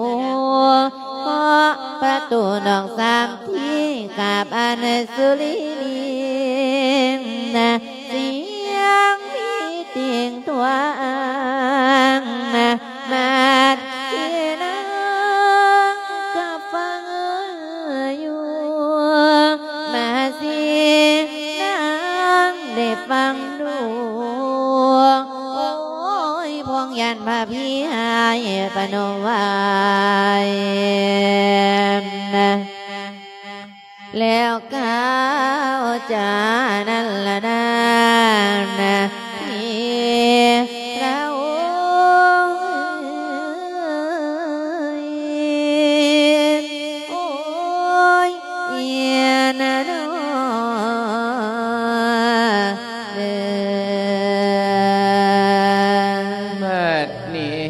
ເຄາະປະຕູນອກສາມທີ ກາບອັນສຸລິລິງ ສຽງມີຕິ່ງທວາງ ມາດທີ່ນາງກະຟັງຢູ່ ມາຊີນາງໄດ້ຟັງດູ ຍນພະພິໃຫ້ປະນົມໄວ້ ແລ້ວກ່າວຈານັ້ນລະນາ ທີ່ພະອົງ ໂອ້ຍ ເອີຍນະນໍ ເດີ. ບັດນີ້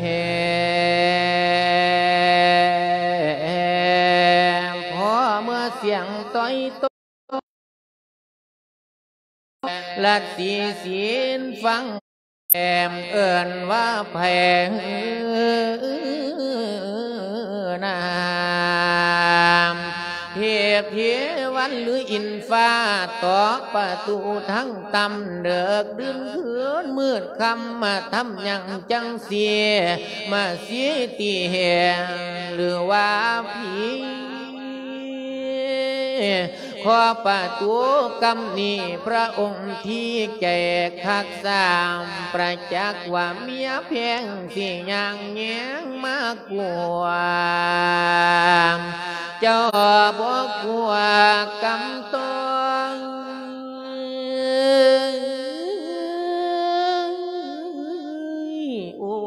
ພໍເມື່ອສຽງຕ້ອຍໂຕ ລັດສີສິນຟັງ ແອມເອີ້ນວ່າແພງນາມ ເທບເທວັນຫຼືອິນຟ້າ ຕອກປະຕູທັງຕ່ຳ ເດິກດື່ນຄືນມືດຄ່ຳ ມາທຳຫຍັງຈັ່ງຊີ້ ມາຊີ້ຕີແຮງ ຫຼືວ່າຜີ ຂໍປະຕູກຳນີ້ ພະອົງທີ່ໃຈຄັກຊ້ຳ ປະຈັກວ່າເມຍແພງ ຊິຍ່າງແຍງມາກວາງ ເຈົ້າບໍ່ກົວກຳຕ້ອງ ໂອ້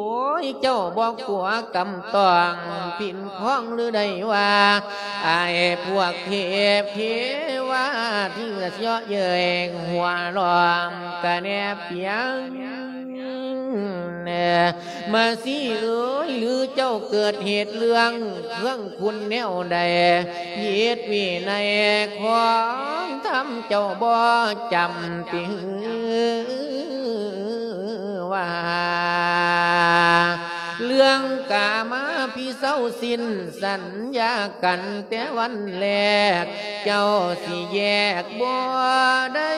ຍ ເຈົ້າບໍ່ກົວກຳຕ້ອງປິ່ນຄອງ ຫຼືໄດ້ວ່າ ອ້າຍພວກເທບເທວາ ທີ່ສະເຍາະເຍີ້ຍຫົວລ້ອມກະແນບປຽງ ມາຊີເອີຍ ຫຼືເຈົ້າເກີດເຫດເລື່ອງເຄື່ອງຄຸນແນວໃດ ຜິດວິໄນຂອງທຳ ເຈົ້າບໍ່ຈຳຕິ ວ່າ ເລື່ອງກາມາພິເຊົາສິ້ນສັນຍາກັນແຕ່ວັນແລກ ເຈົ້າຊິແຍກບໍ່ໄດ້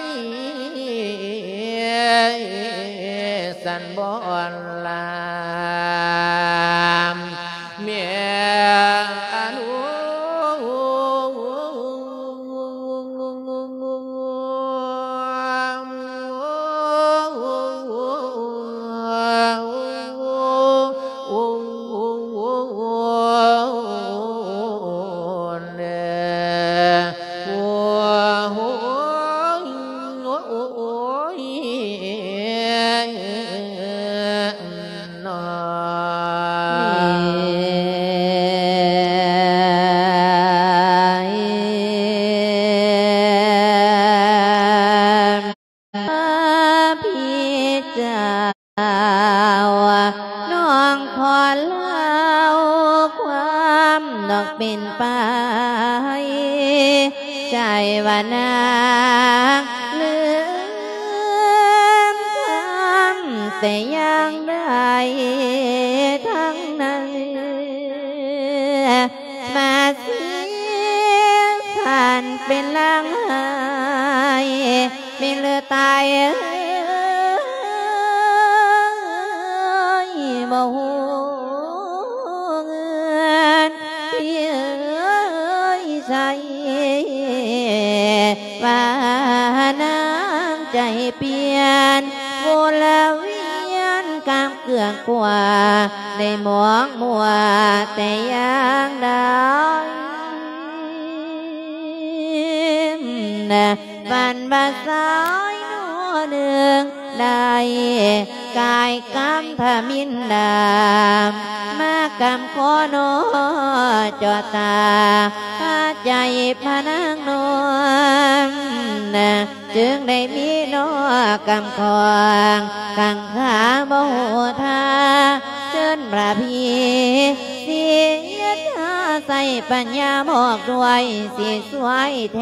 ສັນບໍ່ລາມ ແມ່ອະນຸ ນ້ອງຂໍເລົ່າຄວາມນອກເປັນໄປ ໃຈວ່ານາງລືມຄຳແຕ່ຢ່າງໃດທັງນັ້ນ ມາເສຍສັນເປັນລາງໄຫ້ ແມ່ນຫຼືຕາຍເອີຍ ບໍ່ຮູ້ເງິນພີ່ເອີຍໃສ ວ່ານາງໃຈປ່ຽນ ວົນລະວຽນກາມເກືອງກວ່າ ໄດ້ມອງມົວແຕ່ຢ່າງໃດ ຝັນວ່າຊາຍໜໍ່ໜຶ່ງ ໄດ້ກາຍກຳທະມິນດາ ມາກຳຂໍໜໍ່ເຈາະຕາ ພາໃຈພະນາງນອນ ຈຶ່ງໄດ້ມີໜໍ່ກຳຂອງ ຄັງຄາບໍ່ຮູ້ທ່າ ເຊີນພະພີ ເສຍທ່າໃຊ້ປັນຍາບອກດ້ວຍ ຊິຊ່ວຍແທ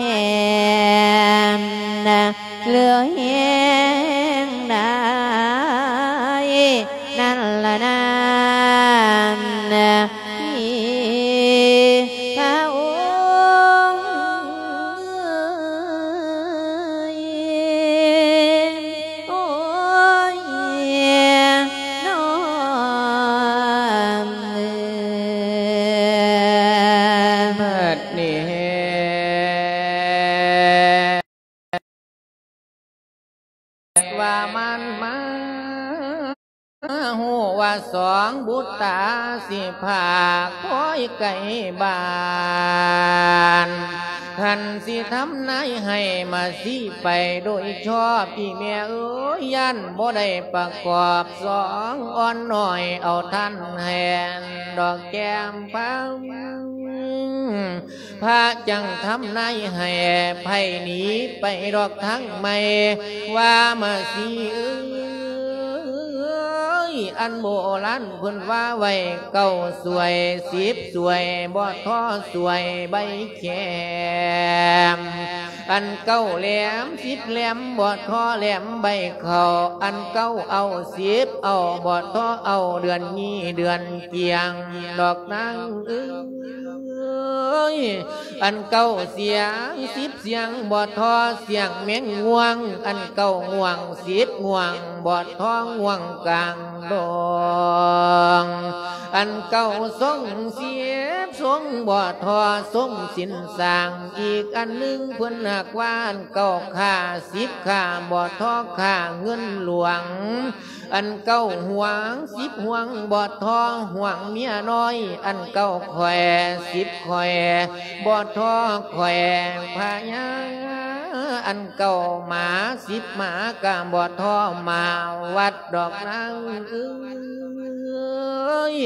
ນ ຫຼືແຮງໃດນັ້ນລະນາ ທີ່ພະອົງເອີຍ ໂອ້ຍ ນ້ອງເອີຍ ບັດນີ້ ວ່າມັນມາຮູ້ວ່າ ສອງບຸດຕາຊິພາກຄອຍໄກບ້ານ ຄັນຊິທຳນາຍໃຫ້ມາຊີ້ໄປໂດຍຊອບ ອີ່ແມ່ເອີຍ ຢ້ານບໍ່ໄດ້ປະກອບສອງອ່ອນນ້ອຍ ເອົາທ່ານແທນດອກແກ້ມພັງ ພະຈັ່ງທຳນາຍໃຫ້ໃຜໜີໄປດອກທາງໃໝ່ ວ່າມາຊີເອີຍ ອັນໂບລານເພິ່ນວ່າໄວ້ ເກົ້າສວຍສິບສວຍ ບໍ່ທໍສວຍໃບແຄມ ອັນເກົ້າແຫຼມສິບແຫຼມ ບໍ່ທໍແຫຼມໃບເຂົ້າ ອັນເກົ້າເອົາສິບເອົາ ບໍ່ທໍເອົາເດືອນຍີ່ເດືອນກຽງ ດອກນາງເອີຍ ອັນເກົ້າສຽງສິບສຽງ ບໍ່ທໍສຽງແມງງ່ວງ ອັນເກົ້າງ່ວງສິບງ່ວງ ບໍ່ທໍງ່ວງກາງດອງ ອັນເກົ້າຊົງສິບຊົງ ບໍ່ທໍຊົງສິນສ້າງ ອີກອັນໜຶ່ງເພິ່ນຫາກວ່າ ອັນເກົ້າຂ້າສິບຂ້າ ບໍ່ທໍຂ້າເງິນຫຼວງ ອັນເກົ້າຫ່ວງສິບຫ່ວງ ບໍ່ທໍຫ່ວງເມຍນ້ອຍ ອັນເກົ້າຂ້ອຍສິບຂ້ອຍ ບໍ່ທໍຂ້ອຍພະຍາ ອັນເກົ້າໝາສິບໝາ ກະບໍ່ທໍໝາວັດດອກນາງເອີຍ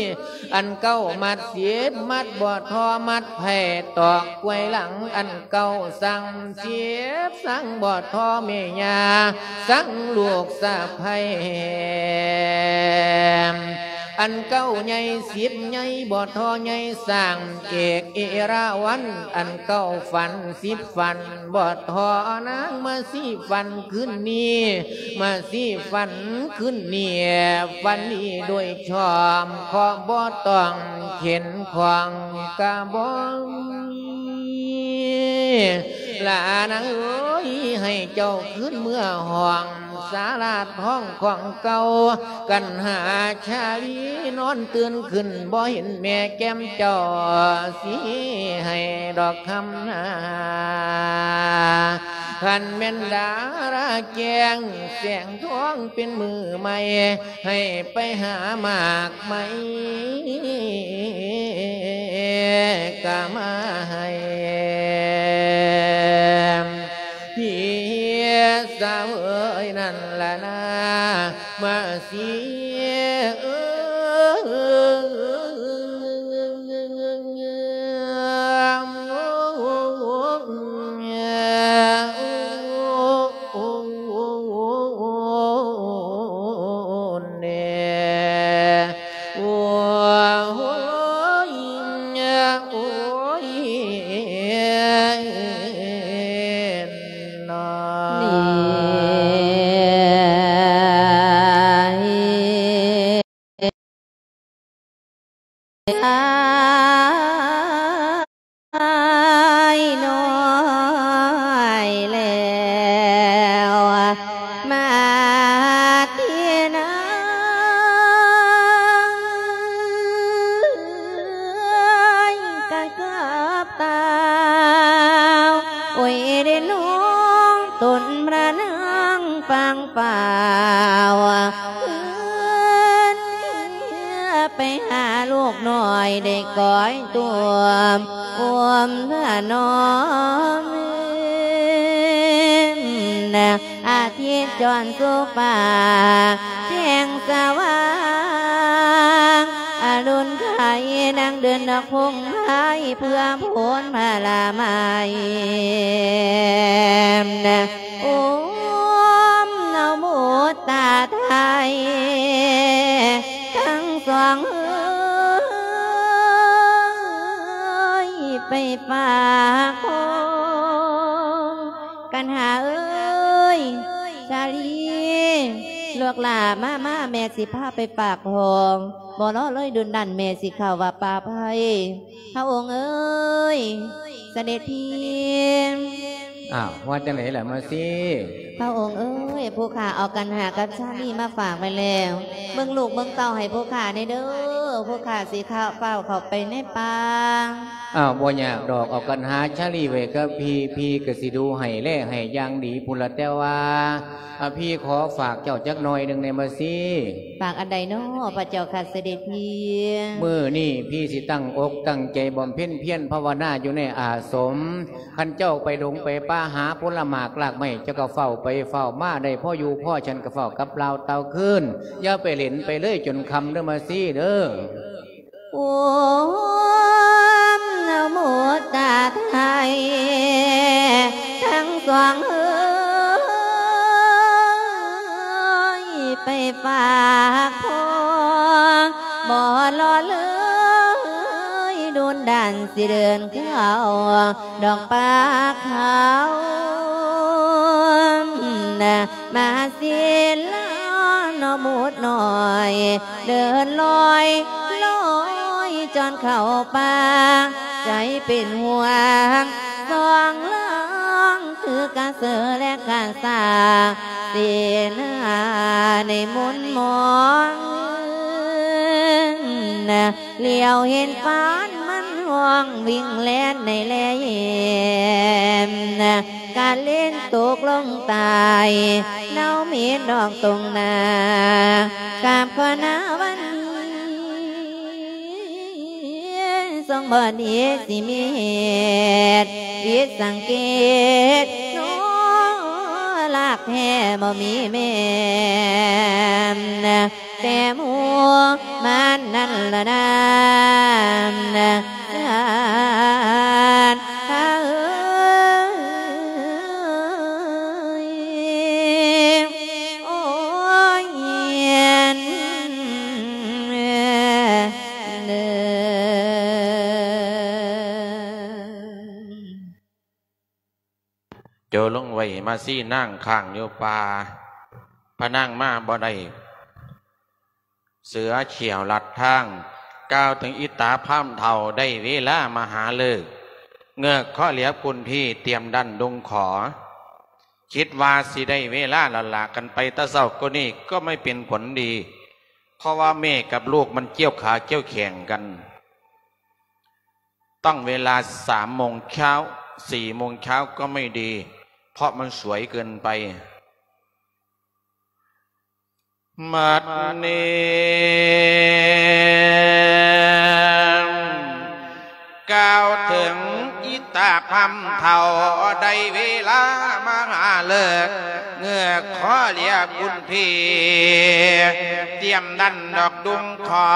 ອັນເກົ້າມັດສິບມັດ ບໍ່ທໍມັດໄຜ່ຕອກກວຍຫຼັງ ອັນເກົ້າສັງສິບສັງ ບໍ່ທໍແມ່ຍ່າສັງລູກສະໃພ້ ອັນເກົ້າໃຫຍ່ສິບໃຫຍ່ ບໍ່ທໍໃຫຍ່ສ້າງເອກເອລາວັນ ອັນເກົ້າຝັນສິບຝັນ ບໍ່ທໍນາງມາຊີຝັນຄືນນີ້ ມາຊີຝັນຄືນນີ້ ຝັນດີໂດຍຊອບ ເຄາະບໍ່ຕ້ອງເຂັນຂອງກະບໍ່ມີ ຫຼານເອີຍ ໃຫ້ເຈົ້າຄືນເມືອຫ້ອງສາລາທອງຂອງເກົ່າ ກັນຫາຊາລີນອນຕື່ນຂຶ້ນ ບໍ່ເຫັນແມ່ແກ້ມເຈົ້າ ຊິໃຫ້ດອກຄຳນາ ຄັນແມ່ນດາລາແຈ້ງແສງທອງເປັນມື້ໃໝ່ ໃຫ້ໄປຫາໝາກໄມ້ກະມາໃຫ້ ເຮສາເອີຍ ນັ້ນລະນາ ມາຊີເອີຍ ໂອ້ຍ ໂອ້ຍ ໂອ້ຍ ນາ. ອ້າຍນ້ອຍແລ້ວ ມາທີ່ນາງກະເກີບຕາວ ໂອ້ຍ ໄດ້ນ້ອງຕົນພະນາງປາງ ປ່າວ ຄືນເມືອໄປຫາລູກນ້ອຍ ໄດ້ກອຍຕົວມອວມຖະໜອມ ອາທິດຈອນສູ່ຟ້າແຈ້ງສະຫວ່າງ ອະລຸນໄຄນາງເດີນນອກພົງໄພ ເພື່ອໂພນພະລາໄມ ໂອມນະໂມຕາໄທ ທັງສອງເອີຍ ໄປຝາກຂອງ ກັນຫາເອີຍ ສາລີ ລູກຫຼ້າ ມາ ມາ ແມ່ຊິພາໄປຝາກຂອງ ບໍ່ລໍເລີຍດຸນນັ້ນ ແມ່ຊິເຂົ້າວັດປ່າໄຜ່ ພະອົງເອີຍ ສະເດັດພີ້. ອ້າວ ວ່າຈັ່ງໃດລະມາຊີ? ພະອົງເອີຍ ຜູ້ຂ້າເອົາກັນຫາກັບຊາລີມາຝາກໄວ້ແລ້ວ ເບິ່ງລູກເບິ່ງເຕົ້າໃຫ້ຜູ້ຂ້າແດ່ເດີ. ພວກຂ້າຊິຂ້າວຟ້າວເຂົ້າໄປໃນປ່າ. ອ້າວ ບໍ່ຍາກດອກ ເອົາກັນຫາຊາລີໄວ້ກັບພີ່ ພີ່ກໍຊິດູໃຫ້ແລໃຫ້ຢ່າງດີພຸ້ນລະ ແຕ່ວ່າ ອາ ພີ່ຂໍຝາກເຈົ້າຈັກໜ່ອຍໜຶ່ງແດ່ມາຊີ. ຝາກອັນໃດນໍ ພະເຈົ້າຂ້າສະເດັດພີ່? ມື້ນີ້ພີ່ຊິຕັ້ງອົກຕັ້ງໃຈບຳເພັນພຽນພາວະນາຢູ່ໃນອາສົມ. ຄັນເຈົ້າໄປດົງໄປປ່າຫາຜົນລະໝາກລາກໄມ້ ເຈົ້າກໍຟ້າວໄປຟ້າວມາ ໄດ້ພໍຢູ່ພໍສັນກໍຟ້າວກັບລາວເຕົາຄືນ. ຢ່າໄປເຫຼັ້ນໄປເລີຍຈົນຄ່ຳເດີມາຊີເດີ. ໂອມ ນະໂມຕາໄທ ທັງສອງເອີຍ ໄປຝາກພໍ່ ບໍ່ລໍເລີຍ ດຸນດັນຊິເດີນເຂົ້າ ດອກປາຂາວ ມາສິລານອກໝູດນ້ອຍ ເດີນລອຍລອຍ ຈອນເຂົ້າປ່າ ໃຈເປັນຫ່ວງ ສອງລາງ ຄືກະເສືອ ແລະ ກະສາ ເສນາໃນມົນມອງ ຫຼຽວເຫັນຟານມັນຮ້ອງວິ່ງແລ່ນໃນແລແຍມ ກະເລັນຕົກລົງຕາຍ ເນົ່າເໝັນນອກຕົງໜ້າ ກາບຂອນາວັນ ຊົງບໍ່ດີຊິມີເຫດ ຜິດສັງເກດ ໂນ ລາກແທ້ບໍ່ມີແມ່ນ ແຕ່ໝູ່ມັນນັ້ນລະນາ ສານເອີຍ ໂອ້ຍ ໂຈະລົງໄວ້ມາຊີນາງຄ້າງຢູ່ປ່າ ພະນາງມາບໍ່ໄດ້ ເສືອຂ້ຽວລັດທາງ ກ່າວເຖິງອີຕາພາມເຖົ້າ ໄດ້ເວລາມະຫາເລີກ ເງືອກຂໍຫຼຽບຄຸນພີ່ ຕຽມດັນດຸງຂໍ ຄິດວ່າຊິໄດ້ເວລາແລ້ວລະ ຄັນໄປແຕ່ເຊົ້າກວ່ານີ້ກໍບໍ່ເປັນຜົນດີ ເພາະວ່າແມ່ກັບລູກມັນກ່ຽວຂາກ່ຽວແຂ້ງກັນ ຕ້ອງເວລາສາມໂມງເຊົ້າ ສີ່ໂມງເຊົ້າກໍບໍ່ດີ ເພາະມັນສວຍເກີນໄປ. ບັດນີ້ກ່າວເຖິງອີຕາພາມເຖົ້າ ໄດ້ເວລາມະຫາເລີກ ເງືອກຂໍຫຼຽບຄຸນພີ່ ຕຽມດັນດອກດຸງຂໍ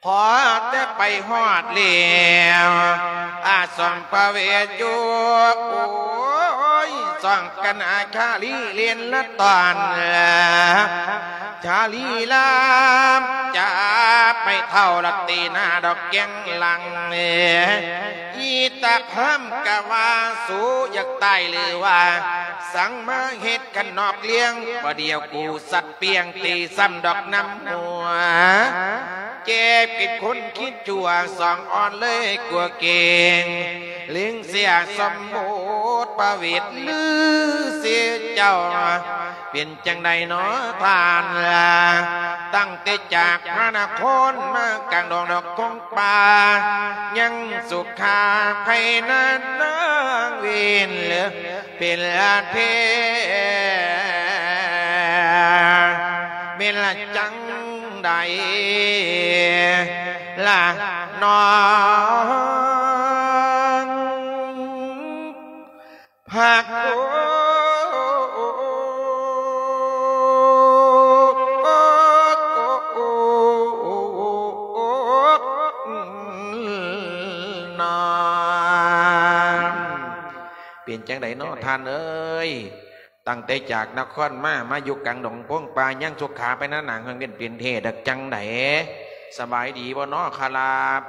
ພໍແຕ່ໄປຮອດແລ້ວ ອາ ສອງພະເວດຢູ່ ໂອ້ຍ ສອງກັນອາ ຊາລີເລນລະຕອນ ຊາລີລາມ ຈາໄປເທົ່າລະຕີໜ້າດອກແກ້ງຫຼັງ ອີຕາພາມກະວ່າ ສູຢາກຕາຍຫຼືວ່າ ສັງມາເຮັດ ຄັນນອກລ້ຽງ ບໍ່ດຽວກູສັດປ່ຽງ ຕີຊ້ຳດອກນ້ຳຫົວ ເຈັບກິນຄົນຄິດຊົ່ວ ສອງອ່ອນເລີຍກົວເກງ ເລັງເສຍສົມມຸດປະເວດລືເສຍເຈົ້າ ເປັນຈັ່ງໃດໜໍທ່ານລະ ຕັ້ງແຕ່ຈາກພະນະຄອນມາກາງດອງດອກຄົງປ່າ ຍັງສຸຂາໄພນານນາງເວນເລີ ເປັນລະເທ ເປັນລະຈັ່ງໃດລະນ້ອງ ພັກໂອ ນອງ ເປັນຈັ່ງໃດເນາະທ່ານເອີຍ? ຕັ້ງແຕ່ຈາກນະຄອນມາ ມາຢູ່ກາງດົງໂພງປ່າ ຍັງສຸຂາໄພນານນາງເຮືອງເວັນເປັນເທດ ຈັກຈັ່ງໃດ? ສະບາຍດີບໍ່ເນາະຂະລາບ?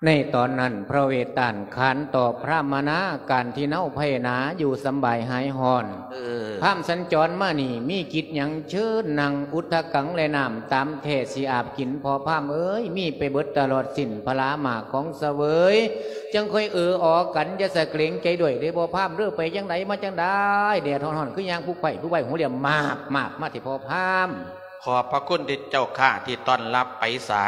ໃນຕອນນັ້ນ ພຣະເວດຕານຂານຕອບພຣາມມະນາ ການທີ່ເນົາໄພໜາຢູ່ສຳບາຍຫາຍຮ້ອນ. ເອີ ພາມສັນຈອນມານີ້ ມີກິດຫຍັງເຊີນນັ່ງອຸດທະກັງແລະນ້ຳຕາມແທ້ຊິອາບກິນ. ພໍ່ພາມເອີຍ ມີໄປເບິດຕະຫຼອດສິ້ນພະລາໝາກຂອງສະເຫວີຍ ຈັ່ງຄ່ອຍເອີອໍກັນ. ຢ່າສະເກງໃຈດ້ວຍເດ້ພໍ່ພາມເດີ ໄປຈັ່ງໃດມາຈັ່ງໃດ ແດດຮ້ອນໆ ຄືຍ່າງຜຸກໄພຜຸກໄວ ຫົວຫຼ່ຽມມາບໆ ມາເທພໍ່ພາມ. ຂອບພະຄຸນເດເຈົ້າຂ້າທີ່ຕ້ອນຮັບໄປສາ.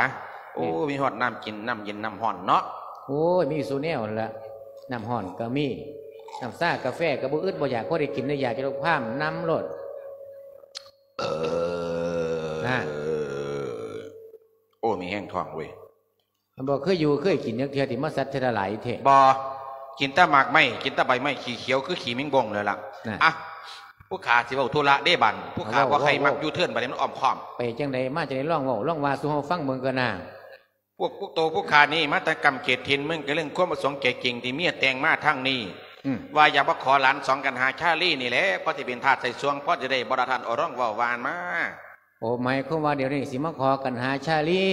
ໂອ້ ມີຮອດນ້ຳກິນ ນ້ຳເຢັນ ນ້ຳຮ້ອນເນາະ. ໂອ້ຍ ມີສູ່ແນວຫັ້ນລະ ນ້ຳຮ້ອນກໍມີ ນ້ຳຊາກາແຟກໍບໍ່ອຶດບໍ່ຢາກ ພໍໄດ້ກິນໄດ້ຢາກຢູ່ດອກພາມ ນຳໂລດ. ເອີ ນະ ໂອ້ ມີແຮງທ້ອງເວີຍ. ບໍ່ເຄີຍຢູ່ເຄີຍກິນຈັກເທື່ອຕິ ມາສັດເທື່ອລະຫຼາຍແທ້. ບໍ່ ກິນແຕ່ໝາກໄມ້ ກິນແຕ່ໃບໄມ້ ຂີ້ຂຽວຄືຂີ້ແມງບົງເລີຍລະ. ນະ ອ່ະ ຜູ້ຂ້າຊິເວົ້າທຸລະເດ້ບາດ ຜູ້ຂ້າ ເວົ້າ ບໍ່ໃຄ່ ເວົ້າ ມັກຢູ່ເທີນບາດນີ້ ມັນອ້ອມຄ້ອມ. ໄປຈັ່ງໃດມາຈັ່ງໃດ ລອງເວົ້າ ລອງວ່າສູ່ເຮົາຟັງເບິ່ງກ່ອນນາ. ພວກ ພວກໂຕຜູ້ຂ້ານີ້ມາແຕ່ກ້ຳເຂດຖິ່ນເມືອງກະເລິງ ຄວາມປະສົງໃຈຈິງທີ່ເມຍແຕ່ງມາທາງນີ້ ອືມ ວ່າຢາກມາຂໍຫຼານສອງກັນຫາຊາລີນີ້ແຫຼະ ພໍຊິເປັນທາດໃສ່ຊ່ວງ ພໍຊິໄດ້ບໍ່ລະທ່ານ ເອົາລອງເວົ້າຫວານມາ. ໂອ ໝາຍຄວາມວ່າດຽວນີ້ຊິມາຂໍກັນຫາຊາລີ?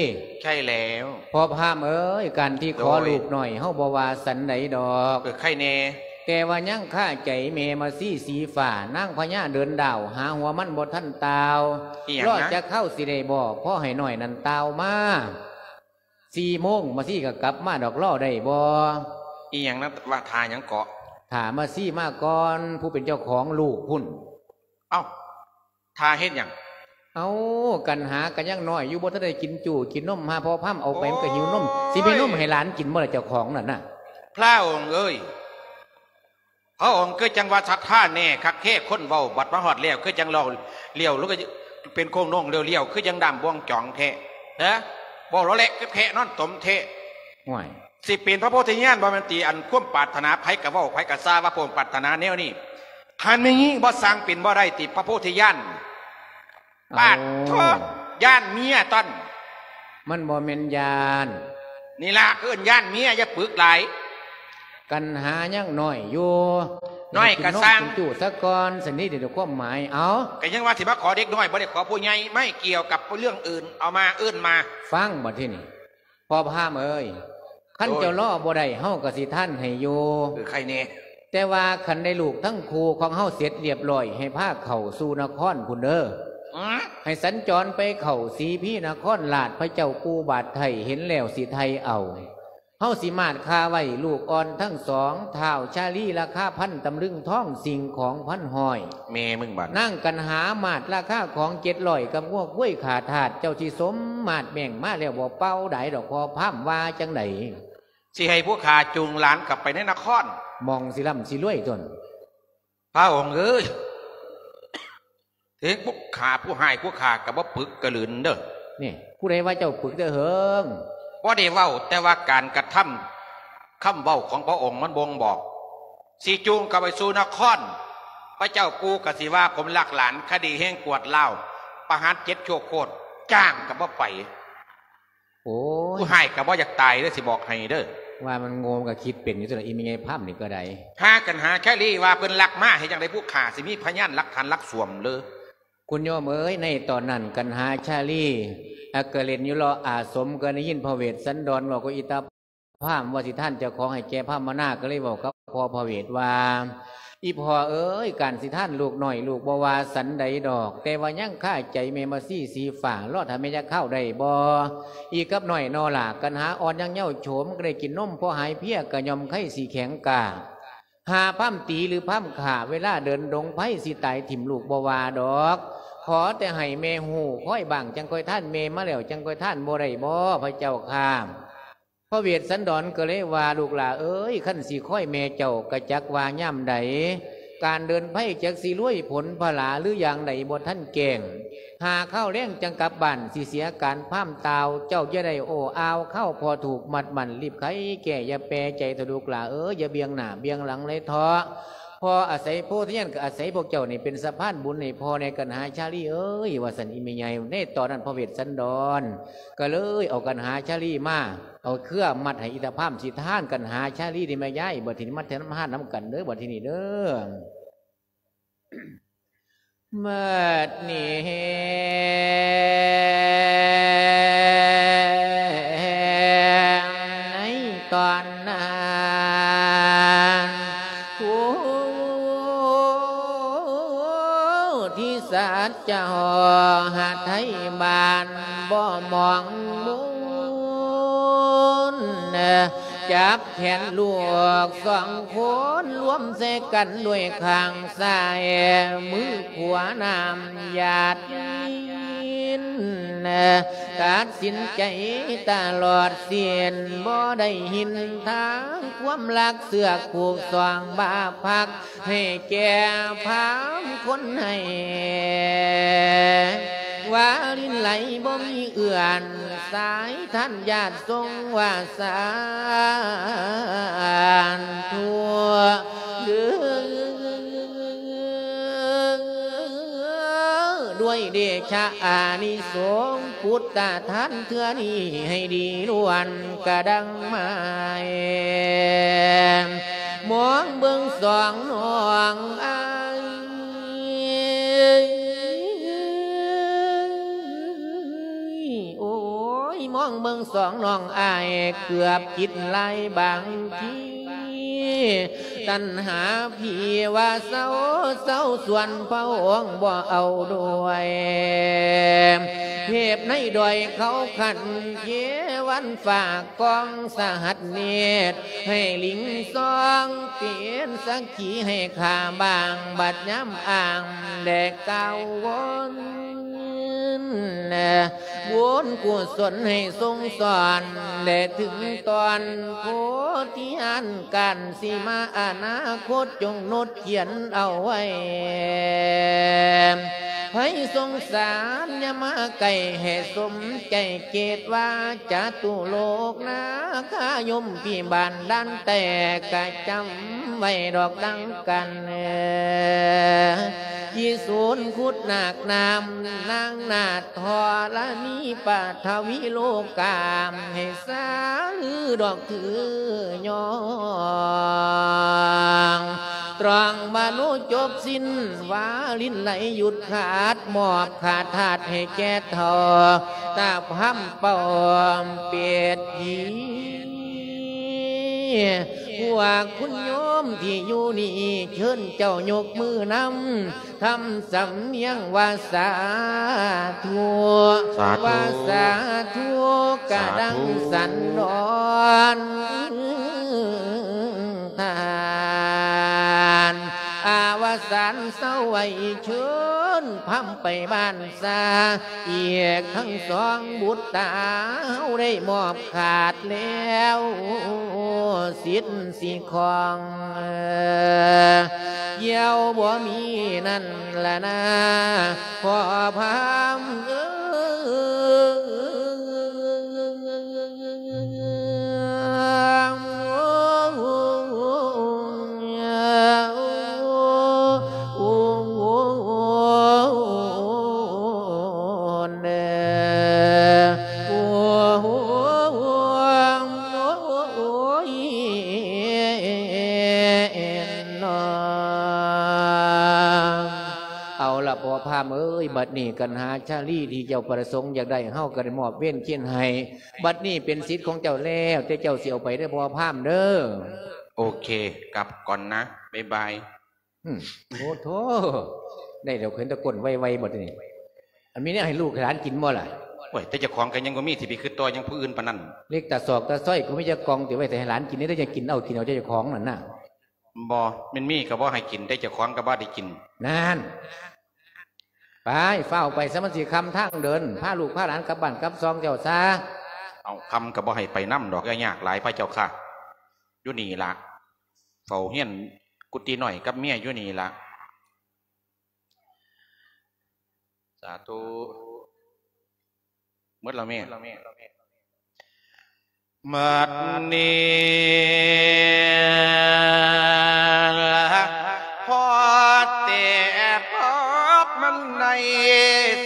ໃຊ່ແລ້ວ. ພໍ່ພາມເອີຍ ການທີ່ຂໍ ໂດຍ ລູກນ້ອຍເຮົາບໍ່ວ່າສັນໃດດອກ ເອີ ໃຄແນ່ ແຕ່ວ່າຍັງຄາໃຈແມ່ມາຊີສີຟ້າ ນາງພະຍາເດີນດາວ ຫາຫົວມັນບໍ່ທັນຕ່າວ. ອີຫຍັງ ລໍ ນະ ຈັກຄາວຊິໄດ້ບໍ່ ພໍໃຫ້ນ້ອຍນັ້ນຕ່າວມາ. ສີ່ໂມງມາຊີກໍກັບມາດອກ ລໍໄດ້ບໍ່? ອີຫຍັງນະ ວ່າຖ້າຫຍັງເກາະ? ຖ້າມາຊີມາກ່ອນ ຜູ້ເປັນເຈົ້າຂອງລູກພຸ້ນ. ເອົ້າ ຖ້າເຮັດຫຍັງ? ເອົ້າ ກັນຫາກໍຍັງນ້ອຍຢູ່ ບໍ່ທັນໄດ້ກິນຈູ້ກິນນົມ ຫາພໍ່ພາມເອົາໄປ ໂອ້ຍ ມັນກໍຫິວນົມ ຊິມີນົມໃຫ້ຫຼານກິນບໍ່ລະ ເຈົ້າຂອງນັ້ນນະ? ພະອົງເອີຍ ພະອົງຄືຈັ່ງວ່າສັດທາແນ່ຄັກແທ້ ຄົນເວົ້າບັດມາຮອດແລ້ວ ຄືຈັ່ງເລົ່າລ້ຽວ ຫຼືກໍເປັນໂຄ້ງໂນ້ງລ້ຽວໆ ຄືຈັ່ງດ້າມບ່ວງຈອງແທ້ ຮະ ເວົ້າລາວແຫຼະ ຄືແພະນອນຕົມແທ້. ຫ້ວຍ ຊິເປັນພະໂພທິຍານບໍ່ແມ່ນຕິ ອັນຄວາມປາດຖະໜາໃຜກໍເວົ້າ ໃຜກໍຊາວ່າພະອົງປາດຖະໜາແນວນີ້ ຄັນແມ່ນຍິງບໍ່ສ້າງເປັນບໍ່ໄດ້ຕິ ພະໂພທິຍານ. ປາດໂທ ເອົາ ຢ້ານເມຍຕົນ. ມັນບໍ່ແມ່ນຢ້ານ ນີ້ລະເອີ້ນຢ້ານເມຍ ຢ່າປຶກຫຼາຍ ກັນຫາຍັງນ້ອຍຢູ່ ນ້ອຍກໍຊ່າງ ກິນນົມກິນຈູ້ສາກ່ອນ ສະນີ້ເດ ຄວາມໝາຍ. ເອົາ ກໍຍັງວ່າຊິມາຂໍເດັກນ້ອຍ ບໍ່ໄດ້ຂໍຜູ້ໃຫຍ່ ໄມ່ກ່ຽວກັບເລື່ອງອື່ນ ເອົາມາ ເອີ້ນມາ. ຟັງບັດທີນີ້ ພໍ່ພາມເອີຍ ຄັນ ໂອ້ຍ ເຈົ້າລໍບໍ່ໄດ້ ເຮົາກໍຊິທານໃຫ້ຢູ່ ເອີ ໃຄແນ່ ແຕ່ວ່າຄັນໄດ້ລູກທັງຄູ່ຂອງເຮົາເສັດລຽບລ້ອຍ ໃຫ້ພາເຂົ້າສູ່ນະຄອນພຸ້ນເດີ ອືມ ໃຫ້ສັນຈອນໄປເຂົ້າສີພີນະຄອນລາດ ພະເຈົ້າປູ່ບາດໄຖ່ເຫັນແລ້ວຊິໄຖ່ເອົາ. ເຮົາຊິມາດຄາໄວ້ລູກອ່ອນທັງສອງ ທ້າວຊາລີລາຄາພັນຕຳລຶງທອງ ສິ່ງຂອງພັນຮ້ອຍ. ແມ່ມຶງບາດ ນາງກັນຫາມາດລາຄາຂອງເຈັດຮ້ອຍ ກັບງົວຄວາຍຂ້າທາດ ເຈົ້າຊິສົມມາດແບ່ງມາແລ້ວບໍ່ເປົ່າດາຍດອກ ພໍ່ພາມວ່າຈັ່ງໃດ? ຊິໃຫ້ພວກຂ້າຈູງຫຼານກັບໄປໃນນະຄອນ ໝ່ອງຊິລ່ຳຊິລວຍຕົນ. ພະອົງເອີຍ ເຖິງພວກຂ້າຜູ້ຮ້າຍ ພວກຂ້າກໍບໍ່ປຶກກະລຶນເດີ. ນີ້ ຜູ້ໃດວ່າເຈົ້າປຶກແຕ່ເຫິງ? ບໍ່ໄດ້ເວົ້າ ແຕ່ວ່າການກະທຳ ຄຳເວົ້າຂອງພະອົງມັນບົ່ງບອກ. ຊິຈູງກັບໄປສູ່ນະຄອນ ພະເຈົ້າປູ່ກໍຊິວ່າຜົມລັກຫຼານ ຄະດີແຮງກວດລາວ ປະຫານເຈັດຊົ່ວໂຄດ ຈ້າງກໍບໍ່ໄປ. ໂອ້ຍ ຜູ້ຮ້າຍກໍບໍ່ຢາກຕາຍເດີ ຊິບອກໃຫ້ເດີ. ວ່າມັນໂງ່ ມັນກໍຄິດເປັນຢູ່ຕົວະ ອີ່ແມ່ໃຫຍ່ພາມນີ້ກໍໄດ້. ຫາກັນຫາຊາລີວ່າເພິ່ນລັກມາ ເຮັດຈັ່ງໃດຜູ້ຂ້າຊິມີພະຍານຫຼັກຖານຫຼັກສວມເລີ? ຄຸນໂຍມເອີຍ ໃນຕອນນັ້ນກັນຫາຊາລີ ອາ ກໍເລ່ນຢູ່ເລາະອາສົມ ກໍໄດ້ຍິນພະເວດສັນດອນເວົ້າກັບອີຕາພາມວ່າຊິທານເຈົ້າຂອງໃຫ້ແກ່ພາມມະນາ ກໍເລີຍເວົ້າກັບພໍ່ພະເວດວ່າ ອີພໍ່ເອີຍ ການຊິທານລູກນ້ອຍ ລູກບໍ່ວ່າສັນໃດດອກ ແຕ່ວ່າຍັງຄາໃຈແມ່ມາຊີສີຟ້າ ລໍຖ້າແມ່ຈັກຄາວໄດ້ບໍ່? ອີກັບນ້ອຍນໍລະ ກັນຫາອ່ອນຍັງເຍົາໂສມ ກໍໄດ້ກິນນົມພໍຫາຍເພຍ ກະຍ່ອມໄຄຊິແຂງກ້າ. ຫາພາມຕີຫຼືພາມຂ້າ ເວລາເດີນດົງໄພ ຊິຕາຍຖິ້ມລູກບໍ່ວ່າດອກ ຂໍແຕ່ໃຫ້ແມ່ຮູ້ຄອຍບ້າງ ຈັ່ງຄ່ອຍທານ ແມ່ມາແລ້ວຈັ່ງຄ່ອຍທານ ບໍ່ໄດ້ບໍ່ ພະເຈົ້າຂ້າ? ພະເວດສັນດອນກໍເລີຍວ່າ ລູກຫຼ້າເອີຍ ຄັນຊິຄອຍແມ່ເຈົ້າ ກະຈັກວ່າຍາມໃດ ການເດີນໄພຈັກຊິລວຍຜົນຜະຫຼາ ຫຼືຢ່າງໃດບໍ່ທັນແຈ້ງ ຫາຄາວແລງຈັ່ງກັບບ້ານ ຊິເສຍການພາມຕ່າວ ເຈົ້າຢ່າໄດ້ໂອ້ອາວ ຄາວພໍຖືກມັດໝັ້ນ ລີບໄຂແກ້ ຢ່າແປໃຈເຖາະລູກຫຼ້າເອີຍ ຢ່າບ່ຽງໜ້າບ່ຽງຫຼັງເລີຍເຖາະ. ພໍ່ອາໄສໂພທະຍານ ກໍອາໄສພວກເຈົ້ານີ້ເປັນສະພານບຸນໃຫ້ພໍ່ແດ່ ກັນຫາຊາລີເອີຍ ວ່າຊັ້ນອີ່ແມ່ໃຫຍ່. ໃນຕອນນັ້ນພະເວດສັນດອນ ກໍເລີຍເອົາກັນຫາຊາລີມາ ເອົາເຄືອມັດໃຫ້ອີຕາພາມ ຊິທານກັນຫາຊາລີນີ້ແມ່ຍາຍ ບັດທີນີ້ມາທານນຳກັນເດີ ບັດທີນີ້ເດີ. ບັດນີ້ ທິສັດຈະຫໍ້ຫະໄທບ້ານບໍ່ມອງມຸນ ຈັບແຂນລູກສອງຄົນລວມໃສ່ກັນດ້ວຍຂ້າງຊ້າຍ ມືຂວານ້ຳຢາດລິນ ຕັດສິນໃຈຕະຫຼອດສິ້ນ ບໍ່ໄດ້ຫິນທາງຄວາມລັກ ເຊືອກຜູກສອງບາພັກ ໃຫ້ແກ່ພາມຄົນໃຫ້ ວາລິນໄຫຼບໍ່ມີເອື້ອນ ສາຍທານຍາດຊົງວ່າສາທຸ ດ້ວຍເດຊະອານິສົງ ພຸດທະທານເທື່ອນີ້ໃຫ້ດີລ້ວນກະດັງໄມ້ ມອງເບິ່ງສອງນ້ອງອ້າຍ ໂອ້ຍ ມອງເບິ່ງສອງນ້ອງອ້າຍ ເກືອບຄິດຫຼາຍບາງທີ ຕັນຫາພີ່ວ່າເຊົາ ເຊົາສ່ວນພະອົງບໍ່ເອົາດ້ວຍ ເທບໃນດອຍເຂົາຂັນເທວັນຝາກກອງສະຫັດເນດ ໃຫ້ລິງຊອງເປັນສັກຂີໃຫ້ຂ້າບ້າງ ບັດຍາມອ້າງແລະກ່າວວົນ ບຸນກຸສົນໃຫ້ຊົງຊ້ອນ ແລະເຖິງຕອນໂພທິຍານ ການສິມາອະນາຄົດ ຈົ່ງນົດຂຽນເອົາໄວ້ ໃຜສົງສານຢ່າມາໃກ້ ໃຫ້ສົມໃຈເຈດວ່າຈະຕຸໂລກນາຄາຍົມພິບານດ່ານແຕກ ກະຈຳໄວ້ດອກດັ່ງກັນ ທີ່ສູນຂຸດນາກນ້ຳ ນາງນາດ ທໍລະນີປະທະວີໂລກາມ ໃຫ້ສາລືດອກຄືຍອງ ຕຣອງມະໂນຈົບສິ້ນ ວາລິນໄຫຼຢຸດຂາດ ມອບຂາດທາດໃຫ້ແກ່ເຖົ້າຕາພາມເປົ່າເປັດຜີ ພວກຄຸນໂຍມທີ່ຢູ່ນີ້ ເຊີນເຈົ້າຍົກມືນຳ ທຳສຳນຽງວ່າສາທຸ ສາທຸ ວ່າສາທຸ ກະດັງ ສາທຸ ສັນດອນທານ ອາວະສານເຊົາໄວ້ ເຊີນພາມໄປບ້ານຊາ ອີກທັງສອງບຸດຕາ ເຮົາໄດ້ມອບຂາດແລ້ວ ສິດ ຊິຂອງ ຢ່ຽວບໍ່ມີນັ້ນລະນາ ພໍ່ພາມເອີຍ. ເອົາລະພໍ່ພາມເອີຍ ບັດນີ້ກັນຫາຊາລີທີ່ເຈົ້າປະສົງຢາກໄດ້ ເຮົາກໍໄດ້ມອບເວນຄຽນໃຫ້ ບັດນີ້ເປັນສິດຂອງເຈົ້າແລ້ວ ແຕ່ເຈົ້າຊິເອົາໄປເດີພໍ່ພາມເດີ. ໂອເຄ ກັບກ່ອນນະ ບາຍບາຍ. ອືມ ໂອ້ໂທ້ ໄດ້ແລ້ວ ເຫັນແຕ່ກົ້ນໄວໆ ບັດນີ້ ອັນມີແນວໃຫ້ລູກໃຫ້ຫຼານກິນບໍ່ລະ? ໂອ້ຍ ແຕ່ເຈົ້າຂອງກໍຍັງບໍ່ມີ ຊິໄປຄິດຕໍ່ຫຍັງຜູ້ອື່ນປານນັ້ນ. ເຫຼັກຕາຊອກຕາຊອຍກໍມີຈັກກ່ອງ ຕິໄວ້ໃສ່ໃຫ້ຫຼານກິນ ແຕ່ຈະກິນເອົາ ກິນເອົາແຕ່ເຈົ້າຂອງນັ້ນນະ. ບໍ່ ແມ່ນມີກໍບໍ່ໃຫ້ກິນ ແຕ່ເຈົ້າຂອງກໍບໍ່ໄດ້ກິນ. ນັ້ນ ໄປ ຟ້າວໄປຊະ ມັນຊິຄ່ຳທາງເດີນ ພາລູກພາຫຼານກັບບ້ານກັບຊ່ອງເຈົ້າຊາ. ເອົາ ຄ່ຳກໍບໍ່ໃຫ້ໄປນຳດອກ ຢ່າຍາກຫຼາຍພະເຈົ້າຄ່າ ຢູ່ນີ້ລະ ເຝົ້າຮຽນກຸຕິນ້ອຍກັບເມຍຢູ່ນີ້ລະ. ສາທຸ. ໝົດແລ້ວແມ່. ບັດນີ້ລະ ພໍແຕ່ພບມັນໃນ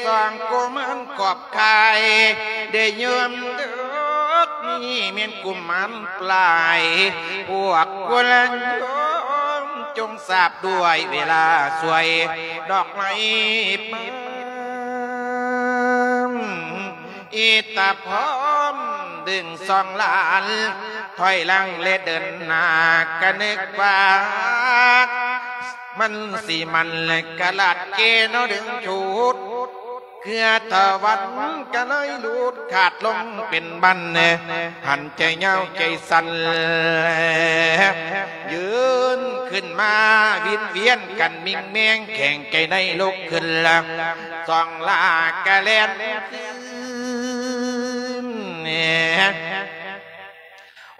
ສອງກຸມານກອບກາຍ ໄດ້ຍາມເດິກນີ້ແມ່ນກຸມານປາຍ ພວກກຸລະໂຍມຈົ່ງ ສາບດ້ວຍເວລາສວຍດອກໄມ້ປານ ອີຕາພອມດຶງສອງຫຼານ ຖອຍຫຼັງແລະເດີນໜ້າ ກະນຶກວ່າ ມັນຊິມັນກະລາດເກເນາະດຶງຊຸດ ເຄືອຕາວັນກະເລີຍຫຼຸດຂາດລົງເປັນບັນ ຫັ້ນໃຈຍາວໃຈສັ້ນ ຢືນຂຶ້ນມາວິນວຽນກັນມິ່ງແມງແຂງໃຈໃນລຸກຂຶ້ນລະ ສອງລາກະແລ່ນ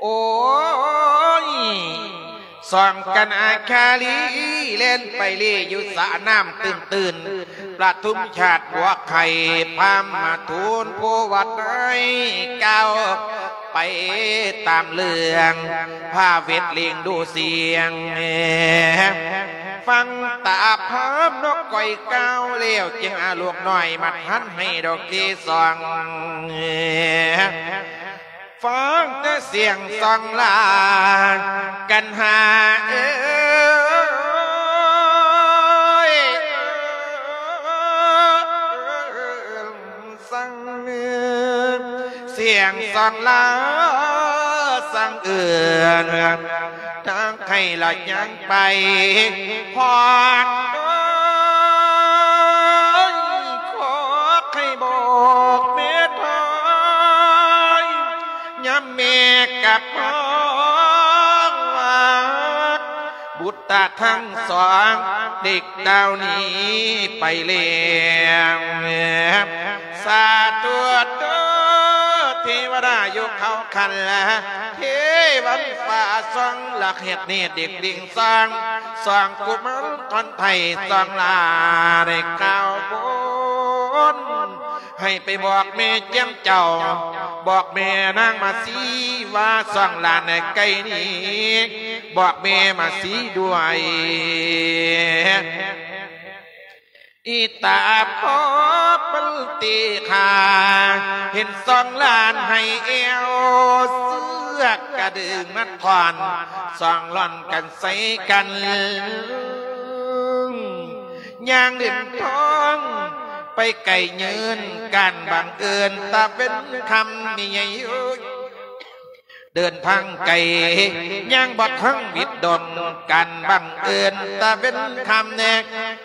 ໂອ້ຍ ສອງກັນອາຄາລີ ແລ່ນໄປເລຢູ່ສະນ້ຳຕື່ນໆ ປະທຸມຊາດບົວໄຂ່ ພາມມາທູນຜູ້ວັດໃຫ້ ກ່າວໄປຕາມເລື່ອງ ພາເວັດເລງດູສຽງ ຟັງຕາພາມນົກກ້ອຍກ່າວແລ້ວ ຈຶ່ງອາລູກນ້ອຍ ມັດຫັນໃຫ້ດອກເກສອງ ຟັງແຕ່ສຽງສອງລາກັນຫາເອີຍ ສັງເໜືອສຽງສອງລາສັງເອື້ອນ ທາງໃຫ້ລະຍັງ ໄປ ພອນເອີຍ ຂໍໃຫ້ບອກແມ່ທາຍ ຍາມແມ່ກັບມາ ບຸດຕາທັງສອງ ເດັກດາວໜີໄປແລ້ວ ສາທຸເດີ ເທວະດາຢູ່ເຂົາຄັນລະ ເທວັນຟ້າສອງລະ ເຮັດເນດເດັກດິງສອງ ສອງກຸມານທອນໄທສອງລາ ໄດ້ກ່າວບົນ ໃຫ້ໄປບອກແມ່ແຈ່ມເຈົ້າ ບອກແມ່ນາງມາສີວ່າ ສອງຫຼານໃກ້ນີ້ ບອກແມ່ມາສີດ້ວຍ ອີຕາພອບມັນຕີຂ້າ ເຫັນສອງຫຼານໃຫ້ແອວ ເຊືອກກະດຶງມັດທ່ອນ ສອງລ່ອນກັນໃສ່ກັນ ຍ່າງເດີນທາງໄປໄກຍືນ ການບັງເອີນຕາເວັນຄ່ຳມີໃຫຍ່ຢູ່ ເດີນທາງໄກ ຍ່າງບໍ່ທັນວິດດົນ ການບັງເອີນຕາເວັນຄ່ຳແນກ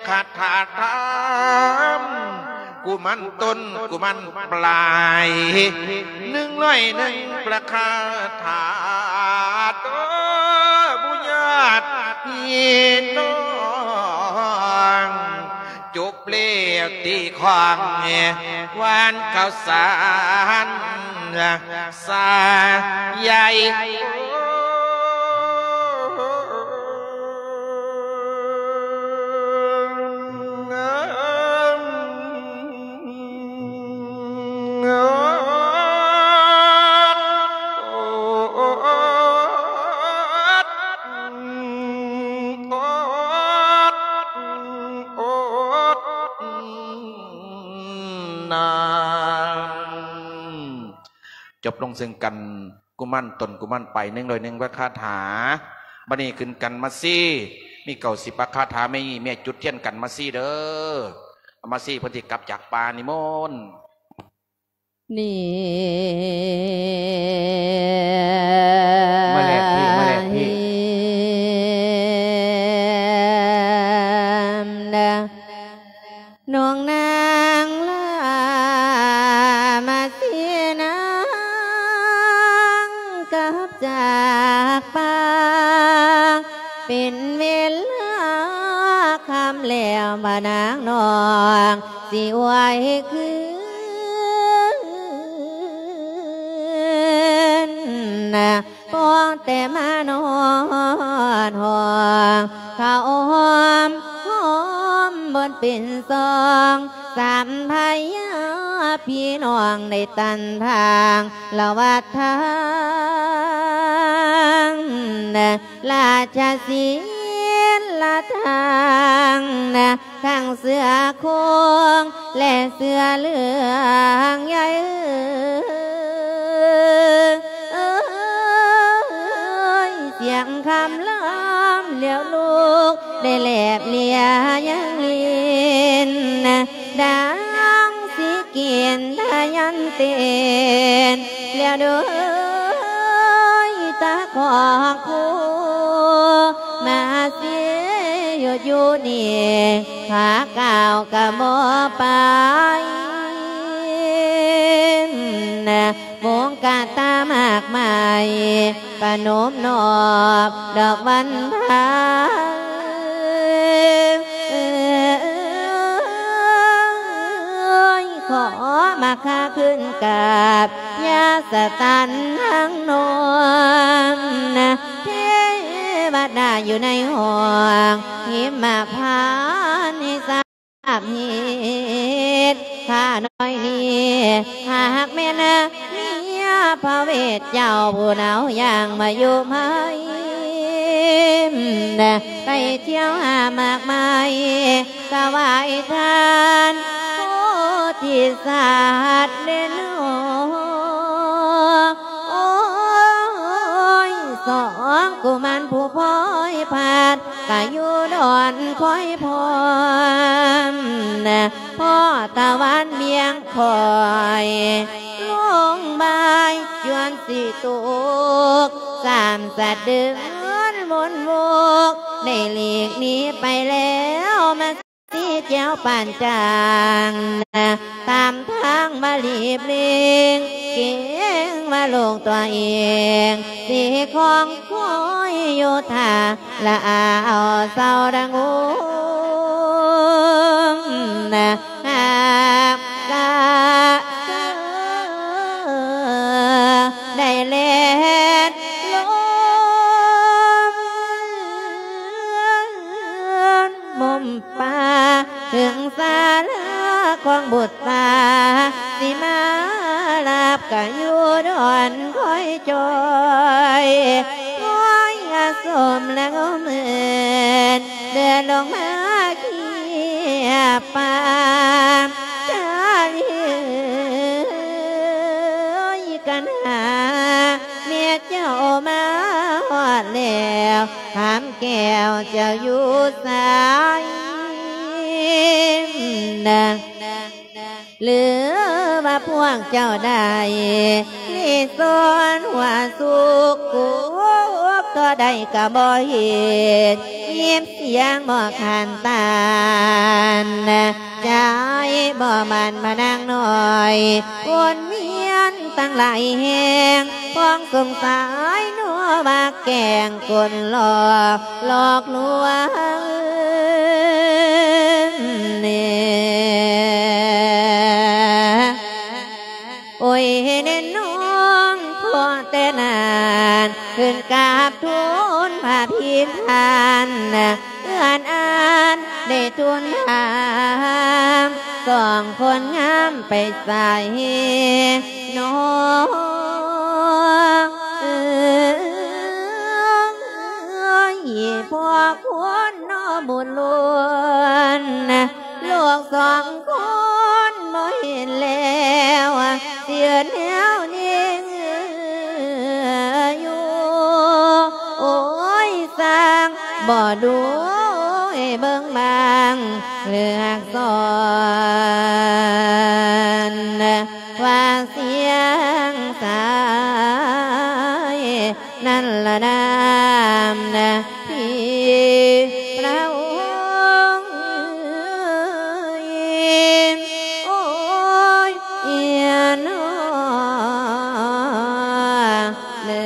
ຄາຖາທາມ ກຸມານຕົ້ນ ກຸມານປາຍ ໜຶ່ງຮ້ອຍໜຶ່ງ ພະຄາຖາ ເດີ ບຸຍາດພີ່ນ້ອງ ຈົບແລ້ວຕີຂອງ ຫວານເຂົ້າສານ ສາໃຫຍ່ ນາ ຈົບລົງເຊິ່ງກັນ ກຸມານຕົ້ນ ກຸມານປາຍ ໜຶ່ງຮ້ອຍໜຶ່ງ ພະຄາຖາ. ບັດນີ້ຂຶ້ນກັນມາຊີ ມີເກົ້າສິບພະຄາຖາ. ແມ່ ແມ່ຈຸດທຽນກັນມາຊີເດີ. ມາຊີເພິ່ນຊິກັບຈາກປ່ານິມົນ. ນີ້ ມາແລກທີ່ ມາແລກທີ່ ນາງ ນາງລາມາສີນາງກັບຈາກປ່າ ເປັນເວລາຄ່ຳແລ້ວ ພະນາງນ້ອງຊິໄຫວຄືນ ພໍແຕ່ມານອດຫ້ອງ ເຂົ້າຫອມຫອມບົນເປັນສອງ ສາມພະຍາພີ່ນ້ອງໄດ້ຕັນທາງລະວັດທາງ ລາຊະສີລະທາງ ທັງເສືອໂຄງ ແລະ ເສືອເຫຼືອງໃຫຍ່ ເອີຍ ສຽງຄຳລຳລຽວລູກ ໄດ້ແລບເລຍຍັງຫຼິ້ນ ດັ່ງຊິກິນທະຍັນເຕັ້ນ ແລ້ວໂດຍຕາຂອງຄູ ມາເສຍຢູ່ ຢູ່ນີ້ ຂ້າກ້າວກະບໍ່ໄປ ມຸງກະຕາມາກໄມ້ ປະນົມນອບດອກວັນພາ ຂໍມາຄາຄືນກັບ ຍາສະຕັນທັງນອງ ເທວະດາຢູ່ໃນຫ້ອງ ຫິມມະພານໃຫ້ຊາບເຫດ ຂ້ານ້ອຍນີ້ ຫາກແມ່ນເມຍພະເວດເຈົ້າ ຜູ້ໜາວຢ່າງມາຢູ່ໃໝ່ ໄປທ່ຽວຫາໝາກໄມ້ ຖວາຍທານໂພທິສັດເດເນາະ ໂອ້ຍ ສອງກຸມານຜູ້ພອຍພັດ ກະຢູ່ດອນຄອຍພ້ອມ ພໍຕາວັນບຽງຄອຍ ລົງບ່າຍຈວນຊິຕົກ ສາມສະເດືອນວົນວົກ ໄດ້ຫຼີກໜີໄປແລ້ວ ມາ ສີແກ້ວປານຈາງ ຕາມທາງມາລີບຫຼີກ ເກງວ່າລູກຕົວເອງ ຊິຄອງຄອຍຢູ່ທ່າ ລະອາເອົາເຊົາດັງໂຮງ ຫາກກະເຊີ ໄດ້ແລ່ນລົງ ມຸມປ່າເຖິງສາລາຂອງບຸດຕາ ຊິມາລາບກະຢູ່ດອນຄອຍຈ່ອຍ ຄອຍອາສົມລະງົມເອີນ ເດີນລົງມາເຄຍປາ ຈາລີເອີຍ ກັນຫາ ແມ່ເຈົ້າມາຮອດແລ້ວ ຄຳແກ້ວເຈົ້າຢູ່ໃສນະ ຫຼື ວ່າພວກເຈົ້າໄດ້ລີ້ສອນຫົວສຸກ ກຸບທໍ່ໃດກະບໍ່ເຫັນ ຍິນສຽງບໍ່ຂັນຕານ ໃຈບໍ່ໝັ້ນມານາງນ້ອຍ ວົນວຽນຕັ້ງຫຼາຍແຫ່ງ ຄວາມສົງໄສນົວວ່າແກ້ງກົນຫຼອກ ຫຼອກລວງແນ່ ໂອ້ຍເນນນ້ອງ ພໍແຕ່ນັ້ນ ຂຶ້ນກາບທູນພະພິນທ່ານ ເຮືອນອັນໄດ້ທູນຖາມ ສອງຄົນງາມໄປໃສນ້ອງເອີຍ ພໍ່ຄຸນນໍບຸນລ້ວນ ລູກສອງຄົນບໍ່ເຫັນແລ້ວ ຊິເຮັດແນວນີ້ຢູ່ ໂອ້ຍ ຊ່າງບໍ່ດູໃຫ້ເບິ່ງບາງເລືອກສອນ ວ່າສຽງສາຍ ນັ້ນລະນາມນະທີ່ພະອົງ ໂອ້ຍ ເອີຍເນາະເດີ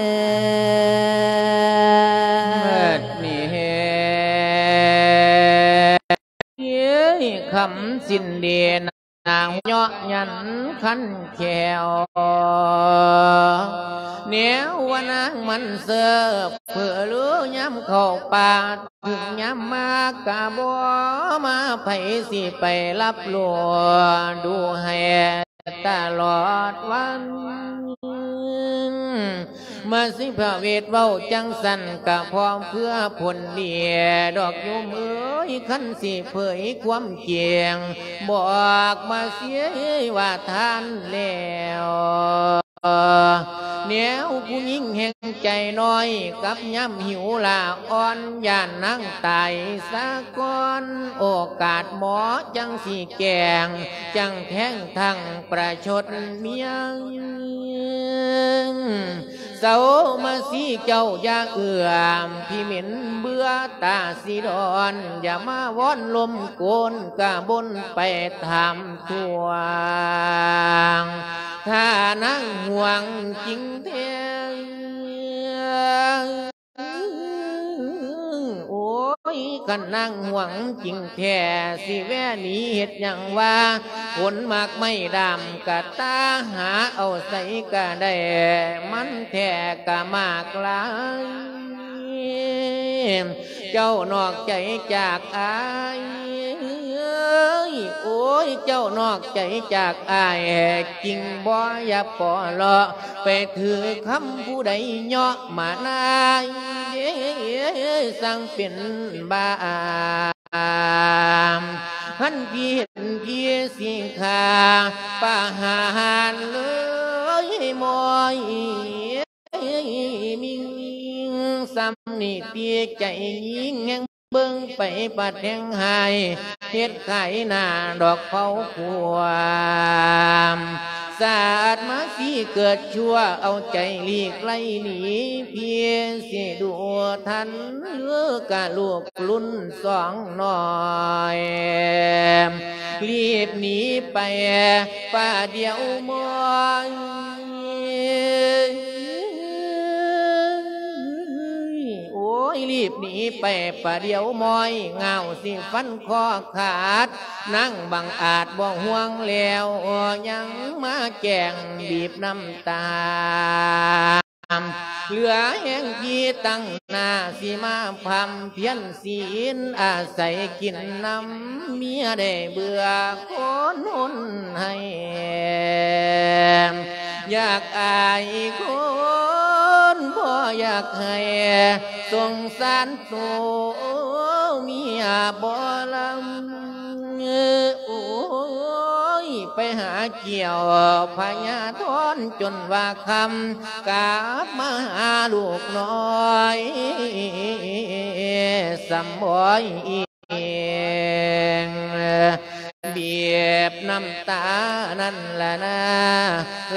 ເໝິດມີແຮງ ເອີຍ ຄຳສິ້ນດີນ ນາງເຍາະຢັນຄັນແຂ້ວ ແນວວ່ານາງມັນເຊີບເຜີລືຍາມເຂົ້າປ່າ ເຖິງຍາມມາກະບໍ່ມາ ໃຜຊິໄປຮັບຮູ້ດູແຮຕະຫຼອດວັນ ມາຊິພະເວດເວົ້າຈັ່ງຊັ້ນ ກະພ້ອມເພື່ອຜົນດີດອກໂຍມເອີຍ ຄັນຊິເຜີຍຄວາມຈິງ ບອກມາເສຍວ່າທ່ານແລ້ວ ແນວຜູ້ຍິງແຫ່ງໃຈນ້ອຍ ກັບຍາມຫິວລາອ່ອນ ຢ້ານນາງຕາຍສາກ່ອນ ໂອກາດເໝາະຈັ່ງຊິແກ້ງ ຈັ່ງແທງທັງປະຊົດມຽງ ເຊົາມາສີເຈົ້າຢ່າເອື້ອມ ພີ່ເໝັນເບື່ອຕາສີດອນ ຢ່າມາວອນລົມໂກນກະບົນໄປຖາມທວງ ຖ້ານາງຫ່ວງຈິງແທ້ ໂອ້ຍ ຄັນນາງຫ່ວງຈິງແທ້ ຊິແວ່ໜີເຮັດຫຍັງວະ ຜົນໝາກໄມ້ດ້າມກະຕາ ຫາເອົາໃສກະໄດ້ ມັນແທ້ກະໝາກຫຼາຍ ເຈົ້ານອກໃຈຈາກອ້າຍ ໂອ້ຍ ເຈົ້ານອກໃຈຈາກອ້າຍ ຈິງບໍ່ຢ່າປໍເລາະ ໄປຖືຄຳຜູ້ໃດເຍາະມານາຍ ຊ່າງເປັນບ້າ ຄັນພີ່ເຫັນພີ່ຊິຂ້າປະຫານເລີຍໝອຍ ມິງ ສ່ຳນີ້ຕິໃຈຍິງແຮງ ເບິ່ງໄປປາດແຮງຫາຍ ເຮັດຂາຍໜ້າດອກເຜົາຂວາມ ສາດມາສີເກີດຊົ່ວ ເອົາໃຈຫຼີກໄລ່ໜີ ພີ່ຊິດູທັນເດີກະລູກລຸ້ນສອງນ້ອຍ ລີບໜີໄປປະດຽວໝອຍ ໂອ້ຍ ລີບໜີໄປປະດຽວໝອຍ ງາວຊິຟັນຄໍຂາດ ນາງບັງອາດບໍ່ຫ່ວງແລ້ວ ຍັງມາແກ້ງບີບນ້ຳຕາ ເຫຼືອແຮງທີ່ຕັ້ງໜ້າ ຊິມາພ່ຳພຽນສີນ ອາໄສກິນນຳເມຍໄດ້ເບື່ອ ຄົນຫົນໃຫ້ ຢາກອາຍຄົນ ບໍ່ຢາກໃຫ້ສົງສານໂຕເມຍບໍ່ລຳ ໂອ້ຍ ໄປຫາກ່ຽວພະຍາທອນຈົນວ່າຄ່ຳ ກັບມາຫາລູກນ້ອຍ ສ່ຳບໍ່ອີ ເອງ ບີບນ້ຳຕານັ້ນລະນາ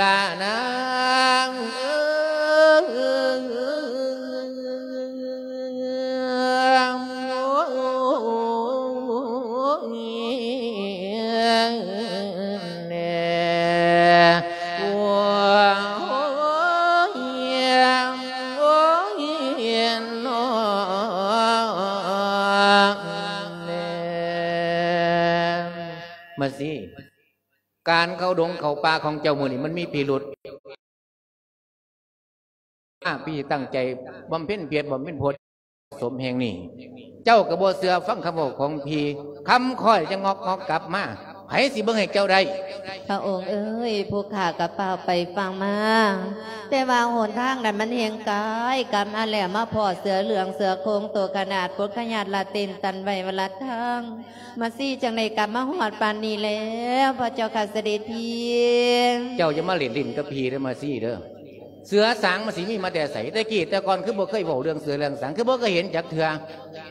ລະນາງເອີຍ ໂອ້ຍ ໂອ້ຍ ໂອ້ຍ ໂອ້ຍ ເນາະ ມາສີ ການເຂົ້າດົງເຂົ້າປ່າຂອງເຈົ້າມື້ນີ້ມັນມີພິລຸດ. ມາ ພີ່ຕັ້ງໃຈບຳເພັນພຽນ ບຳເພັນໂພດສົມແຫ່ງນີ້ ເຈົ້າກໍບໍ່ເຊື່ອຟັງຄຳເວົ້າຂອງພີ່ ຄຳຂ້ອຍຈະງອກງອກກັບມາ ໃຜຊິເບິ່ງໃຫ້ເຈົ້າໄດ້? ພະອົງເອີຍ ຜູ້ຂ້າກໍຟ້າວໄປຟ້າວມາ ແຕ່ວ່າຫົນທາງນັ້ນມັນແຮ່ງໄກ ກັບມາແລ້ວມາພໍ້ເສືອເຫຼືອງເສືອໂຄ່ງໂຕຂະໜາດປົດຂະຍາດລະເຕັນຕັນໄວ້ວ່າລະທາງ ມາສີຈັ່ງໃດກັບມາຮອດປານນີ້ແລ້ວ ພະເຈົ້າຂ້າສະເດັດພີ່. ເຈົ້າຢ່າມາຫຼິ້ນຫຼິ້ນກັບພີ່ເດີມາສີເດີ ເສືອສາງມັນຊິມີມາແຕ່ໃສ? ແຕ່ກີ້ແຕ່ກ່ອນຄືບໍ່ເຄີຍເວົ້າເລື່ອງເສືອເລື່ອງສາງ ຄືບໍ່ເຄີຍເຫັນຈັກເທື່ອ?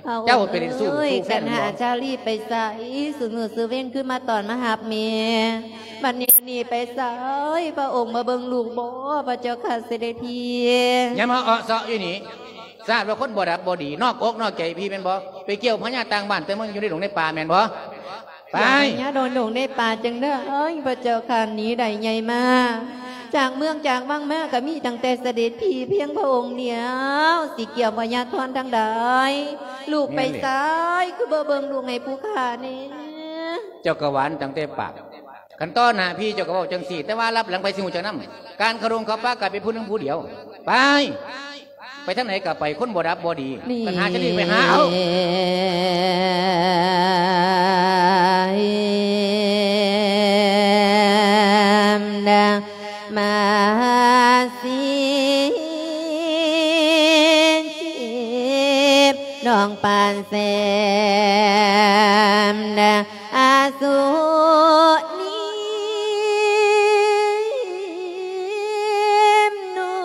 ພະອົງ ເຈົ້າເປັນ ເອີຍ ສູ້ແຟນ ຄັນຫາ ບໍ່ ຈາລີໄປໃສ ຊຸມື້ຊຸເວນຄືມາຕ້ອນມາຮັບແມ່ ບັດນີ້ໜີໄປໃສ? ພະອົງມາເບິ່ງລູກບໍ່ ພະເຈົ້າຂ້າສະເດັດພີ່? ຢ່າມາເອາະເຊາະຢູ່ນີ້ ຊາດວ່າຄົນບໍ່ດັບບໍ່ດີ ນອກອົກນອກໃຈພີ່ແມ່ນບໍ່? ໄປກ່ຽວພະຍາຕ່າງບ້ານແຕ່ເມືອງ ຢູ່ໃນດົງໃນປ່າແມ່ນບໍ່? ໄປ ຢ່າພະຍາດົງໃນປ່າຈັ່ງໃດ ພະເຈົ້າຂ້າ ໜີໄດ້ໃຫຍ່ມາ ຈາກເມືອງຈາກວັງມາກໍມີຕັ້ງແຕ່ສະເດັດພີ່ພຽງພະອົງດຽວ ຊິກ່ຽວພະຍາທອນທາງໃດ? ລູກໄປໃສ ຄືບໍ່ເບິ່ງລູກໃຫ້ຜູ້ຂ້າແດ່? ເຈົ້າກໍຫວານຕັ້ງແຕ່ປາກ ຄັນຕໍ່ໜ້າພີ່ເຈົ້າກໍເວົ້າຈັ່ງຊີ້ ແຕ່ວ່າລັບຫຼັງໃຜຊິຮູ້ຈັກນຳ? ການເຂົ້າດົງເຂົ້າປ່າກະເປັນຜູ້ໜຶ່ງຜູ້ດຽວ ໄປ ໄປທາງໃດກໍໄປ ຄົນບໍ່ດັບບໍ່ດີ ຄັນຫາຈະໜີໄປຫາເອົາ ມາສີຈີບ ນ້ອງປານແຊມ ອາສຸນີມນຸ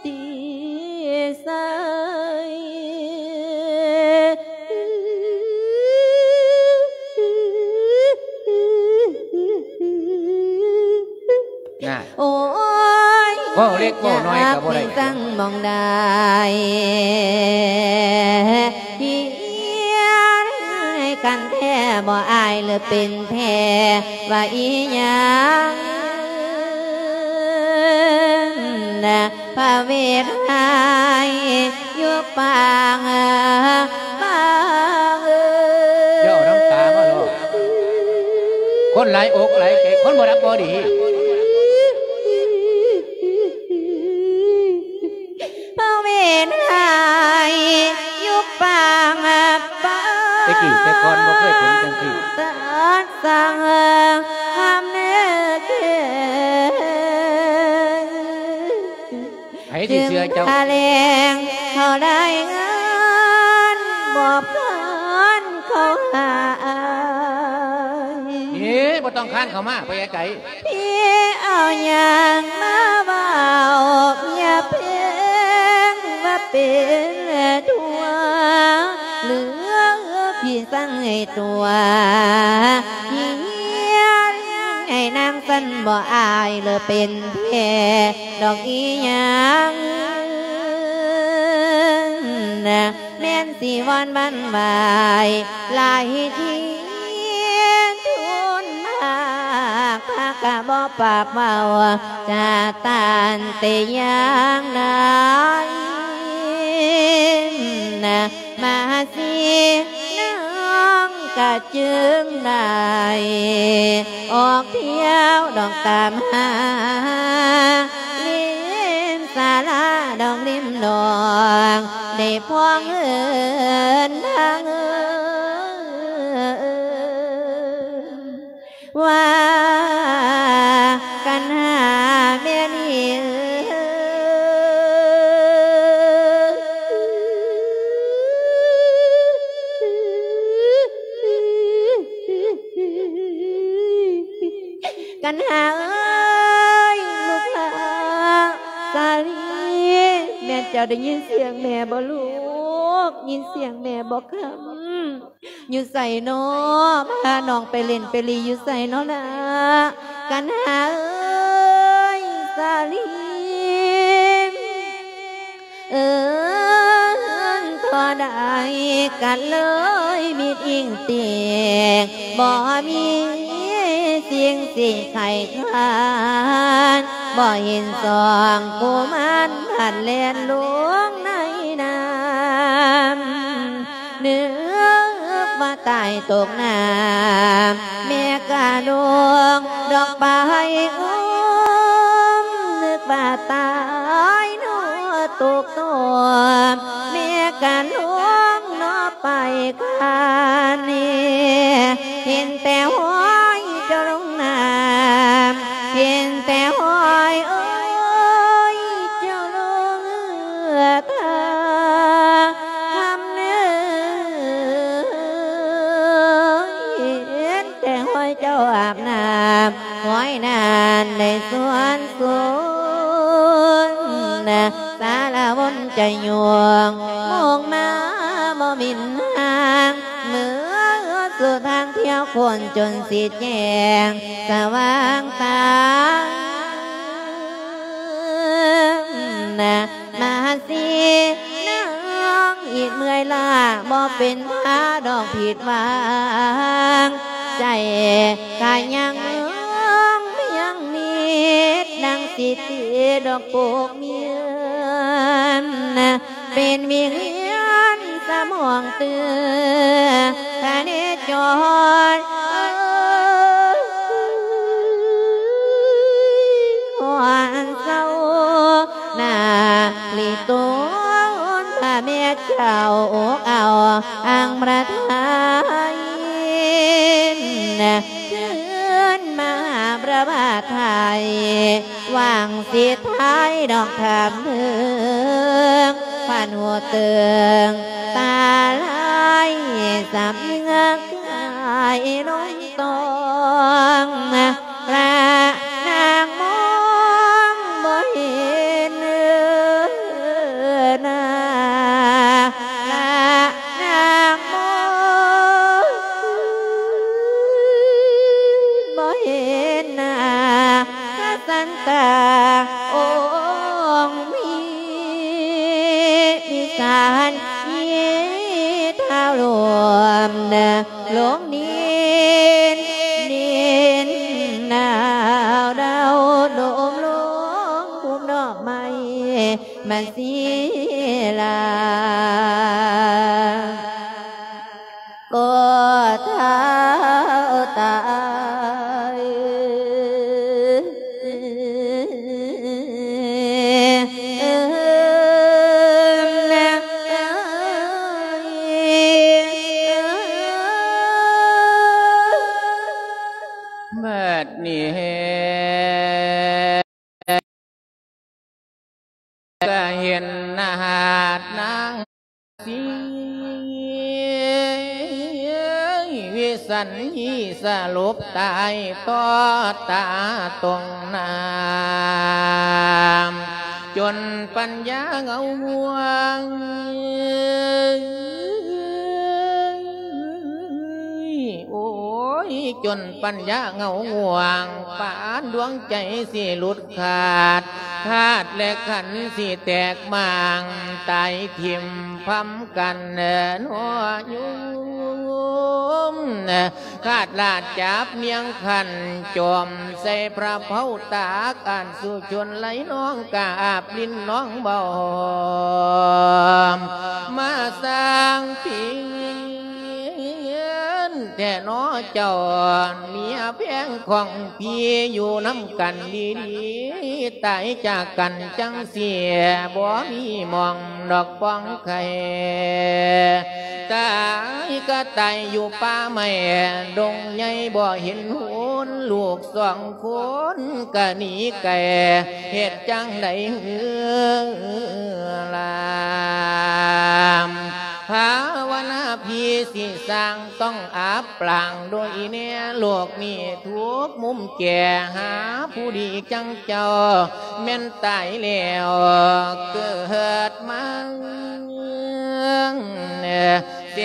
ຕິໄຊ ນະ ໂອ້ຍ ເວົ້າເລັກເວົ້ານ້ອຍກໍບໍ່ໄດ້ ຈັກຊິສັ່ງໝ່ອງໃດ ເຮັດກັນແທ້ບໍ່ອາຍ ຫຼືເປັນແທ້ວ່າອີຫຍັງນະ ພະເວດໃຫ້ ຢູ່ປາງບາງເອີຍ ຢ່າເອົານ້ຳຕາມາຫຼອກ ຄົນຫຼາຍອົກຫຼາຍໃຈ ຄົນບໍ່ຮັກບໍ່ດີ ພະເວດໃຫ້ ຢູ່ປາງບາງ ແຕ່ກີ້ແຕ່ກ່ອນບໍ່ເຄີຍເປັນຈັ່ງຊີ້ ສັດສັງ ຫ້າມເນີເກີນ ໃຜຊິເຊື່ອເຈົ້າ ຈຶ່ງຖະແຫຼງເຂົາໄດ້ເງິນ ມອບເງິນເຂົາໃຫ້ ເອີ ບໍ່ຕ້ອງຄານເຂົ້າມາ ໄປໄກໆ ທີ່ເອົາຫຍັງມາເວົ້າ ຢ່າເພງວ່າເປັນຕົວ ຫຼື ທີ່ສັ່ງໃຫ້ຕົວ ທີ່ເຮັດໃຫ້ນາງສັ່ນບໍ່ອາຍ ຫຼືເປັນແທ້ ດອກອີຫຍັງນະ ແມ່ນຊິວອນຫວັ່ນໄຫວຫຼາຍທີ່ ທູນມາກ ພາກະບໍ່ປາກເວົ້າຈາຕານແຕ່ຢ່າງໃດນະ ມາຊິນາງກະຈຶ່ງໄດ້ອອກທ່ຽວດອກຕາມຫາ ລິມສາລາດອກລິມໜອງ ໄດ້ພ້ອງເອີ້ນທາງເອີ ວ່າກັນຫາແມ່ນີ້ເອີ ກັນຫາເອີຍ ລູກຫຼ້າສາລີ ແມ່ນເຈົ້າໄດ້ຍິນສຽງແມ່ບໍ່ລູກ? ຍິນສຽງແມ່ບໍ່ຄຳ? ຢູ່ໃສນໍ? ພານ້ອງໄປຫຼິ້ນໄປລີ້ຢູ່ໃສນໍລະ? ກັນຫາເອີຍ ສາລີ ເອີ້ນທໍ່ໃດກໍເລີຍມິດອີງຕິງ ບໍ່ມີສິ່ງຊິໄຂຄານ ບໍ່ເຫັນສອງກຸມານພັດແລ່ນລົງໃນນ້ຳ ນຶກວ່າຕາຍຕົກນ້ຳ ແມ່ກະລົງດອກໄປອຸ້ມ ນຶກວ່າຕາຍເນາະຕົກຕົມ ແມ່ກະລົງເນາະໄປຄານນີ້ ເຫັນແຕ່ຫ້ອຍເຈົ້າລົງນ້ຳ ເຫັນແຕ່ຫ້ອຍ ໂອ້ຍ ເຈົ້າລົງເຮືອຕາ ຫ້າມເນີ ເຫັນແຕ່ຫ້ອຍເຈົ້າອາບນ້ຳ ຫ້ອຍນັ້ນໄດ້ສວນສູນ ສາລະວົນຈະຍົງ ມຸງມາບໍ່ມິນຫາງ ເມືອສຸດທາງທ່ຽວຄົນຈົນຊິແຈ້ງສະຫວ່າງຕາ ມາຊິນາງອີດເມື່ອຍລ້າ ບໍ່ເປັນພາດອກຜິດຫວັງ ໃຈກະຍັງຍັງມິດ ດັ່ງສິດດອກໂກກເມຍນ ເປັນວິງວຽນສະໝອງເຕືອນ ພະເນຈອນ ເອີ ຮອນເຊົາ ນາລິໂຕນ ພະແມ່ເຈົ້າອົກເອົາອັງພະໄທ ຄືນມາພະບາດໄທ ຫວັງສິດໄທດອກທຳເຖິງ ພັນຫົວເຕີງຕາລາຍ ສຳເໜືອກາຍລົງຕອງ ພະນາງມອງບໍ່ເຫັນໜ້າ ພະນາງມອງບໍ່ເຫັນໜ້າ ພະສັນຕາ ໂອ ມາສີລາ ກໍເທົ່າຕາຍ. ບັດນີ້ ກະເຫັນໜ້ານາງສີວິສັນຮີສະຫຼົບຕາຍຕໍ່ຕາຕົງນ້ຳ ຈົນປັນຍາເງົາງ່ວງ ໂອ້ຍ ຈົນປັນຍາເງົາງ່ວງ ປານດວງໃຈຊິຫຼຸດຂາດ ທາດແລະຂັນຊິແຕກໝ້າງ ຕາຍຖິ້ມພຳກັນເນາະໂຍມ. ຄາດລາດຈັບນຽງຂັນ ຈອມໃສ່ພະເພົາຕາກ ອັນສຸຊົນໄຫຼນອງກາບລິນນອງເບົາ ມາສ້າງເປັນແທ້ເນາະເຈົ້າ ເມຍແພງຂອງພີ່ ຢູ່ນຳກັນດີໆ ຕາຍຈາກກັນຈັ່ງຊີ້ ບໍ່ມີໝ່ອງດອກປອງໄຂ່ ຕາຍກະຕາຍຢູ່ປ່າໄມ້ດົງໃຫຍ່ ບໍ່ເຫັນຫົນລູກສອງຄົນກະໜີໄກ ເຮັດຈັ່ງໃດເຮີລາມ ພາວະນາພີ່ຊິສ້າງຕ້ອງອັບປາງ ໂດຍແນ່ໂລກນີ້ທຸກມຸມແກ່ ຫາຜູ້ດີຈັ່ງເຈົ້າແມ່ນຕາຍແລ້ວເກີດມາ ແສ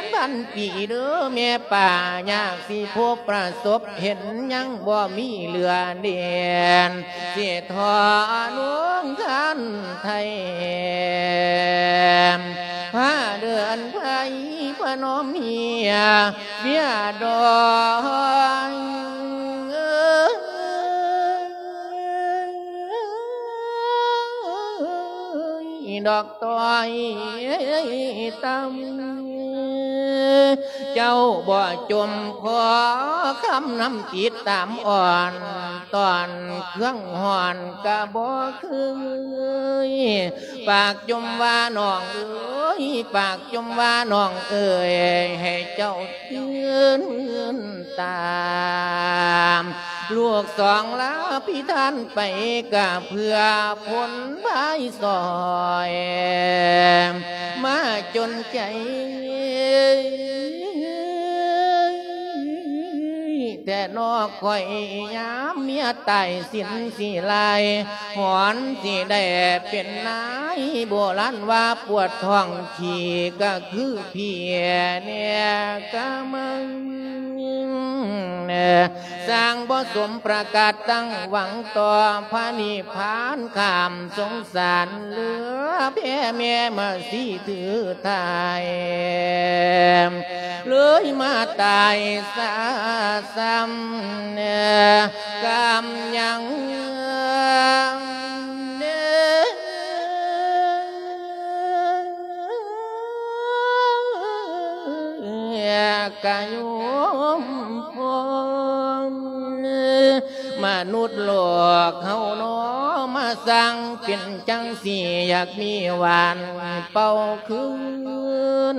ນພັນປີເດີແມ່ປ້າ ຍາກຊິພົບປະສົບເຫັນ ຍັງບໍ່ມີເຫຼືອແດນ ຊິທໍລວງຄັນໄທ ພາເດີນໄພພະນົມເຮຍ ເບຍດອຍ ດອກຕ້ອຍຕ່ຳ ເຈົ້າບໍ່ຈົ່ມຂໍຄຳນຳຕິດຕາມອ່ອນ ຕອນເຄື່ອງຮ້ອນກະບໍ່ຄືຍ ປາກຈົ່ມວ່ານ້ອງເອີຍ ປາກຈົ່ມວ່ານ້ອງເອີຍ ໃຫ້ເຈົ້າ ຄືນຕາມ ລູກສອງລາພິທານໄປ ກະເພື່ອຜົນພາຍຊ່ອຍ ມາຈົນໃຈ ແຕ່ນອກຂ້ອຍຍາມເມຍຕາຍ ສິນຊິລາຍ ຫອນຊິໄດ້ເປັນນາຍ ໂບລານວ່າປວດທ້ອງຂີ້ ກະຄືເພຍແນກະມັງ ສ້າງບໍ່ສົມປະກາດຕັ້ງຫວັງຕໍ່ພະນິບພານ ຂ້າມສົງສານເຫຼືອແຜ່ແມ່ມາສີຖືທ້າຍ ເລີຍມາຕາຍຊາຊ້ຳ ກຳຍັງ ກະໂຍມພອນ ມະນຸດໂລກເຮົາເນາະ ມາສ້າງເປັນຈັ່ງຊີ້ ຢາກມີຫວານເປົ່າຄືນ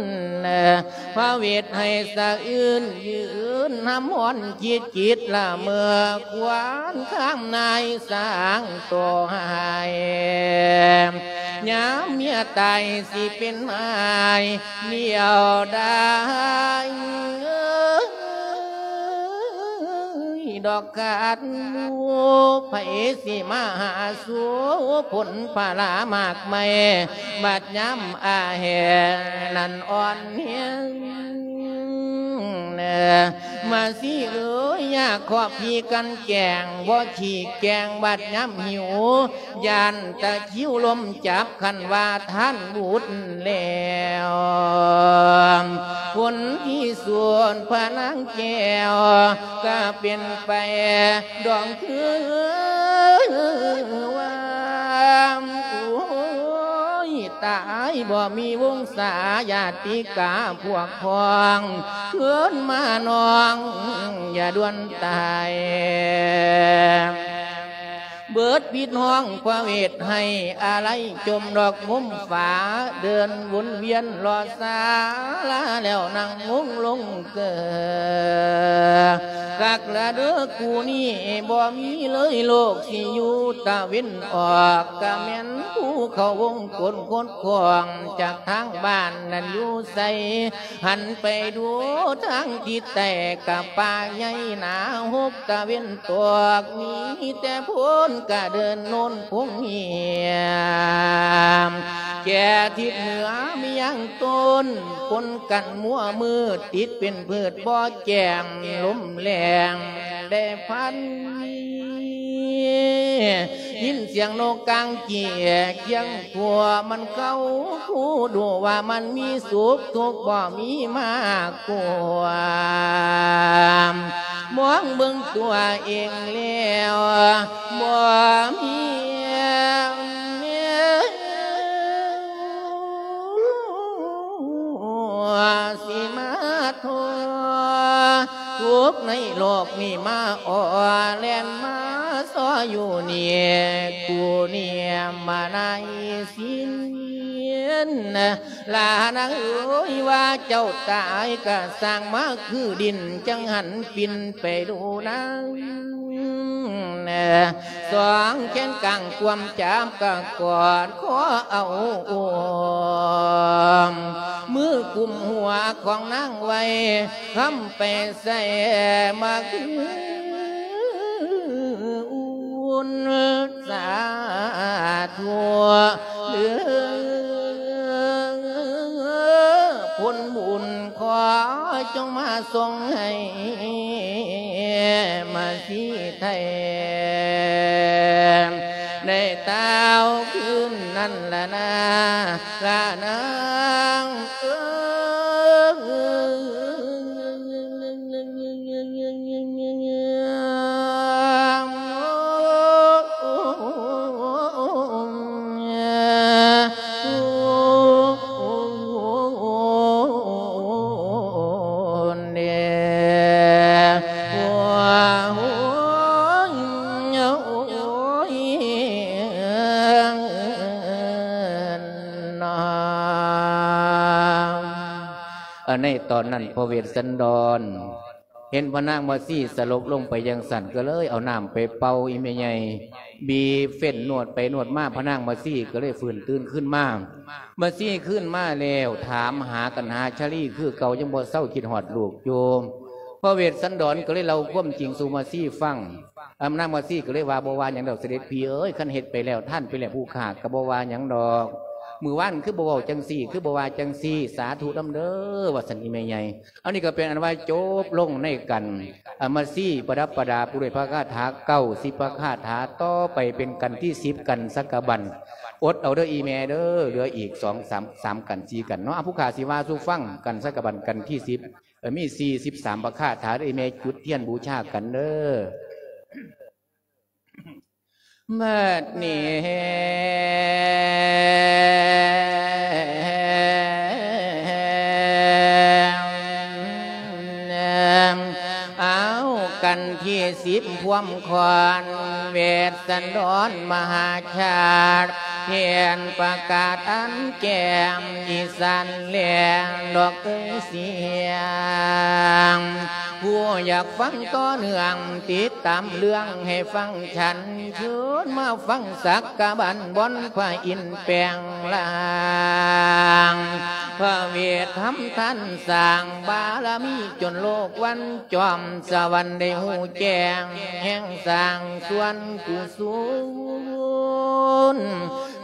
ພະເວດໃຫ້ສະອື່ນ ຢືນຫຳຫອນຄິດຈິດລະເມີ ຄວານຄາມນາຍສ້າງໂຕໃຫ້ ຍາມເມຍຕາຍຊິເປັນອ້າຍ ດຽວດາຍ ດອກກາດໝູ່ ໃຜຊິມາຫາສູ່ຜົນພາລາມາກໄມ້ ບັດຍາມອາແຫງນັ້ນອ່ອນແຮງ ມາສີເອີຍ ຢາກຂໍຜີກັນແກງ ບໍ່ຂີ້ແກງບັດຍາມຫິວ ຢ້ານຕະຄຣິວລົມຈັບ ຄັນວ່າທ່ານບຸດແລ້ວ ຄົນທີ່ສວນພະນາງແກ້ວ ກະເປັນໄປດອງຄືວ່າ ຕາຍ ບໍ່ມີວົງສາຍາຕິກາພວກພ້ອງ ຄືນມານ້ອງຢ່າດ່ວນຕາຍ. ເບີດພິດຮ້ອງພະເວດໃຫ້ອາໄລ ຈົມດອກມຸມຝາ ເດີນວົນວຽນລໍສາລາ ແລ້ວນັ່ງມຸງລົງເກີ. ຄັກລະເດີ ກູນີ້ບໍ່ມີເລີຍ ໂລກທີ່ຢູ່ຕາເວັນອອກ ກະແມ່ນຜູ້ເຂົ້າວົງກົນຄົດຂອງ ຈາກທາງບ້ານນັ້ນຢູ່ໃສ ຫັນໄປດູທາງທິດໃຕ້ ກະປ່າໃຫຍ່ໜາຫົກຕາເວັນຕອກ ມີແຕ່ໂພນກະເດີນໂນນຄົງເຫຍມ ແກ່ທິດເໜືອມີຫຍັງຕົ້ນ ປົນກັນມົວມືດ ຕິດເປັນພືດບໍ່ແຈ່ມ ລົມແລ້ງໄດ້ພັນ ຍິນສຽງນົກກາງເກຍກຽງ ທົ່ວມັນເກົ້າ ຜູ້ດູວ່າມັນມີສຸກ ທຸກບໍ່ມີມາກວມ ມອງເບິ່ງຕົວເອງແລ້ວ ບໍ່ມີແນວ ຊິມາທໍ້ ທຸກໃນໂລກນີ້ມາອໍ ແລ່ນມາຊໍຢູ່ນີ້ ກູເນຍມານາຍສິນ ລານາງເອີຍ ວ່າເຈົ້າຕາຍກະສ້າງມາຄືດິນ ຈັ່ງຫັນປິ່ນໄປດູນາງ ສອງແຂນກາງກວມຈັບກະກອດຄໍເອົາໂອມ ມືກຸມຫົວຂອງນາງໄວ້ ຄຳໄປໃສ່ມາຄືອຸ່ນ ສາທຸເດີ ຜົນບຸນຂໍຈົ່ງມາສົ່ງໃຫ້ມາສີໄທ ໃນຕາວຄືນນັ້ນລະນາ ລະນາງເອີຍ ໃນຕອນນັ້ນ ພະເວດສັນດອນ ເຫັນພະນາງມາສີສະຫຼົບລົງໄປຈັ່ງຊັ້ນ ກໍເລີຍເອົານ້ຳໄປເປົ່າອີ່ແມ່ໃຫຍ່ ບີບເຟັ່ນນວດໄປນວດມາ ພະນາງມາສີກໍເລີຍຟື້ນຕື່ນຄືນມາ. ມາສີຄືນມາແລ້ວ ຖາມຫາກັນຫາຊາລີຄືເກົ່າ ຍັງບໍ່ເຊົາຄິດຮອດລູກຢູ່. ພະເວດສັນດອນກໍເລີຍເລົ່າຄວາມຈິງສູ່ມາສີຟັງ. ອາ ນາງມາສີກໍເລີຍວ່າ ບໍ່ວ່າຫຍັງດອກສະເດັດພີ່ເອີຍ ຄັນເຮັດໄປແລ້ວ ທານໄປແລ້ວ ຜູ້ຂ້າກໍບໍ່ວ່າຫຍັງດອກ. ມື້ວານຄືບໍ່ເວົ້າຈັ່ງຊີ້ ຄືບໍ່ວ່າຈັ່ງຊີ້ ສາທຸນຳເດີ ວ່າຊັ້ນອີ່ແມ່ໃຫຍ່. ອັນນີ້ກໍເປັນອັນວ່າຈົບລົງໃນກັນ ອາ ມາສີປະດັບປະດາໄປດ້ວຍພະຄາຖາເກົ້າສິບພະຄາຖາ ຕໍ່ໄປເປັນກັນທີສິບ ກັນສັກກະບັນ. ອົດເອົາເດີອີ່ແມ່ເດີ ເຫຼືອອີກສອງ ສາມ ສາມກັນ ສີ່ກັນເນາະ. ອາ ຜູ້ຂ້າຊິວ່າສູ່ຟັງ ກັນສັກກະບັນ ກັນທີສິບ ເອີ ມີສີ່ສິບສາມພະຄາຖາເດີ ແມ່ຈຸດທຽນບູຊາກັນເດີ. ບັດນີ້ ເອົາ ກັນທີສິບ ພວມຂອນ ເວດສັນດອນມະຫາຊາດ ແທນປະກາດອັນແຈ້ງ ອີສານແລງດອກເອີຍສຽງ. ຜູ້ຢາກຟັງຕໍ່ເນື່ອງ ຕິດຕາມເລື່ອງໃຫ້ຟັງຊັນ ເຊີນມາຟັງສັກກະບັນ ບ່ອນພະອິນແປງຮ່າງ ພະເວດທຳທ່ານສ້າງບາລະມີຈົນໂລກວັນຈອມ ສະຫວັນໄດ້ຮູ້ແຈ້ງ ແຫ່ງສ້າງສ່ວນກຸສົນ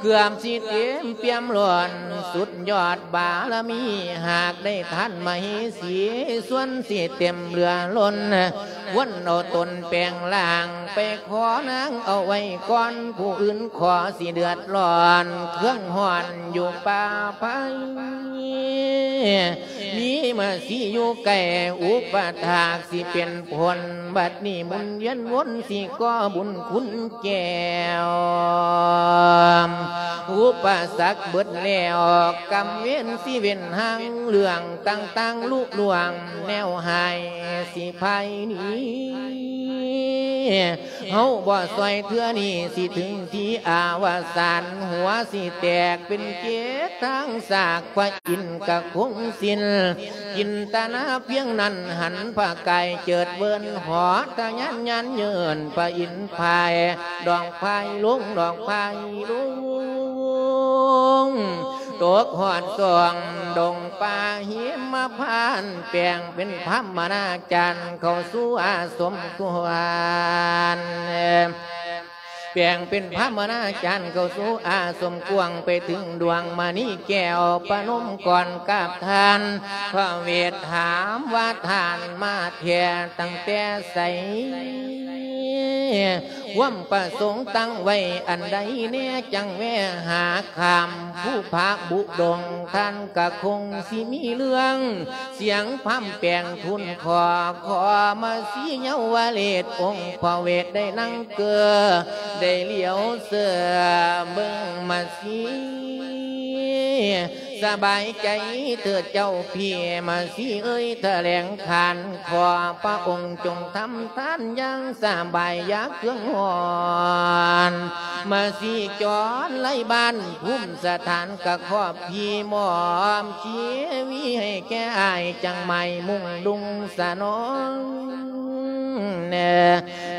ເກືອບຊິເຕັມປ່ຽມລ້ນ ສຸດຍອດບາລະມີ ຫາກໄດ້ທ່ານມະເຫສີ ສ່ວນຊິເຕັມເຫຼືອລົ້ນ ຄວນເອົາຕົນແປງຮ່າງ ໄປຂໍນາງເອົາໄວ້ກ່ອນ ຜູ້ອື່ນຂໍຊິເດືອດຮ້ອນ ເຄືອງຮ້ອນຢູ່ປ່າໄພ ມີມາສີຢູ່ໃກ້ ອຸປະຖາກຊິເປັນຜົນ ບັດນີ້ໝູນວຽນວົນ ຊິກໍ່ບຸນຄຸນແກ້ວ ອຸປະສັກເບິດແລ້ວ ກຳເວນຊິເວັ້ນຫ່າງ ເລື່ອງຕ່າງໆລຸລ່ວງ ແນວຮ້າຍຊິພາຍໜີ ເຮົາບໍ່ຊ່ອຍເທື່ອນີ້ ຊິເຖິງທີ່ອະວະສານ ຫົວຊິແຕກເປັນເຈັດທາງຊາກ ພະອິນກະຄົງສິ້ນ ຈິນຕະນາພຽງນັ້ນ ຫັນພະກາຍເຈີດເວີນ ເຫາະທະຍານຍານເຍີນ ພະອິນພາຍ ດອກພາຍລົງ ດອກພາຍລົງ ຕົກຮອດຊ່ອງດົງປ່າຫິມະພານ ແປງເປັນພາມມະນາຈານ ເຂົ້າສູ່ອາສົມຄວນ ແປງເປັນພາມມະນາຈານ ເຂົ້າສູ່ອາສົມກວ້າງ ໄປເຖິງດວງມະນີແກ້ວ ປະນົມກອນກາບທ່ານ ພະເວດຖາມວ່າທ່ານມາແທ້ຕັ້ງແຕ່ໃສ? ຄວາມປະສົງຕັ້ງໄວ້ອັນໃດແນ່ ຈັ່ງແວ່ຫາຂ້າມພູຜາບຸດົງ ທ່ານກະຄົງຊິມີເລື່ອງ ສຽງພາມແປງທູນຂໍ ຂໍມະຊີເຍົາວະເລດ ອົງພະເວດໄດ້ນັ່ງເກີ ໄດ້ຫຼຽວເສື້ອເບິ່ງມະຊີ ສະບາຍໃຈເທີດເຈົ້າພີ່ ມະຊີເອີຍ ຖະແຫຼງຂານ ຂໍພະອົງຈົ່ງທຳທານຢ່າງສະບາຍ ຢ່າເຄືອງຮ້ອນ ມະຊີຈອນໄລບ້ານ ພູມສະຖານກະຂອບພີ່ ມອບຊີວິດໃຫ້ແກ່ອ້າຍ ຈັ່ງໝາຍມຸ່ງດຸ່ງສະໜອງ ແນ່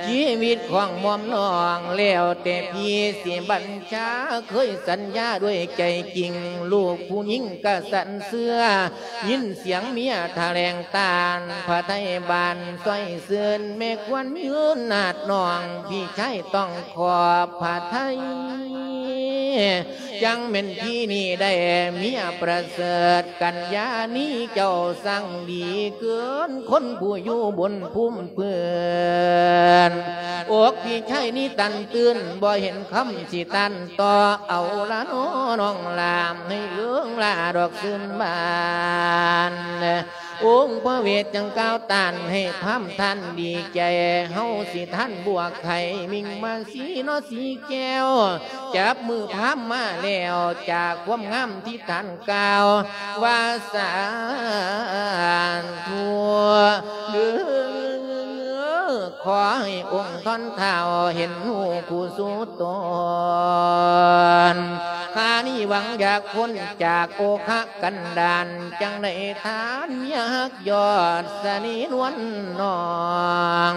ຊີວິດຂອງໝອມນ້ອງ ແລ້ວແຕ່ພີ່ຊິບັນຊາ ເຄີຍສັນຍາດ້ວຍໃຈຈິງ ລູກຜູ້ຍິງກະສັນເຊື່ອ ຍິນສຽງເມຍຖະແຫຼງຕ້ານ ພະໄທບ້ານຊ່ອຍເຊີນ ແມ່ຄວນມີເງິນນາດນ້ອງ ພີ່ຊາຍຕ້ອງຂອບພະໄທ ຈັ່ງແມ່ນພີ່ນີ້ໄດ້ເມຍປະເສີດ ກັນຍານີເຈົ້າຊ່າງດີເກີນ ຄົນຜູ້ຢູ່ບົນພູມພື້ນ ອົກພີ່ຊາຍນີ້ຕັນຕື່ນ ບໍ່ເຫັນຄຳຊິຕ້ານຕໍ່ ເອົາລະນໍນ້ອງຫຼາ ໃຫ້ເລີງລາດອກຊື່ນບານ ອົງພະເວດຈັ່ງກ່າວຕ້ານ ໃຫ້ພາມທ່ານດີໃຈ ເຮົາຊິທ່ານບົວໄຂ່ ມິ່ງມາສີເນາະສີແກ້ວ ຈັບມືພາມມາແລ້ວ ຈາກຄວາມງາມທີ່ທ່ານກ່າວວ່າ ສາທຸເດີ ຂໍໃຫ້ອົງທ່ອນທ້າວເຫັນຮູ້ຜູ້ສູ່ຕົນ ຂ້ານີ້ຫວັງຢາກພົ້ນຈາກໂອຄະກັນດານ ຈັ່ງໄດ້ທ່ານເມຍຮັກຍອດສະເໜ່ນວນນ້ອງ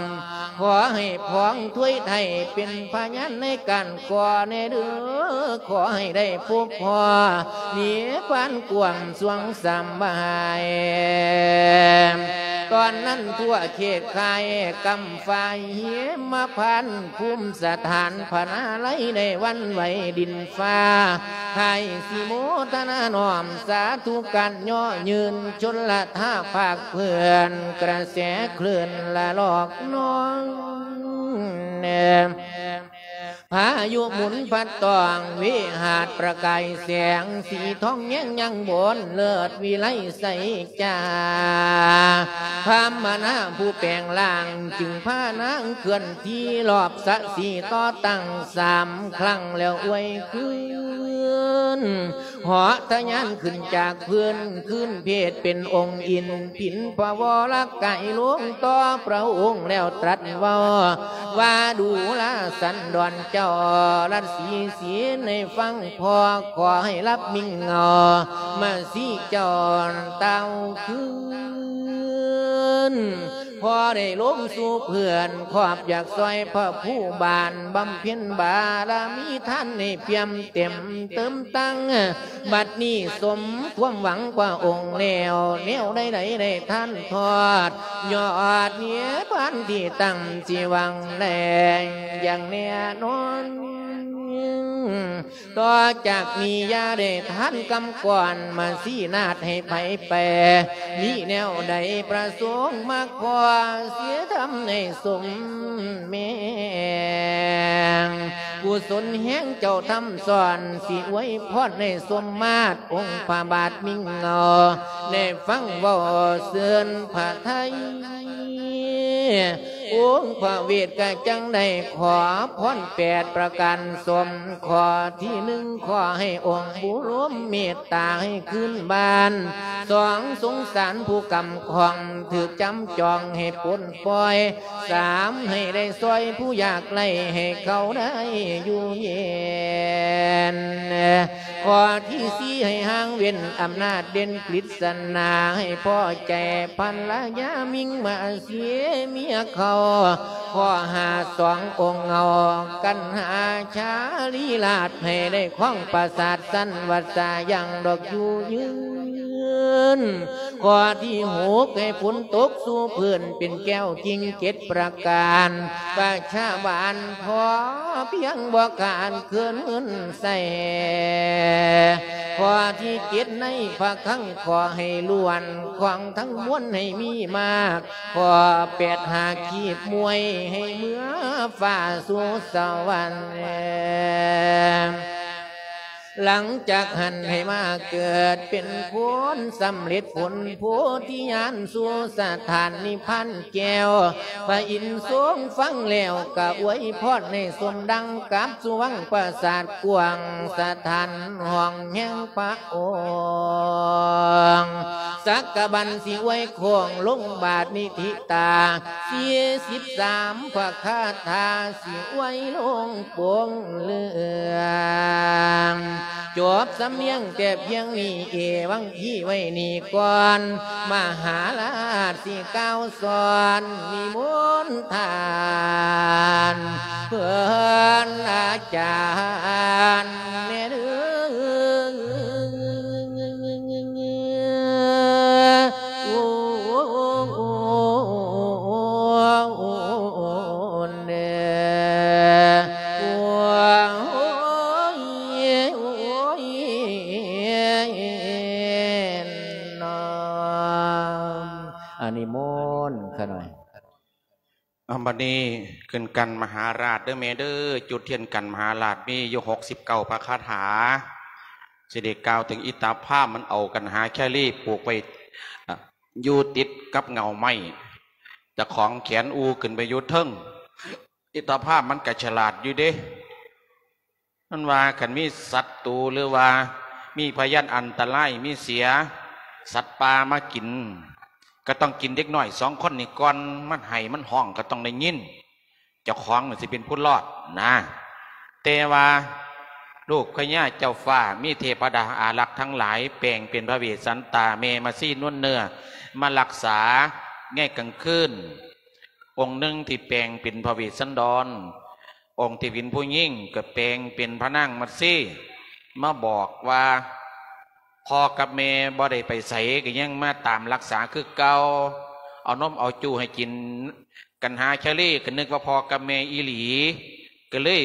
ຂໍໃຫ້ພອງຖ້ວຍໄທເປັນພະຍານໃນການ ຂໍແດ່ເດີ ຂໍໃຫ້ໄດ້ພົບພໍ້ນິບພານກວ້າງສວງສະບາຍ ຕອນນັ້ນທົ່ວເຂດຄ້າຍກຳຝາຍຫິມະພານ ພູມສະຖານພະນາໄລ ໄດ້ຫວັ່ນໄຫວດິນຟ້າ ໃຫ້ສິໂມທະນານ້ອມສາທຸການ ເຍາະຍືນຊົນລະທາພາກເພື່ອນ ກະແສຄື້ນລະລອກນອງ ພາຍຸໝູນພັດຕ້ອງ ວິຫາດປະກາຍແສງ ສີທອງແຍງຍັງບົນເລີດວິໄລໄຊຈາ ພາມມະນາຜູ້ແປງຮ່າງ ຈຶ່ງພານາງເຄື່ອນທີ່ລອບສະສີຕໍ່ຕັ້ງສາມຄັ້ງແລ້ວອວຍຄືນ ເຫາະທະຍານຂຶ້ນຈາກພື້ນ ຄືນເພດເປັນອົງອິນ ຜິນພະວໍລະກາຍລົງຕໍ່ພະອົງແລ້ວຕລັດເວົ້າ ວ່າດູລາສັນດອນເຈົ້າ ລັດສີສີໃຫ້ຟັງພໍ ຂໍໃຫ້ຫຼັບມິ່ງເຫງົາ ມາສີເຈົ້າຕ່າວຄືນ ພໍໄດ້ລົງສູ່ເພື່ອນ ຂອບຢາກຊ່ອຍພະພູບານ ບຳເພັນບາລະມີທານໃຫ້ປ່ຽມເຕັມເຕີມຕັ້ງ ບັດນີ້ສົມຄວາມຫວັງພະອົງແລ້ວ ແນວໃດໆໄດ້ທ່ານທອດ ຍອດນິບພານທີ່ຕັ້ງ ຊິຫວັງແລງຢ່າງແນ່ນອນ ຕໍ່ຈາກນີ້ຢ່າໄດ້ທ່ານກຳກ່ອນ ມາຊີ້ນາດໃຫ້ໃຜແປ ມີແນວໃດປະສົງມາຂໍ ເສຍທຳໃຫ້ສົມແມງ ກຸສົນແຮງເຈົ້າທຳສອນ ຊິອວຍພອນໃຫ້ສົມມາດ ອົງພະບາດມິ່ງເຫງົາ ໄດ້ຟັງເວົ້າເຊີນພະໄທ ອົງພະເວດກະຈັ່ງໄດ້ຂໍພອນແປດປະການສົມ. ຂໍ້ທີໜຶ່ງ ຂໍໃຫ້ອົງບຸລົມເມດຕາໃຫ້ຄືນບ້ານ. ສອງ ສົງສານຜູ້ກຳຂອງຖືກຈຳຈອງໃຫ້ປົນປ່ອຍ. ສາມ ໃຫ້ໄດ້ຊ່ອຍຜູ້ຍາກໄຮ້ໃຫ້ເຂົາໄດ້ຢູ່ເຢັນ. ຂໍ້ທີສີ່ ໃຫ້ຫ່າງເວັ້ນອຳນາດເດັ່ນກຣິດສະໜາ ໃຫ້ພໍໃຈພັນລະຍາມິງມາເສຍເມຍເຂົາ. ຂໍ້ຫ້າ ສອງອົງເງົາກັນຫາຊາລີລາດ ໃຫ້ໄດ້ຄອງປາສາດສັນວັດສາຢ່າງດອກຢູ່ຍືນ. ຂໍ້ທີຫົກ ໃຫ້ຝົນຕົກສູ່ພື້ນເປັນແກ້ວກິ່ງເຈັດປະການ. ປະຊາບ້ານພໍພຽງບໍ່ຂາດເຂີນເງິນໃຊ້. ຂໍ້ທີເຈັດ ໃນພະຄັງຂໍໃຫ້ລ້ວນ ຂອງທັງມວນໃຫ້ມີມາກ. ຂໍ້ແປດ ຫາຄີບມວຍໃຫ້ເມືອຟ້າສູ່ສະຫວັນ. ຫຼັງຈາກຫັ້ນໃຫ້ມາເກີດເປັນຄົນ ສຳເລັດຜົນໂພທິຍານສູ່ສະຖານນິບພານແກ້ວ. ພະອິນຊົງຟັງແລ້ວກະອວຍພອນໃຫ້ສົມດັ່ງກັບສຸວັງປາສາດກວ້າງ ສະຖານຫ້ອງແຫ່ງພະອົງ. ສັກກະບັນຊິອວຍໂຄ້ງລົງບາດນິທິຕາ ສີ່ສິບສາມ ພະຄາຖາຊິອວຍລົງໂປ່ງເຫຼືອງ. ຈົບສຳນຽງແຕ່ພຽງນີ້ ເອວັງຄີໄວ້ນີ້ກ່ອນ. ມະຫາລາດຊິກ່າວສອນນິມົນທ່ານເພິ່ນອາຈານແດ່ເດີ. ອາ ນິມົນຂ້ານ້ອຍ. ເອົາ ບັດນີ້ຂຶ້ນກັນມະຫາລາດເດີແມ່ເດີ. ຈຸດທຽນກັນມະຫາລາດມີຢູ່ຫົກສິບເກົ້າພະຄາຖາ ຊິໄດ້ກ່າວເຖິງອິດຕາພາມ. ມັນເອົາກັນຫາແຄລີປູກໄວ້ ອາ ຢູ່ຕິດກັບເຫງົ້າໄມ້. ເຈົ້າຂອງແຂນອູຂຶ້ນໄປຢູ່ເທິງ. ອິດຕາພາມມັນກະສະຫຼາດຢູ່ເດ້. ມັນວ່າຄັນມີສັດຕູ ຫຼືວ່າມີພະຍານອັນຕະລາຍ ມີເສຍສັດປ່າມາກິນ ກໍຕ້ອງກິນເດັກນ້ອຍສອງຄົນນີ້ກ່ອນ. ມັນໄຫ້ມັນຮ້ອງກໍຕ້ອງໄດ້ຍິນ ເຈົ້າຂອງມັນຊິເປັນຜູ້ລອດນະ. ແຕ່ວ່າລູກພະຍາເຈົ້າຟ້າ ມີເທວະດາອາລັກທັງຫຼາຍ ແປງເປັນພະເວດສັນຕາ ແມ່ມາຊີນວນເນື້ອ ມາລັກສາໃນກາງຄືນ. ອົງໜຶ່ງທີ່ແປງເປັນພະເວດສັນດອນ, ອົງທີ່ເປັນຜູ້ຍິງກໍແປງເປັນພະນາງມັດຊີ ມາບອກວ່າ ພໍ່ກັບແມ່ບໍ່ໄດ້ໄປໃສ ກໍຍັງມາຕາມລັກສາຄືເກົ່າ, ເອົານົມເອົາຈູໃຫ້ກິນກັນຫາຊາລີ ກໍນຶກວ່າພໍ່ກັບແມ່ອີ່ຫຼີ ກໍເລີຍ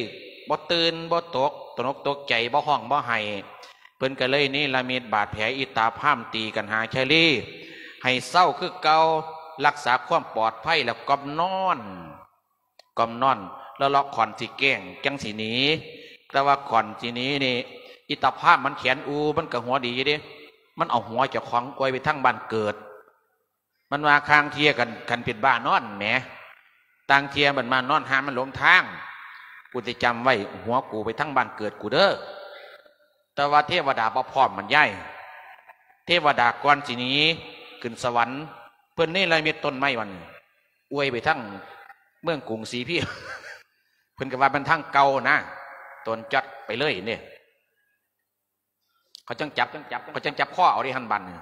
ບໍ່ຕື່ນບໍ່ຕົກ ຕົກໜົກຕົກໃຈ ບໍ່ຮ້ອງບໍ່ໄຫ້. ເພິ່ນກໍເລີຍເນລະມິດບາດແຜອິດຕາພາມຕີກັນຫາຊາລີ ໃຫ້ເຊົາຄືເກົ່າ, ລັກສາຄວາມປອດໄພ ແລ້ວກ່ອມນອນ. ກ່ອມນອນ ແລ້ວເລາະຂອນຊິແກ້ງ ຈັ່ງຊິໜີ. ແຕ່ວ່າຂອນຊິໜີນີ້ ອິດຕາພາມມັນແຂນອູ ມັນກໍຫົວດີເດ້, ມັນເອົາຫົວເຈົ້າຂອງອວຍໄປທາງບ້ານເກີດ. ມັນວ່າ ຄາງເທີ່ຍກັນ ຄັນເປັນບ້ານອນແໝ, ຕ່າງເທີ່ຍມັນມານອນຫາມັນຫຼົງທາງ, ກູຈະຈຳໄວ້ ຫົວກູໄປທາງບ້ານເກີດກູເດີ້. ແຕ່ວ່າເທວະດາບໍ່ພ້ອມບັນຍາຍ. ເທວະດາກ່ອນຊິໜີຂຶ້ນສະຫວັນ ເພິ່ນເນລະມິດຕົ້ນໄມ້ວັນ ອວຍໄປທາງເມືອງກຸງສີພີ ເພິ່ນກໍວ່າມັນທາງເກົ່ານະ, ຕົນຈັດໄປເລີຍເດ້. ເຂົາຈັ່ງຈັບ ເຂົາຈັ່ງຈັບຄໍເອົາເດ້ຫັ້ນບັດນີ້.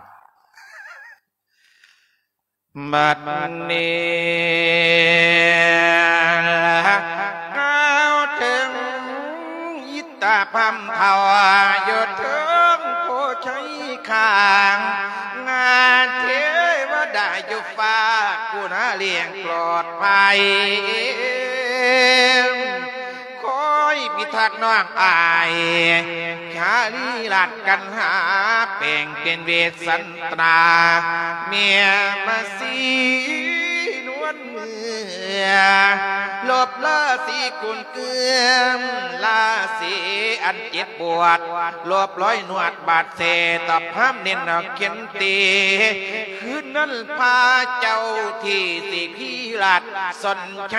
ບັດນີ້ກ່າວເຖິງອິດຕາພາມເຖົ້າ ຢູ່ເທິງໂພໄຊຄ້າງ, ເທວະດາຢູ່ຟ້າ ຜູ້ນາລ້ຽງປອດໄພ. ຄອຍພິທັກນ້ອງອ້າຍ ຄາລີລາດກັນຫາ ແປງເປັນເວດສັນຕາ ແມ່ມາຊີນວນເມືອ ລົບລາສີກຸນເກືອມ ລາສີອັນເຈັບປວດ ລົບລອຍໜວດບາດແຜ ຕອບພາມເນັ້ນເຂັນຕີ ຄືນນັ້ນພາເຈົ້າທີ່ສີພີລາດ ສົນໄຊ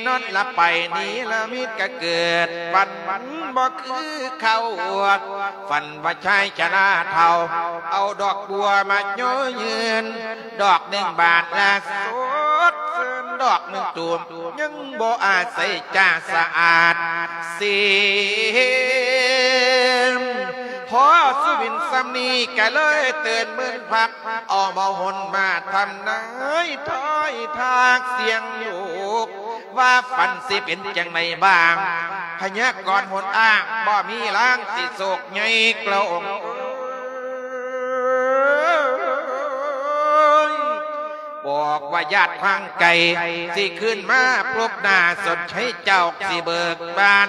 ນອນຫຼັບໄປ ນິລະມິດກະເກີດ ຝັນບໍ່ຄືເຂົາ ຝັນວ່າຊາຍຊະລາເຖົ້າ ເອົາດອກບົວມາຍໍຍືນ ດອກໜຶ່ງບາດລະສົດຊື່ນ ດອກໜຶ່ງຕູມ ຍັງບໍ່ອາໄສຈາສະອາດເສມ. ພໍສຸວິນສ່ຳນີ້ກະເລີຍເຕີນໝື່ນພັກ ເອົາມາຫົນມາທຳນາຍທາຍທາກສຽງໂຍກ ວ່າຝັນຊິເປັນຈັ່ງໃດບ້າງ ພະຍາກອນຫົນອ້າງ ບໍ່ມີລາງສິໂສກໃຫຍ່ກະອົງ ບອກວ່າຍາດທາງໄກ ຊິຄືນມາພົບໜ້າສົນໄຊເຈົ້າ ຊິເບີກບານ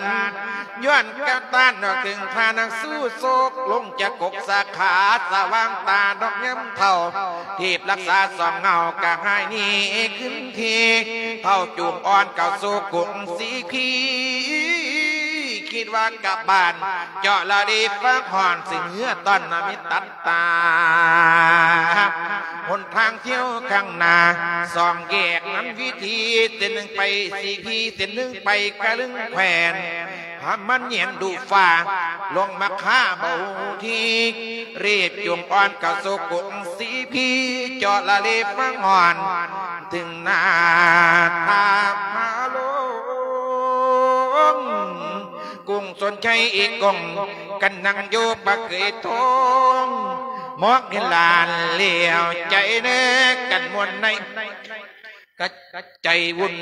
ຍ້ອນກະຕ້ານອອກເຖິງທ່ານັກສູ້ໂຊກ ລົງຈາກກົກສາຂາ ສະຫວ່າງຕາດອກຍາມເຖົ້າ ທີບລັກສາສອງເງົາກະຫາຍໜີຄືນທີ ເຖົ້າຈູງອ່ອນເຂົ້າສູ່ກຸງສີພີ ຄິດວ່າກັບບ້ານ ເຈາະລະດີຟາກຮ່ອນ ຊຶ່ງເຮືອຕ້ອນນະມິດຕັດຕາ ຫົນທາງທຽວຂ້າງໜ້າ ສອງແຍກນຳວິທີ ເສັ້ນໜຶ່ງໄປສີພີ ເສັ້ນໜຶ່ງໄປກະລຶງແຂວນ ຫາມັນແຍງດູຟ້າ ລົງມາຄາບໍ່ຮູ້ທີ ເລບຈູງອ່ອນເຂົ້າສູ່ກຸງສີພີ ເຈາະລະດີຟາກຮ່ອນ ເຖິງໜ້າທ່າພະລົງ ກຸງສົນໄຊອີກກົງ ກັນນັ່ງຢູ່ປະເກີຍໂທງ ມອງເຫັນຫຼານແລ້ວໃຈແນກັນມ່ວນໃນ ກະໃຈວຸ່ນ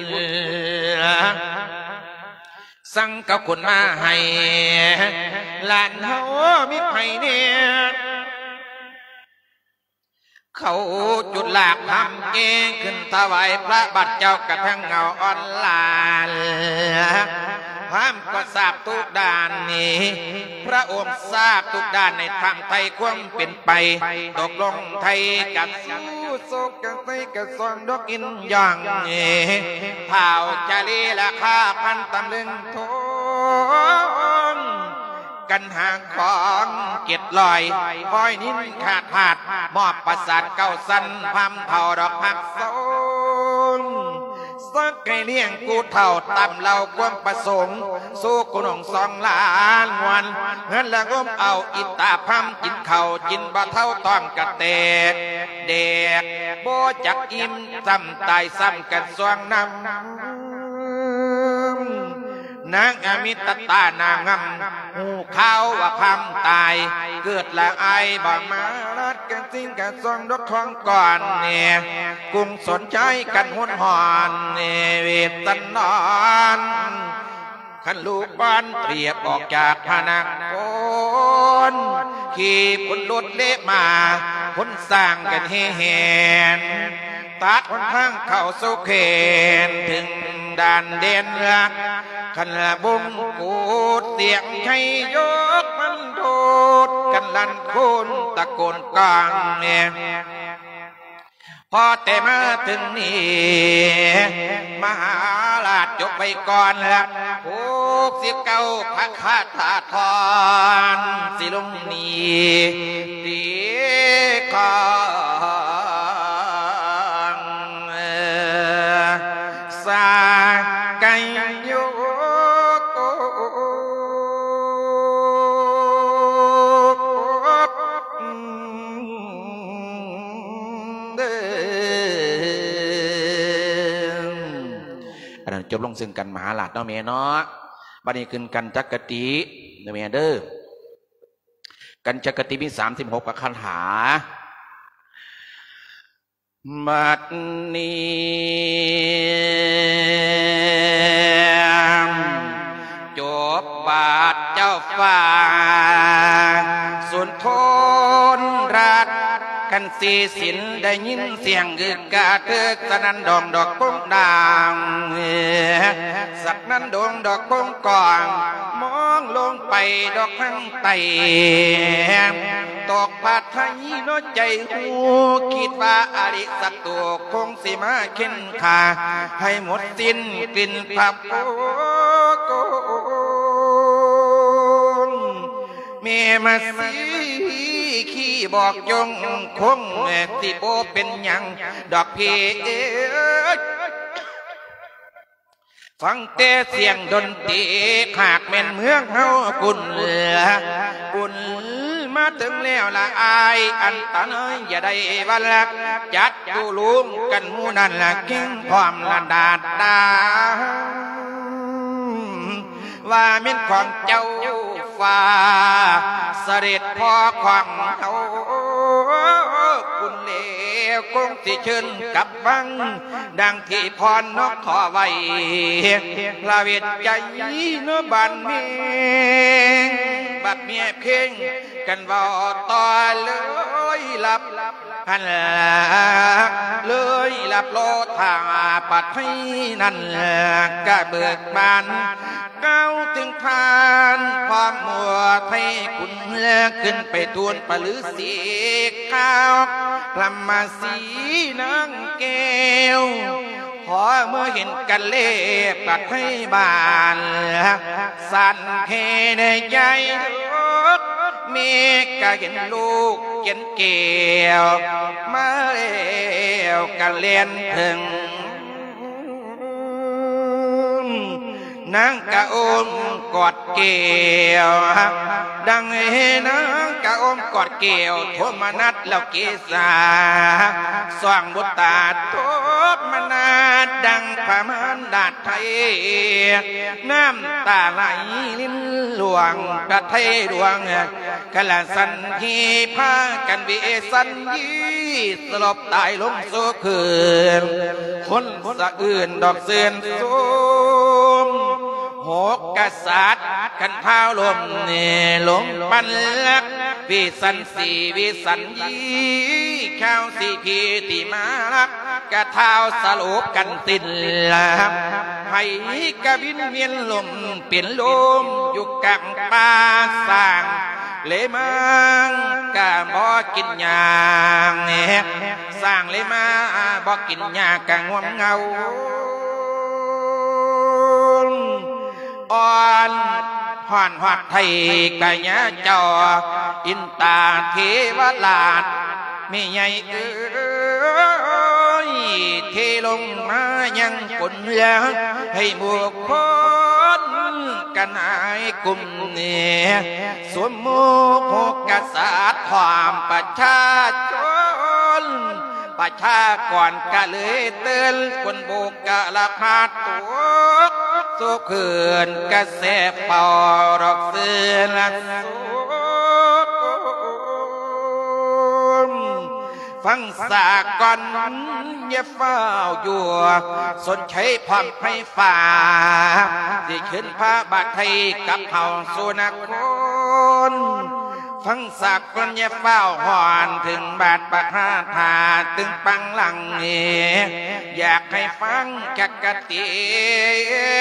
ສັ່ງເຂົ້າຄົນມາໃຫ້ ຫຼານເຮົາມີໃຜແນ່ ເຂົ້າຈຸດລາກທຳເອງ ຂຶ້ນຖວາຍພະບາດເຈົ້າກະທັງເງົາອ່ອນຫຼານ ພາມກໍຊາບທຸກດ້ານນີ້ ພະອົງຊາບທຸກດ້ານໃນທາງໄຖ່ຄວາມເປັນໄປ ຕົກລົງໄຖ່ກັບສູ້ ສົກກັນໄປກະສອງດອກອິນຢ່າງ ທ້າວຈາລີລາຄາພັນຕຳເລິງທອງ ກັນຫາຂອງເຈັດຮ້ອຍ ຮ້ອຍນິນຄາທາດ ມອບປາສາດເກົ້າຊັ້ນ ພາມເຖົ້າດອກຮັກສົງ ສັກໄກ່ລ້ຽງຜູ້ເຖົ້າຕາມເລົ່າຄວາມປະສົງ ສູ່ກຸນອງສອງລ້ານງວນ ເຮືອນລະງົມເອົາອິດຕາພາມກິນເຂົ້າ ກິນບໍ່ເທົ່າທ້ອງກະແຕກແດກ ບໍ່ຈັກອີ່ມ ຊ້ຳຕາຍຊ້ຳກັນຊ່ວງນຳ ນາງອະມິດຕະຕານາງງາມ ຮູ້ຂ່າວວ່າພາມຕາຍ ເກີດລະອາຍບໍ່ມາລາດກັນ ສິ່ງກະຊ່ອງດອກທອງກ່ອນແນ່ ກຸງສົນໃຈກັນຮຸນຮອນແນ່ ເວດສັນດອນ ຄັນລູກບ້ານຕຽບອອກຈາກພະນະໂຄນ ຂີ່ພົນລົດເລມາ ພົນຊ້າງກັນແຫ່ແຫນ ຕັດຫົນທາງເຂົ້າສູ່ແຂວນ ເຖິງດ່ານແດນລະ ຄັນລະບົງກູດ ສຽງໄທຍົກມັນໂດດກັນລັ່ນໂຄນ ຕະໂກນກາງແນ ພໍແຕ່ມາເຖິງນີ້ ມະຫາລາດຈົບໄປກ່ອນລະ ຫົກສິບເກົ້າພະຄາຖາທອນ ຊິລົງນີ້ ຕີຂອງສາໄກໂຍ ເດີ ອັນນັ້ນຈົບລົງເຊິ່ງກັນມະຫາລາດເນາະແມ່ເນາະ. ບັດນີ້ຂຶ້ນກັນຈັກກະຕິເດີແມ່ເດີ ກັນຈັກກະຕິມີສາມສິບຫົກພະຄາຖາ. ບັດນີ້ຈົບບາດເຈົ້າຟ້າສຸນທົນລາດ ຄັນສີສິນໄດ້ຍິນສຽງອຶກກະເຖິກ ສະໜັ່ນດົງດອກໂປ່ງດາງ ສະໜັ່ນດົງດອກໂປ່ງກອງ ມອງລົງໄປດອກທາງໃຕ້ ຕອກພະໄທເນາະໃຈຮູ້ ຄິດວ່າອະລິສັດໂຕຄົງຊິມາເຂັ່ນຂ້າ ໃຫ້ໝົດສິ້ນກິ່ນພະໂພງ ແມ່ມາສີຂີ້ບອກຈົ່ງຄົງ ຊິບໍ່ເປັນຫຍັງດອກພີ່ເອີຍ. ຟັງແຕ່ສຽງດົນຕີ ຫາກແມ່ນເມືອງເຮົາກຸນ ບຸນມາເຖິງແລ້ວລະອາຍ ອັນຕະນາຍຢ່າໄດ້ວ່າລະ ຈັດຢູ່ລວມກັນໝູ່ນັ້ນລະ ເກັ່ງພ້ອມລະດາດດາ ວ່າແມ່ນຂອງເຈົ້າຟ້າ ສະເດັດພໍ່ຂອງເຮົາ ບຸນແລ້ວຄົງຊິເຊີນກັບ ຟັງດັ່ງທີ່ພອນນອກຂໍໄວ້ ລະເວດໃຈເນາະບ້ານເມືອງ ບັດເມຍເພງກັນເວົ້າຕໍ່ເລີຍລັບ ຫັ້ນລະເລີຍລັບລໍຖ້າປະໄທນັ້ນ ກະເບີກບານ ກ່າວເຖິງທ່ານພະໝູ່ໄທຄຸນ ຂຶ້ນໄປທູນປະລືສີຂ່າວ ພະມະສີນາງແກ້ວ ພໍເມື່ອເຫັນກັນແລປະໄທບ້ານ ສັ່ນເທໃນໃຈ ເມກະເຫັນລູກເຫັນແກ້ວ ມາແລ້ວກະແລ່ນເຖິງ ນາງກະອົມກອດແກ້ວ ດັ່ງໃຫ້ນາງກະອົມກອດແກ້ວ ໂທມະນັດແລ້ວເກສາ ສ່ອງບຸດຕາໂທມະນັດ ດັ່ງພະມານດາດໄທ ນ້ຳຕາໄຫຼລິນຫຼວງ ພະໄທຫຼວງ ກາລະສັນທີພາກັນເວສັນຢີ ສະຫຼົບຕາຍລົງໂສຄືນ ຄົນສະອື່ນດອກເຊີນໂສມ ຫົກກະສັດຄັນທ້າວລົມເນລົມປັນລັກ ວິສັນສີວິສັນຢີ ຂ່າວສີພີທີ່ມາລັກ ກະທ້າວສະຫຼຸບກັນຕິນລະ ໃຜກະບິນວຽນລົມເປັນລົມ ຢູ່ກາງປ່າ ສ້າງເລມາງກະບໍ່ກິນຫຍ້າ ສ້າງເລມາບໍ່ກິນຫຍ້າກະງ່ວມເຫງົາ ອ່ອນ ຮ້ອນຮອດໄທກະຍາເຈົ້າ ອິນຕາເທວະລາດ ແມ່ໃຫຍ່ເອີຍ ເທລົງມາຍັງຄົນເຫຼືອ ໃຫ້ໝູ່ຄົນກັນຫາຍກຸ່ມ ສົມມຸກກະສັດພ້ອມປະຊາຊົນ ປະຊາກອນກະເລີຍເຕືອນ ຄົນບຸກກະລະພາດຕົກ ໂສກຄືນກະແສເປົ່າດອກເສືອລະໂສມ ຟັງສາກ່ອນຢ່າຟ້າວຢູ່ ສົນໄຊພ້ອມໄຟຟ້າ ຊິເຊີນພະບາດໄທກັບເຮົາສູ່ນະຄອນ ຟັງສາກ່ອນຢ່າຟ້າວຮ້ອນ ເຖິງບາດປະທານທາດຕຶງປັງຫຼັງ ຢາກໃຫ້ຟັງຈັກກະຕິ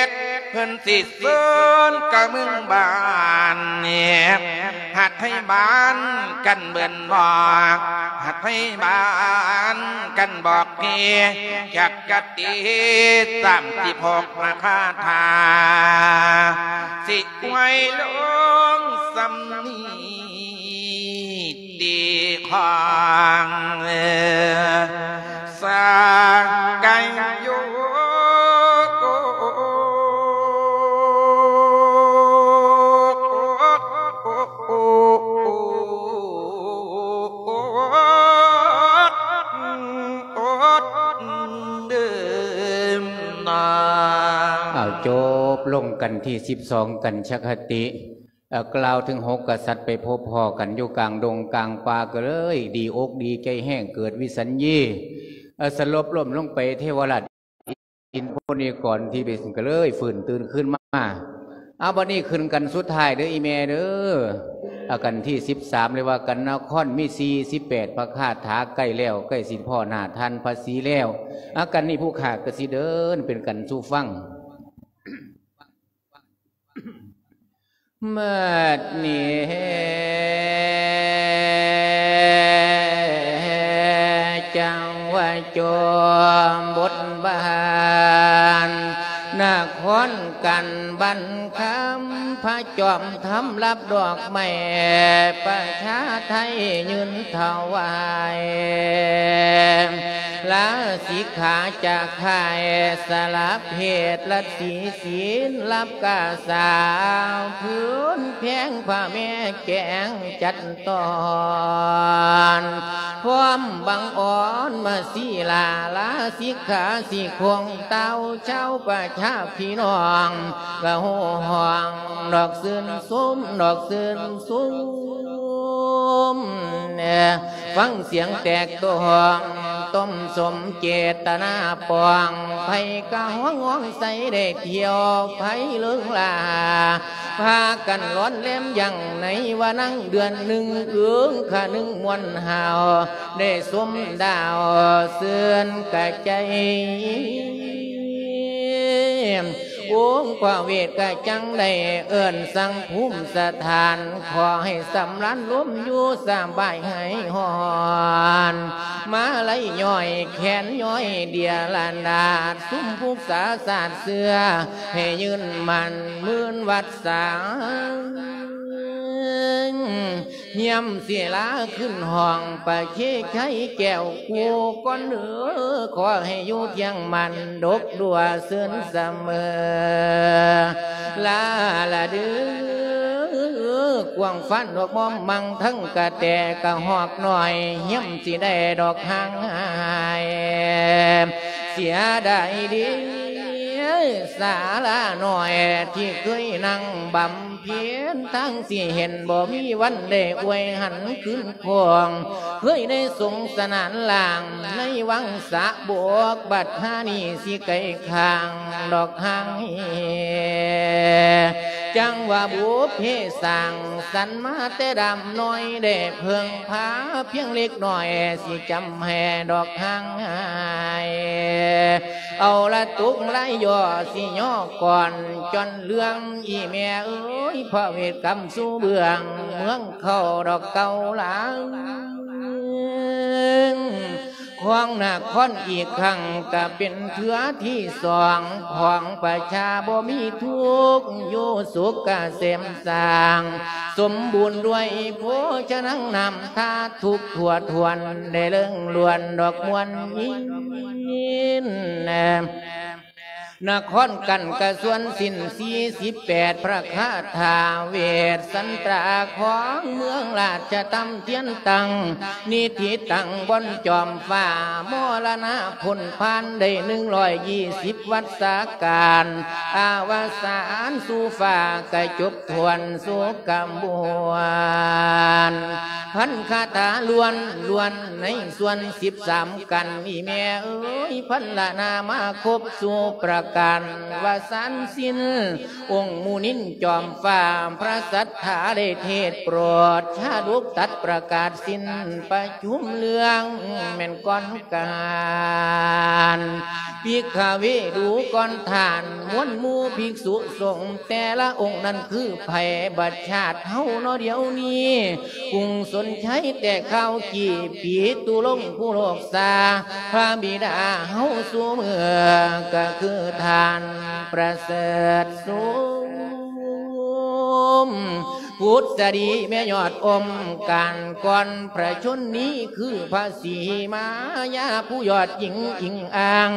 ດ ເພິ່ນຊິເຊີນກະເມືອງບ້ານ ຫັດໄທບ້ານກັນເບິ່ນບອກ ຫັດໄທບ້ານກັນບອກເຮ ຈັກກະຕິດສາມສິບຫົກພະຄາຖາ ຊິໄວ້ລົງສ່ຳນີ້ ຕິຂອງສາກະໂຍ ເອົາ ຈົບລົງກັນທີສິບສອງ ກັນຊະຄະຕິ ເອີ ກ່າວເຖິງຫົກກະສັດໄປພົບພໍ້ກັນຢູ່ກາງດົງກາງປ່າ ກໍເລີຍດີອົກດີໃຈແຮງ ເກີດວິສັນຍີ ເອີ ສະຫຼົບລົ້ມລົງໄປ ເທວະລາດອິນພົນນິກອນທີ່ເປັນກໍເລີຍຟື້ນຕື່ນຄືນມາ. ເອົາ ບັດນີ້ຂຶ້ນກັນສຸດທ້າຍເດີອີ່ແມ່ເດີ ອາ ກັນທີສິບສາມ ເລີຍວ່າກັນນະຄອນມີສີ່ສິບແປດພະຄາຖາ ໃກ້ແລ້ວ ໃກ້ຊິພໍ້ໜ້າທ່ານພະສີແລ້ວ ອາ ກັນນີ້ຜູ້ຂ້າກໍຊິເດີນເປັນກັນສູ່ຟັງ. ບັດນີ້ ຄອນກັນບັນຄຳ ພະຈອມທຳຮັບດອກໄມ້ ປະຊາໄທຍື່ນຖວາຍ ລາສິກຂາຈາກຄ້າຍ ສະລະເພດລາສີ ສິນລັບກາສາວ ພື້ນແພງພະແມ່ແກງຈັດຕອນ ພ້ອມບັງອອນມາສີລາ ລາສິກຂາສີຄົງເຕົ້າ ຊາວປະຊາພີ່ນ້ອງ ກະໂຫ່ຮ້ອງດອກຊື່ນຊົມ ດອກຊື່ນຊົມ ຟັງສຽງແຕກຕ້ອງ ຕົ້ມສົມເຈດຕະນາປອງ ໃຜກະຮ້ອງຮ້ອງໃສໄດ້ທ່ຽວ ໃຜເລີງລາ ພາກັນລ້ອນແລມຢ່າງໃນວານັງ ເດືອນໜຶ່ງເອີງຄະໜຶ່ງມ່ວນຫາວ ໄດ້ຊົມດາວເຊື່ອນກະໃຈ ອົງພະເວດກະຈັ່ງໄດ້ເອີ້ນສັ່ງພູມສະຖານ ຂໍໃຫ້ສຳລານລົມຢູ່ສະບາຍຫາຍຮ້ອນ ມາໄລຍ້ອຍແຂນຍ້ອຍເດຍລະນາດ ຊຸມຜູກສາສາດເຊື່ອ ໃຫ້ຍືນໝັ້ນໝື່ນວັດສາ ຮຽມສິລາຂຶ້ນຫ້ອງ ປະເຄໄຄແກ້ວກູ່ກ່ອນເດີ ຂໍໃຫ້ຢູ່ພຽງໝັ້ນ ດົກດົວເຊີນສະເໝີ ລາລະເດີ ກວ້າງຟານດອກມອມມັງ ທັງກະແຕກະຮອກນ້ອຍ ຮຽມຊິໄດ້ດອກຫ່າງຫາຍ ເສຍດາຍເດ ສາລານ້ອຍທີ່ເຄີຍນັ່ງບຳ ເພັນທາງຊິເຫັນ ບໍ່ມີວັນໄດ້ອວຍຫັນຄືນຄອງ ເຄີຍໄດ້ສົງສະໜານລ້າງ ໃນວັງສະບົກ ບັດຫານີ້ຊິໄກຂ້າງດອກຫ່າງເຮ ຈັ່ງວ່າບຸບເພສ້າງສັນມາແຕ່ດຳນ້ອຍ ໄດ້ເພິ່ງພາພຽງເລັກນ້ອຍ ຊິຈຳແຫ່ດອກຫ່າງຫາຍ ເອົາລະຕົກລາຍຍໍ ຊິຍໍກ່ອນຈອນເລື່ອງ ອີ່ແມ່ເອີຍ ພະເວດກຳສູ່ເບື້ອງ ເມືອງເຂົ້າດອກເກົ່າລາງ ຂອງນະຄອນອີກຄັ້ງ ກະເປັນເທື່ອທີສອງ ຂອງປະຊາບໍ່ມີທຸກ ຢູ່ສຸກກະເສມສ້າງ ສົມບູນດ້ວຍໂພຊະນັງ ນ້ຳທາທຸກທົ່ວຖ້ວນ ໄດ້ເລິງລ້ວນດອກມ່ວນຍິນ ນະຄອນກັນກະຊວນສິ້ນສີ່ສິບແປດ ພະຄາຖາເວດສັນຕາ ຂອງເມືອງລາຊະຕຳທຽນຕັ້ງ ນິທິຕັ້ງບ່ອນຈອມຟ້າ ມໍລະນະພົ້ນຜ່ານໄດ້ໜຶ່ງຮ້ອຍຍີ່ສິບວັດສາການ ອາວະສານສູ່ຟ້າກະຈົບ ຖ້ວນສຸກກະບວນ ພັນຄາຖາລ້ວນ ລ້ວນໃນສ່ວນສິບສາມກັນ ອີ່ແມ່ເອີຍ ພັນລະນາມາຄົບສູ່ປະການ ວະສານສິນ ອົງມຸນິນຈອມຟ້າ ພະສັດຖາໄດ້ເທດໂປດ ຊາດົກຕັດປະກາດສິນ ປະຊຸມເລື່ອງແມ່ນກ່ອນການ ພິກຂະເວດູກ່ອນທ່ານ ມວນໝູ່ພິກສຸສົງ ແຕ່ລະອົງນັ້ນຄືໃຜ ບັດຊາດເຮົາເນາະດຽວນີ້ ກຸງສົນໄຊແຕ່ຄາວກີ້ ປີຕຸລົງຜູ້ໂລກສາ ພະບິດາເຮົາສູ່ເມືອ ກະຄືທ່ານປະເສີດສຸມ ພຸດສະດີແມ່ຍອດອົມການກ່ອນ ພະຊົນນີ້ຄືພະສີມາຍາ ຜູ້ຍອດຍິງອີງອ້າງ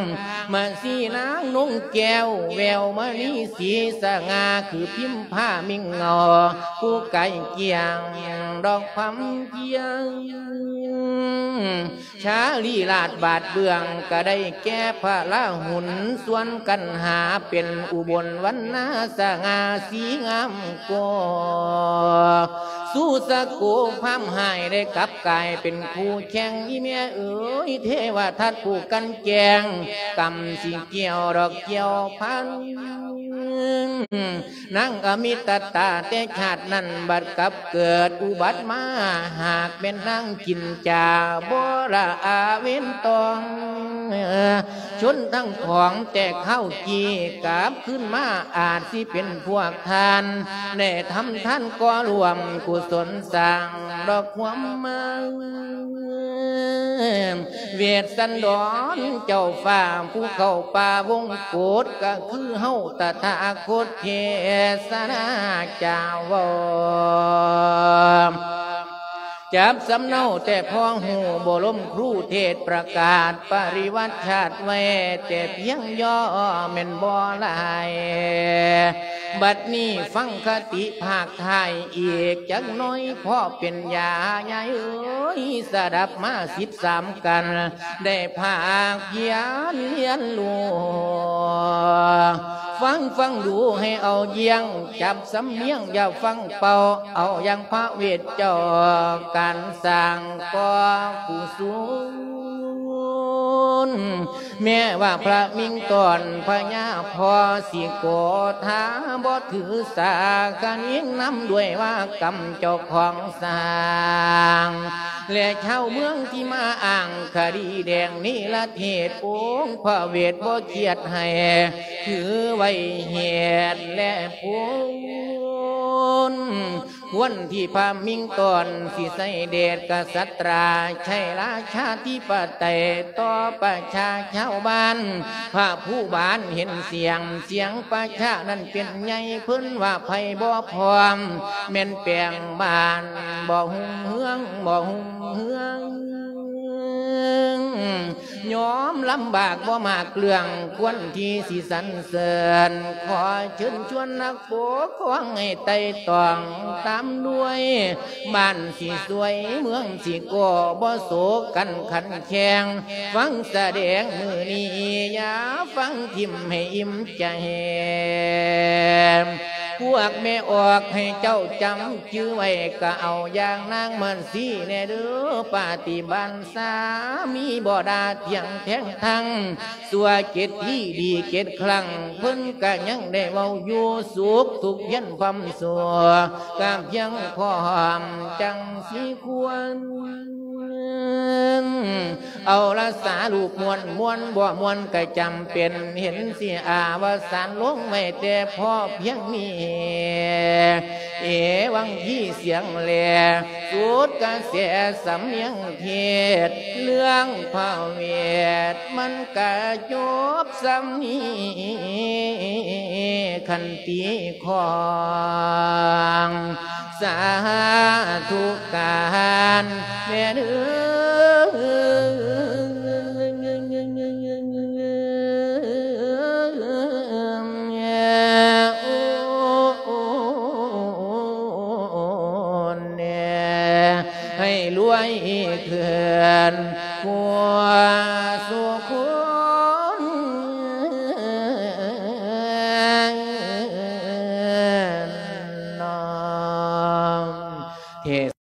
ມະສີນາງນົງແກ້ວ ແວວມະນີສີສະຫງ່າ ຄືພິມພາມິ່ງເງົາ ຜູ້ໄກກ້ຽງດອກພຳພຽງ ຊາລີລາດບາດເບື້ອງ ກະໄດ້ແກ່ພະລາຫຸນ ສ່ວນກັນຫາເປັນອຸບົນວັນນາ ສະຫງ່າສີງາມກໍ ສູ່ສະໂກພາມຮ້າຍ ໄດ້ກັບກາຍເປັນຄູ່ແຂ່ງ ອີ່ແມ່ເອີຍ ເທວະທັດຜູ້ກັ່ນແກງ ກຳຊິກ່ຽວດອກກ່ຽວພັນ ນາງອະມິຕະຕາແຕ່ຊາດນັ້ນ ບັດກັບເກີດອຸບັດມາ ຫາກແມ່ນນາງຈິນຈາ ບໍ່ລະອາເວນຕອງ ຊົນທັງຂອງແຕ່ຄາວກີ້ ກັບຄືນມາອາດຊິເປັນພວກທ່ານ ໄດ້ທຳທານກໍ່ຮ່ວມກຸສົນສ້າງດອກຄວາມມາ ເວດສັນດອນເຈົ້າຟ້າ ຜູ້ເຂົ້າປ່າວົງກົດ ກໍຄືເຮົາຕະຖາຄົດເທສນາຈາເວົ້າ ຈັບສຳເນົາແຕ່ພໍຮູ້ ບໍ່ລົມຄູເທດປະກາດປະລິວັດຊາດໄວ້ແຕ່ພຽງຍໍ ແມ່ນບໍ່ຫຼາຍ. ບັດນີ້ຟັງຄະຕິພາກທ້າຍອີກຈັກໜ້ອຍ ພໍເປັນຢາຍາຍເອີຍ ສະດັບມາສິບສາມກັນ ໄດ້ພາກພຽນຮຽນຮູ້ ຟັງຟັງດູໃຫ້ເອົາຢ້ຽງ ຈັບສຳນຽງຢ່າຟັງເປົ່າ ເອົາຢ່າງພະເວດເຈົ້າ ການສ້າງກໍ່ກຸສົນ ແມ້ວ່າພະມິງຕອນພະຍາພໍ່ຊິໂກທາ ບໍ່ຖືສາຄະນິງນຳດ້ວຍວ່າກຳເຈົ້າຂອງສ້າງ ແລະຊາວເມືອງທີ່ມາອ້າງຄະດີແດງນິລະເທດ ອົງພະເວດບໍ່ຄຽດໃຫ້ ຖືໄວ້ເຫດແລະຜົນ ຄວນທີ່ພະມິງຕອນຊິໃຊ້ເດດກະສັດຕາ ໃຊ້ລາຊາທິປະໄຕຕໍ່ປະຊາຊາວບ້ານ ພະພູບານເຫັນສຽງ ສຽງປະຊານັ້ນເປັນໃຫຍ່ ເພິ່ນວ່າໃຜບໍ່ພ້ອມ ແມ່ນແປງບ້ານບໍ່ຮຸ່ງເຮືອງ ບໍ່ຮຸ່ງເຮືອງ ຍອມລຳບາກບໍ່ມາເລື່ອງ ຄວນທີ່ຊິສັນເສີນ ຂໍເຊີນຊວນນັກປົກຄອງໃຫ້ໄຕ່ຕອງຕາມດ້ວຍ ບ້ານຊິສວຍເມືອງຊິກໍບໍ່ໂສກັນຂັນແຂ່ງ ຟັງສະແດງມື້ນີ້ຢ່າຟັງຖິ້ມໃຫ້ອີ່ມໃຈ ພວກແມ່ອອກໃຫ້ເຈົ້າຈຳຈື່ໄວ້ ກະເອົາຢ່າງນາງມາສີແດ່ເດີ ປາຕິບັນສາມີບໍ່ດາທ່ຽງແທ້ງທັງ ຊົ່ວເຈັດທີດີເຈັດຄັ້ງ ເພິ່ນກະຍັງໄດ້ເວົ້າຢູ່ ສຸກທຸກພຽນພຳຊົ່ວ ກະພຽງພ້ອມຈັ່ງຊິຄວນ ເອົາລະສາລູບມ່ວນ ມ່ວນບໍ່ມ່ວນກະຈຳເປັນ ເຫັນຊິອາວະສານລົງໄວ້ແຕ່ພໍພຽງນີ້ ເອວັງຄີສຽງແລ ສຸດກະແສສຳນຽງເທດ ເລື່ອງພະເວດມັນກະຈົບສ່ຳນີ້ ຄັນຕີຂອງ ສາທຸການແດ່ເດີ ໂອ້ ແດ່ ໃຫ້ລວຍຂຶ້ນ ກວ່າສູ່ຄົນນ້ອມເທ